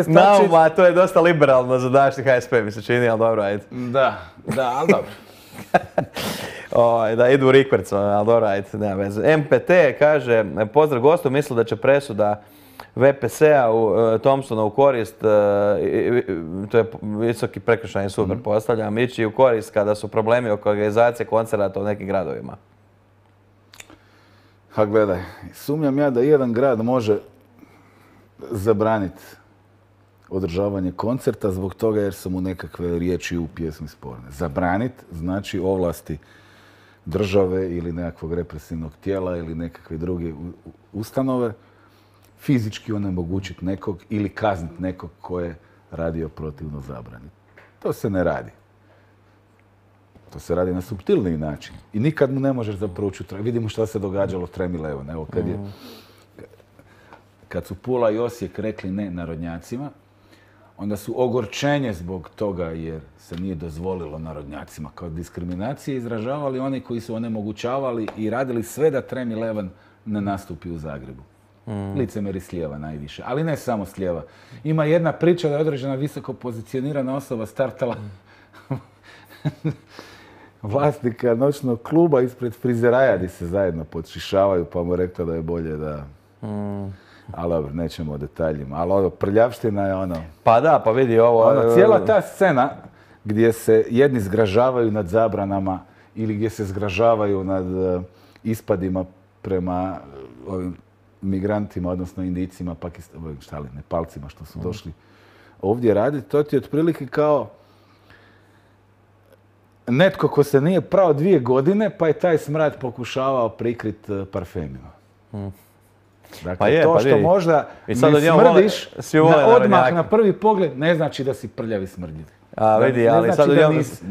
nauma, to je dosta liberalno za današnji HSP, mi se čini, ali dobro, ajde. Da, ali dobro. Da idu u rikverc, ali dobro, ajde, nema veze. MPT kaže, pozdrav gostu, misli da će presuda VPS-a u Thompsona u korist, to je visoki prekršajni sud, pretpostavljam, ići u korist kada su problemi oko organizacije koncerata u nekim gradovima. Ha, gledaj, sumnjam ja da jedan grad može zabraniti održavanje koncerta zbog toga jer su mu nekakve riječi u pjesmi sporne. Zabraniti znači ovlasti države ili nekakvog represivnog tijela ili nekakve druge ustanove, fizički onemogućiti nekog ili kazniti nekog ko je radio protivno zabrani. To se ne radi. To se radi na suptilniji način. I nikad mu ne možeš zapravo čuti. Vidimo što se događalo Tremi Leon. Evo, kad su Pula i Osijek rekli ne narodnjacima, onda su ogorčenje zbog toga jer se nije dozvolilo narodnjacima kao diskriminacije izražavali oni koji su onemogućavali i radili sve da Tremi Leon ne nastupi u Zagrebu. Licemeri s lijeva najviše, ali ne samo s lijeva. Ima jedna priča da je određena visoko pozicionirana osoba startala vlasnika noćnog kluba ispred frizeraja gdje se zajedno podšišavaju, pa mu rekao da je bolje da... Ali dobro, nećemo o detaljima. Ali ono, prljavština je ono... Pa da, pa vidi ovo... Cijela ta scena gdje se jedni zgražavaju nad zabranama ili gdje se zgražavaju nad ispadima prema ovim migrantima, odnosno Indijcima, Nepalcima što su došli ovdje raditi, to ti je otprilike kao netko ko se nije prao 2 godine, pa je taj smrad pokušavao prikrit parfemima. Dakle, to što možda ne smrdiš odmah na prvi pogled, ne znači da si prljavi smrdljiv. A vidi, ali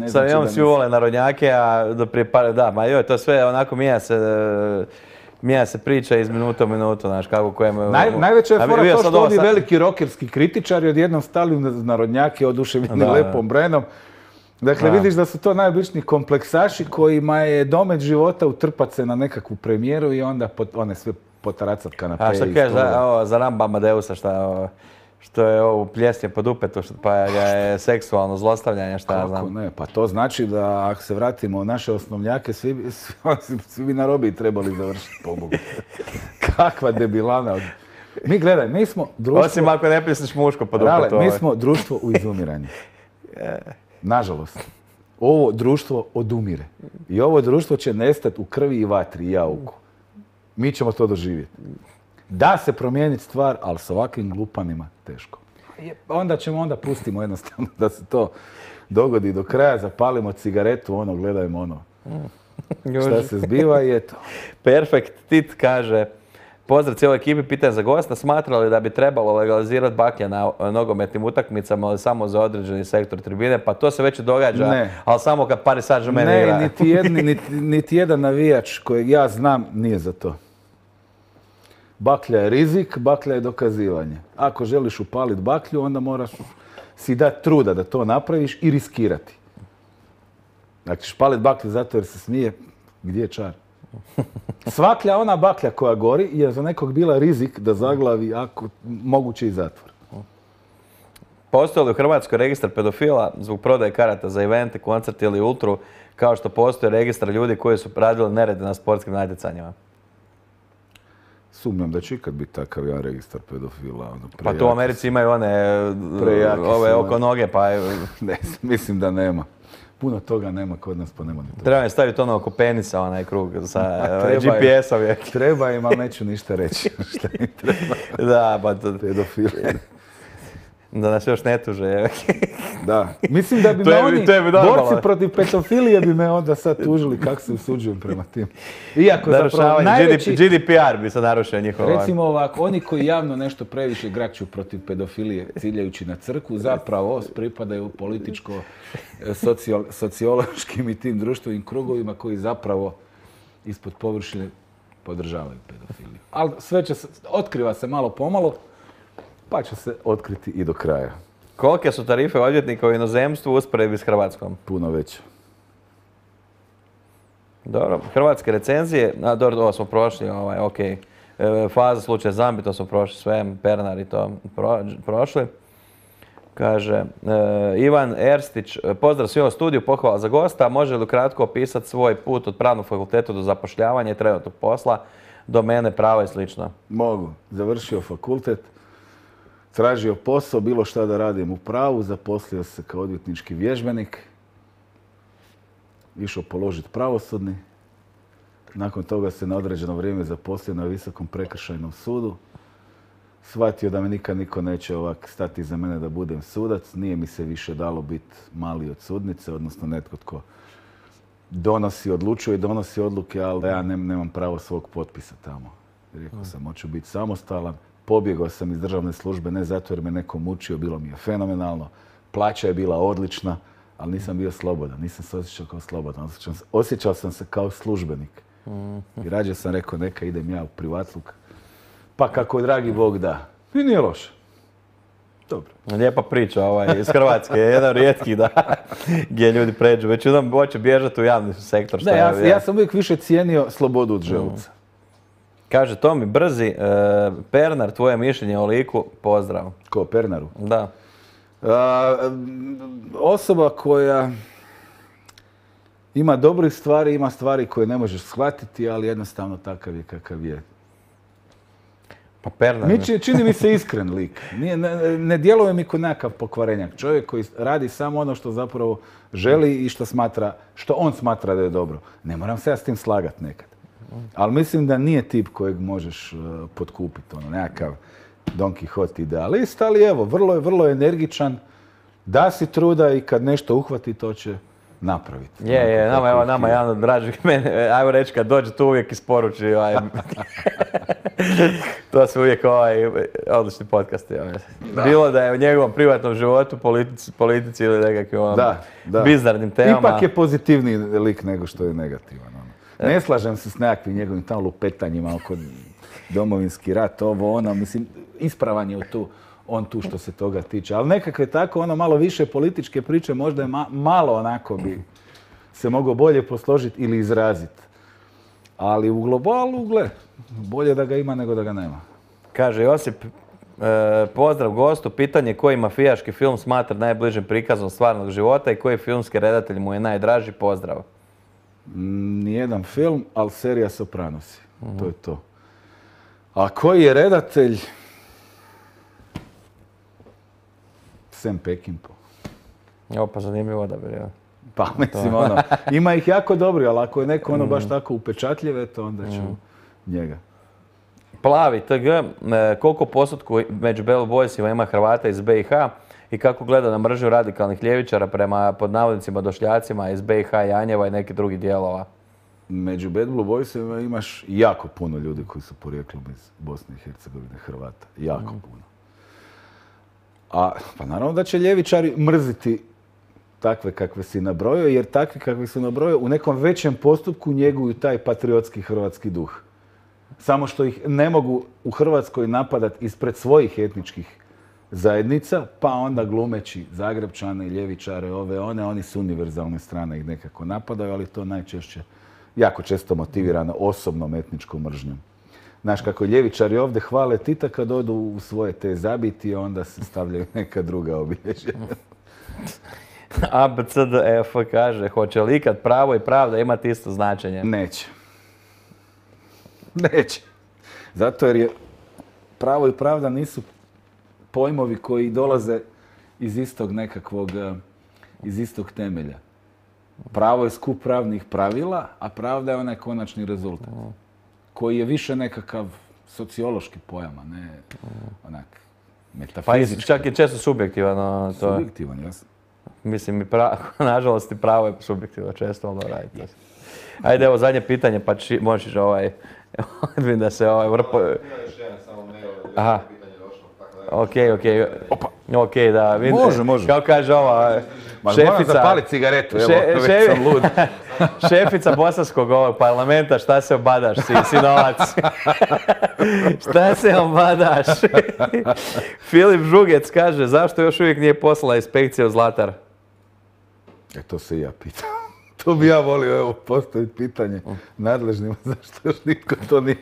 sad imam svi vole narodnjake, a do prije par... Da, ma joj, to sve onako mijenja se priča iz minuta u minutu, znaš, kako kojem... Najveća je fora to što ovi veliki rokerski kritičari odjednom stali narodnjake oduševljeni Lepom Brenom. Dakle, vidiš da su to najobičniji kompleksaši kojima je domet života utrpat se na nekakvu premijeru i onda one sve potaracat kanape. A šta kažeš za Ramba Amadeusa, što je ovo pljesnje po dupetu, pa je seksualno zlostavljanje, šta ja znam. Kako ne, pa to znači da ako se vratimo u naše osnovnjake, svi bi na robiji trebali završiti, pobogu. Kakva debilana. Mi gledaj, mi smo društvo... Osim ako ne pisniš muško po dupetu. Mi smo društvo u izumiranju. Nažalost. Ovo društvo odumire. I ovo društvo će nestati u krvi i vatri i jauku. Mi ćemo to doživjeti. Da se promijeniti stvar, ali s ovakvim glupanima teško. Onda pustimo jednostavno da se to dogodi do kraja, zapalimo cigaretu, gledajmo šta se zbiva i eto. Perfekt. Tit kaže, pozdrav cijeloj ekipi, pitanje za gosta, smatrali da bi trebalo legalizirati baklje na nogometnim utakmicama, ali samo za određeni sektor tribine, pa to se već događa, ali samo kad Paris Saint-Germain igra. Ne, niti jedan navijač kojeg ja znam nije za to. Baklja je rizik, baklja je dokazivanje. Ako želiš upaliti baklju, onda moraš si dati truda da to napraviš i riskirati. Ako ćeš paliti baklju zato jer se smije, gdje je čar? Svaklja ona baklja koja gori je za nekog bila rizik da zaglavi ako moguće i zatvor. Postoji li u Hrvatskoj registar pedofila zbog prodaje karata za evente, koncerte ili ultru, kao što postoji registar ljudi koji su radili nerede na sportskim natjecanjima? Sumnjam da će ikad biti takav jedan registar pedofila. Pa tu u Americi imaju ove oko noge, pa... Ne, mislim da nema. Puno toga nema kod nas, pa nema ni toga. Treba im staviti oko penisa, onaj krug sa GPS-om. Treba im, ali neću ništa reći. Šta im treba? Da, pa to... Pedofili. Da nas još ne tuže. Da. Mislim da bi To me je- oni, to je bi normalno. borci protiv pedofilije bi me onda sad tužili kako se usuđujem prema tim. Iako zapravo Narušavanje, najveći... GDPR bi se narušio njihov. Recimo ovako, oni koji javno nešto previše grakću protiv pedofilije ciljajući na crkvu, zapravo pripadaju političko-sociološkim i tim društvenim krugovima koji zapravo ispod površine podržavaju pedofiliju. Ali sve će se, otkriva se malo pomalo, pa će se otkriti i do kraja. Kolike su tarife odvjetnika u inozemstvu u usporedbi s Hrvatskom? Puno veće. Dobro, hrvatske recenzije, dobro, ovo smo prošli, ok. Faza slučaja Zambi, to smo prošli sve, Pernar i to prošli. Kaže, Ivan Erstić, pozdrav svima u studiju, pohvala za gosta. Može li kratko opisati svoj put od pravnog fakulteta do zapošljavanja i trenutnog posla, domene, prava i slično? Mogu. Završio fakultet, tražio posao, bilo šta da radim u pravu, zaposlio se kao odvjetnički vježbenik, išao položiti pravosudni. Nakon toga se na određeno vrijeme zaposlio na Visokom prekršajnom sudu. Shvatio da me nikad niko neće ovak stati iza mene da budem sudac. Nije mi se više dalo biti mali od sudnice, odnosno netko tko odlučuje i donosi odluke, ali ja nemam pravo svog potpisa tamo. Rekao sam, hoću biti samostalan. Pobjegao sam iz državne službe, ne zato jer me neko mučio, bilo mi je fenomenalno. Plaća je bila odlična, ali nisam bio slobodan. Nisam se osjećao kao slobodan. Osjećao sam se kao službenik. I rađe sam rekao, neka idem ja u privatluk. Pa kako dragi Bog da. I nije loše. Dobro. Lijepa priča iz Hrvatske, jedan od rijetkih da, gdje ljudi pređu. Većinom hoće bježati u javni sektor. Ne, ja sam uvijek više cijenio slobodu od želuca. Kaže Tomi Brzi, Pernar, tvoje mišljenje o liku, pozdrav. Ko, Pernaru? Da. Osoba koja ima dobrih stvari, ima stvari koje ne možeš shvatiti, ali jednostavno takav je kakav je. Pa Pernar... Čini mi se iskren lik. Ne djeluje mi kao nekakav pokvarenjak. Čovjek koji radi samo ono što zapravo želi i što on smatra da je dobro. Ne moram se ja s tim slagati nekad. Ali mislim da nije tip kojeg možeš potkupiti. Nekakav Don Quixote idealist, ali evo, vrlo je energičan. Da si truda i kad nešto uhvati, to će napraviti. Nama jedan od dražih mene, ajmo reći kad dođe tu uvijek isporuči. To su uvijek odlični podcasti. Bilo da je u njegovom privatnom životu, politici ili nekakvim bizarnim temama. Ipak je pozitivniji lik nego što je negativan. Ne slažem se s nekakvim njegovim tamo lupetanjima oko Domovinski rat, mislim, ispravan je on tu što se toga tiče. Ali nekakve tako, malo više političke priče, možda je malo onako bi se mogao bolje posložiti ili izraziti. Ali u globalu, bolje da ga ima nego da ga nema. Kaže Josip, pozdrav gostu, pitanje koji mafijaški film smatra najbližim prikazom stvarnog života i koji filmski redatelj mu je najdraži, pozdrav. Nijedan film, ali serija Sopranosi. To je to. A koji je redatelj? Sam Peckinpah. Pa zanimljivo da bi. Pa mislim ima ih jako dobri, ali ako je neko baš tako upečatljiv, eto onda ću njega. Plavi TG, koliko postotku među Bad Boysima ima Hrvata iz BiH i kako gleda na mržnju radikalnih ljevičara prema pod navodnicima došljacima iz BiH, Janjeva i nekih drugih dijelova? Među Bad Boysima imaš jako puno ljudi koji su porijeklom iz Bosne i Hercegovine, Hrvata. Jako puno. Pa naravno da će ljevičari mrziti takve kakve si nabrojio, jer takvi kakvi su nabrojio u nekom većem postupku njeguju taj patriotski hrvatski duh. Samo što ih ne mogu u Hrvatskoj napadati ispred svojih etničkih zajednica, pa onda glumeći Zagrebčane, ljevičare, oni su univerzalne strane ih nekako napadaju, ali to najčešće, jako često motivirano osobnom etničkom mržnjom. Znaš, kako ljevičari ovdje hvale Tita kad odu u svoje te zabiti, onda se stavljaju neka druga obilježja. ABCDF kaže, hoće li ikad pravo i pravda imati isto značenje? Neće. Zato jer je pravo i pravda nisu pojmovi koji dolaze iz istog temelja. Pravo je skup pravnih pravila, a pravda je onaj konačni rezultat. Koji je više nekakav sociološki pojam, a ne onak metafizički. Pa čak je često subjektivan. Subjektivan, jasno. Mislim, nažalost i pravo je subjektivno često, ali radite. Ajde, evo zadnje pitanje, pa možeš vidim da se vrpo... Ima još jedan samo mail, Aha. pitanje došlo, tako da... Okej. Okej, da. Može. Kao kaže ova šefica... Moram zapalit cigaretu, evo, već sam lud. Šefica bosanskog ovog parlamenta, šta se obadaš, sinovac? Šta se obadaš? Filip Žugec kaže, zašto još uvijek nije poslala inspekcija u Zlatar? To se i ja pitam. To bi ja volio, evo, postaviti pitanje nadležnima, zašto još nitko to nije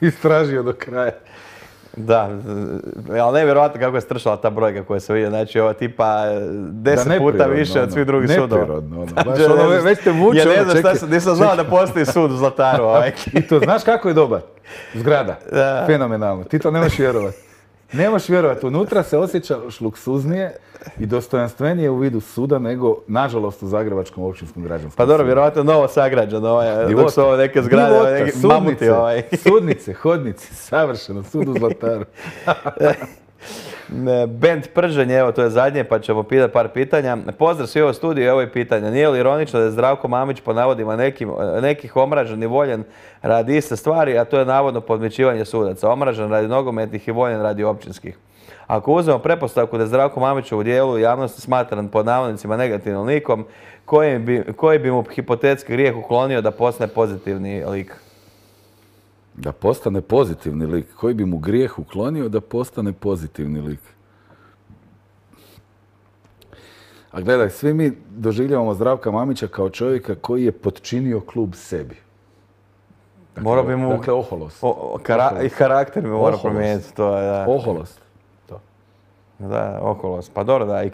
istražio do kraja. Da, ali nevjerojatno kako je stršala ta brojka koja se vidi, znači ovo tipa 10 puta više od svih drugih sudova. Neprirodno, baš već te vuče, nisam znao da postoji sud u Zlataru. I to znaš kako je dobar? Zgrada, fenomenalno, ti to nemaš vjerovati. Nemaš vjerovati, unutra se osjećaš luksuznije i dostojanstvenije u vidu suda nego, nažalost, u Zagrebačkom općinskom građanskom. Pa dobro, vjerojatno novo sagrađeno, dok su ovo neke zgrade, neki mamuti. Sudnice, hodnici, savršeno, sud u Zlataru. Bent Prženje, evo to je zadnje, pa ćemo pitati par pitanja. Pozdrav svi ovo studiju, evo je pitanje. Nije li ironično da je Zdravko Mamić po navodima nekih omražen i voljen radi iste stvari, a to je navodno podmićivanje sudaca. Omražen radi nogometnih i voljen radi općinskih. Ako uzmemo pretpostavku da je Zdravko Mamić u dijelu javnosti smatran pod navodnicima negativnim likom, koji bi mu hipotetski grijeh uklonio da postane pozitivni lik? Da postane pozitivni lik. Koji bi mu grijeh uklonio da postane pozitivni lik? A gledaj, svi mi doživljavamo Zdravka Mamića kao čovjeka koji je potčinio klub sebi. Dakle, oholost. I karakter bi mora promijeniti. Oholost. Da, oholost. Pa dobro, da, i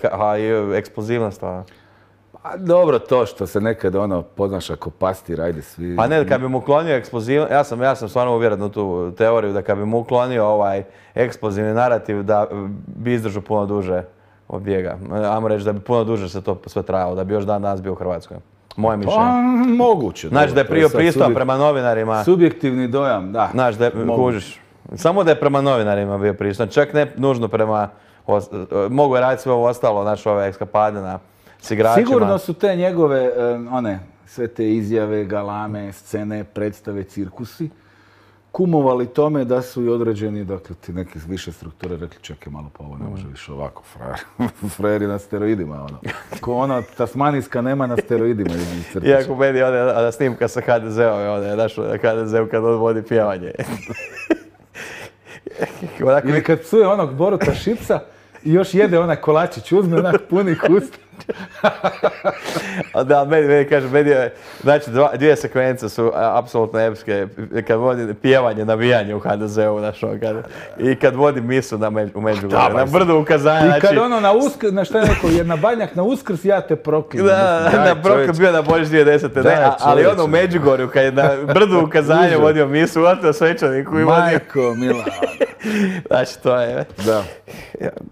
eksplozivnost. Pa dobro, to što se nekad ponaša ko pastir, ajde svi... Pa ne, kad bi mu uklonio eksplozivnost, ja sam stvarno uvjeren u tu teoriju da kad bi mu uklonio ovaj eksplozivni narativ da bi izdržao puno duže od bijega. Ajmo reći da bi puno duže se to sve trajalo, da bi još dan danas bio u Hrvatskoj. Moje mišljenje. Pa, moguće. Znači da je pristojan prema novinarima. Subjektivni dojam, da. Znači da je, kužiš, samo da je prema novinarima bio pristojan, čak ne nužno prema, mogu je raditi sve ovo ostalo, znači ove ekskapade s igračima. Sigurno su te njegove, sve te izjave, galame, scene, predstave, cirkusi, kumovali tome da su i određeni, dakle, ti neke više strukture rekli, čekaj malo, pa ovo ne može više ovako, frajer je na steroidima, Ko tasmanijska nema na steroidima. Iako meni ona snimka sa HDZ-om, znaš, HDZ-om kad on vodi pjevanje. Ili kad psuje onog Boruta Šipca i još jede onaj kolačić, uzme onak punih usta. Da, meni kaže, znači dvije sekvence su apsolutno epske, kad vodi pjevanje, navijanje u HDZ-u, i kad vodi misu u Međugorju, na brdu ukazanja. I kad na Uskrs, na šta je rekao, jer na Banjak na Uskrs ja te proklinem. Da, na bio na Božić 2010. Ali u Međugorju, kad je na brdu ukazanja vodio misu, uvatio svećaniku i vodio... Majko, Mila. Znači, to je... Da.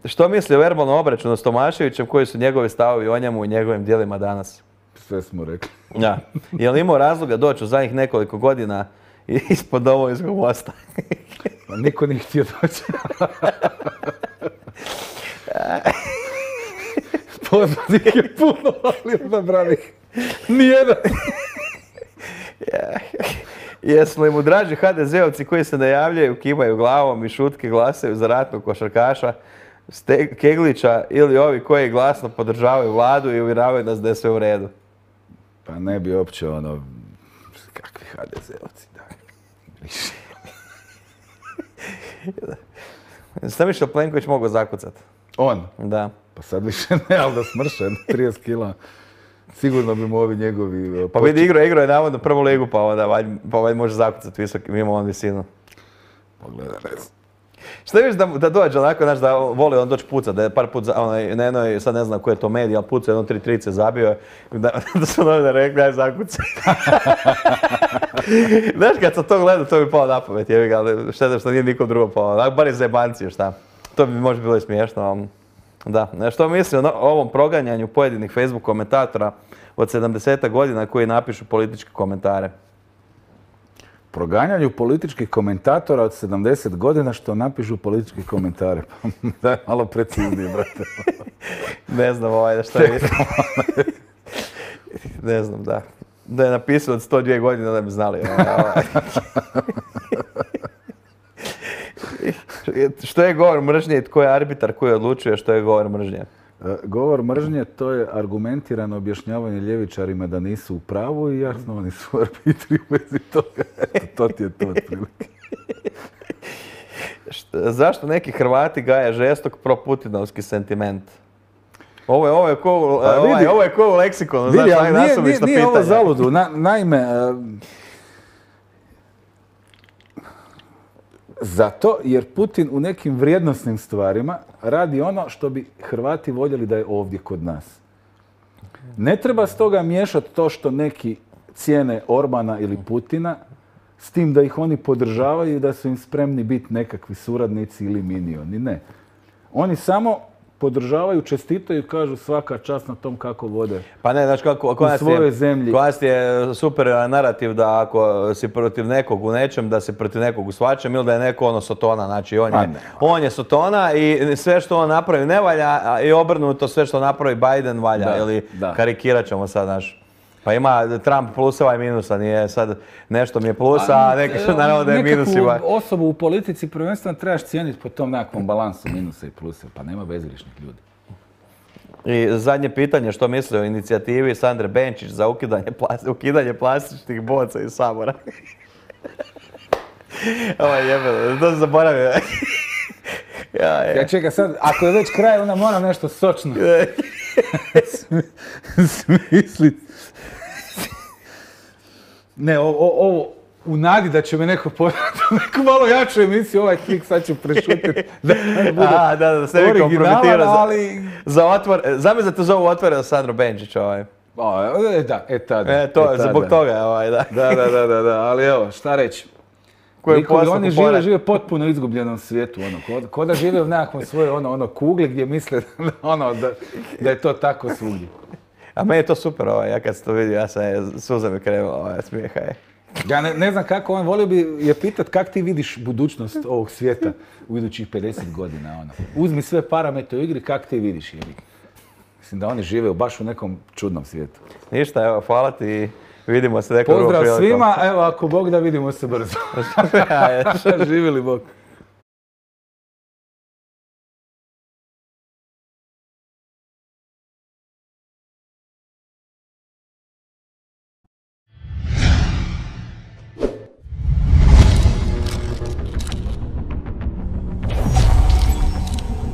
Što misli o verbalnom obračunu s Tomaševićem, koji su njegovi stavovi o njemu i njegovim djelima danas? Sve smo rekli. Ja. Je li imao razloga doći u zadnjih nekoliko godina ispod Domovinskog mosta? Pa niko nije htio doći. Poznanih je puno, ali odabranih nijedan. Jesu li mu draži HDZ-ovci koji se najavljaju, kimaju glavom i šutke glasaju za ratnog košarkaša Keglića ili ovi koji glasno podržavaju vladu i uvjeravaju nas da je sve u redu? Pa ne bi uopće kakvi HDZ-ovci, da. Šta mišljao Plenković mogao zakucati? On? Da. Pa sad više ne, ali da smršen, 30 kila. Sigurno bi mu ovi njegovi... Pa vidi, igrao je navodno prvu ligu, pa ovaj može zakucati visok, mimo on visinu. Pogledaj, ne znam. Šta viš da dođe onako, znaš, da voli on doći pucat, da je par put, sad ne znam koji je to medij, ali pucao jedno 3-3 zabio, da su novinari rekli, aj zakucaj. Znaš, kad sam to gledao, to bi pao na pamet, ali šteta što nije nikom drugo pao, bar je zajebancio, šta. To bi možda bilo i smiješno, ali... Da, što mislim o ovom proganjanju pojedinih Facebook komentatora od 70 godina koji napišu političke komentare? proganjanju političkih komentatora od 70 godina što napišu političke komentare. Daj malo preciznije, brate. Ne znam da što je. Ne znam, da. Da je napisao od 102 godine, da bi znali. Što je govor mržnje i tko je arbitar koji odlučuje što je govor mržnje? Govor mržnje to je argumentirano objašnjavanje ljevičarima da nisu u pravu i jasno oni su arbitri u vezi toga. Eto, to ti je to otprilike. Zašto neki Hrvati gaje žestok pro-putinovski sentiment? Ovo je ko u leksikonu, znaš, nasumična pitanja. Nije ovo zaludu. Naime, zato jer Putin u nekim vrijednosnim stvarima radi ono što bi Hrvati voljeli da je ovdje kod nas. Ne treba stoga miješati to što neki cijene Orbana ili Putina s tim da ih oni podržavaju i da su im spremni biti nekakvi suradnici ili minioni. Ne. Oni samo podržavaju, čestitaju i kažu svaka čast na tom kako vode pa ne, znači kako, u svojoj zemlji. Kod nas je super narativ da ako si protiv nekog u nečem, da si protiv nekog u svačem ili da je neko ono sotona. Znači on je sotona i sve što on napravi ne valja i obrnuto sve što napravi Biden valja. Ili karikirat ćemo sad, znaš. Pa ima Trump pluseva i minusa, nije sad nešto mi je plusa, a neki naravno da je minusima. Nekakvu osobu u politici prvenstveno trebaš cijeniti po tom nekakvom balansu minusa i plusa, pa nema bezgrešnih ljudi. I zadnje pitanje, što misli o inicijativi Sandre Benčić za ukidanje plastičnih boca iz Sabora? Ovo je jebeno, to se zaboravio. Ja čekaj sad, ako je već kraj, onda moram nešto sočno smisliti. Ne, ovo u nadi da će me neko pogledati u neku malo jaču emisiju, ovaj klik sad ću prešutiti. Da se vi kompromitira za otvor. Zamisli da te zovu Otvoreno Sandro Benčić ovaj. To, zbog toga da. Da, ali evo, šta reći. Oni žive potpuno izgubljenom svijetu, ko da žive u nekakvom svojoj kugli gdje misle da je to tako svugdje. A meni je to super, ja kad sam to vidio, ja sam suza mi krenula smijeha. Ja ne znam kako, volio bi je pitat kak ti vidiš budućnost ovog svijeta u idućih 50 godina. Uzmi sve parametre u igri, kak ti vidiš. Mislim da oni žive baš u nekom čudnom svijetu. Ništa, evo, hvala ti i vidimo se nekom drugom prilikom. Pozdrav svima, evo ako Bog da vidimo se brzo. Živjeli Bog.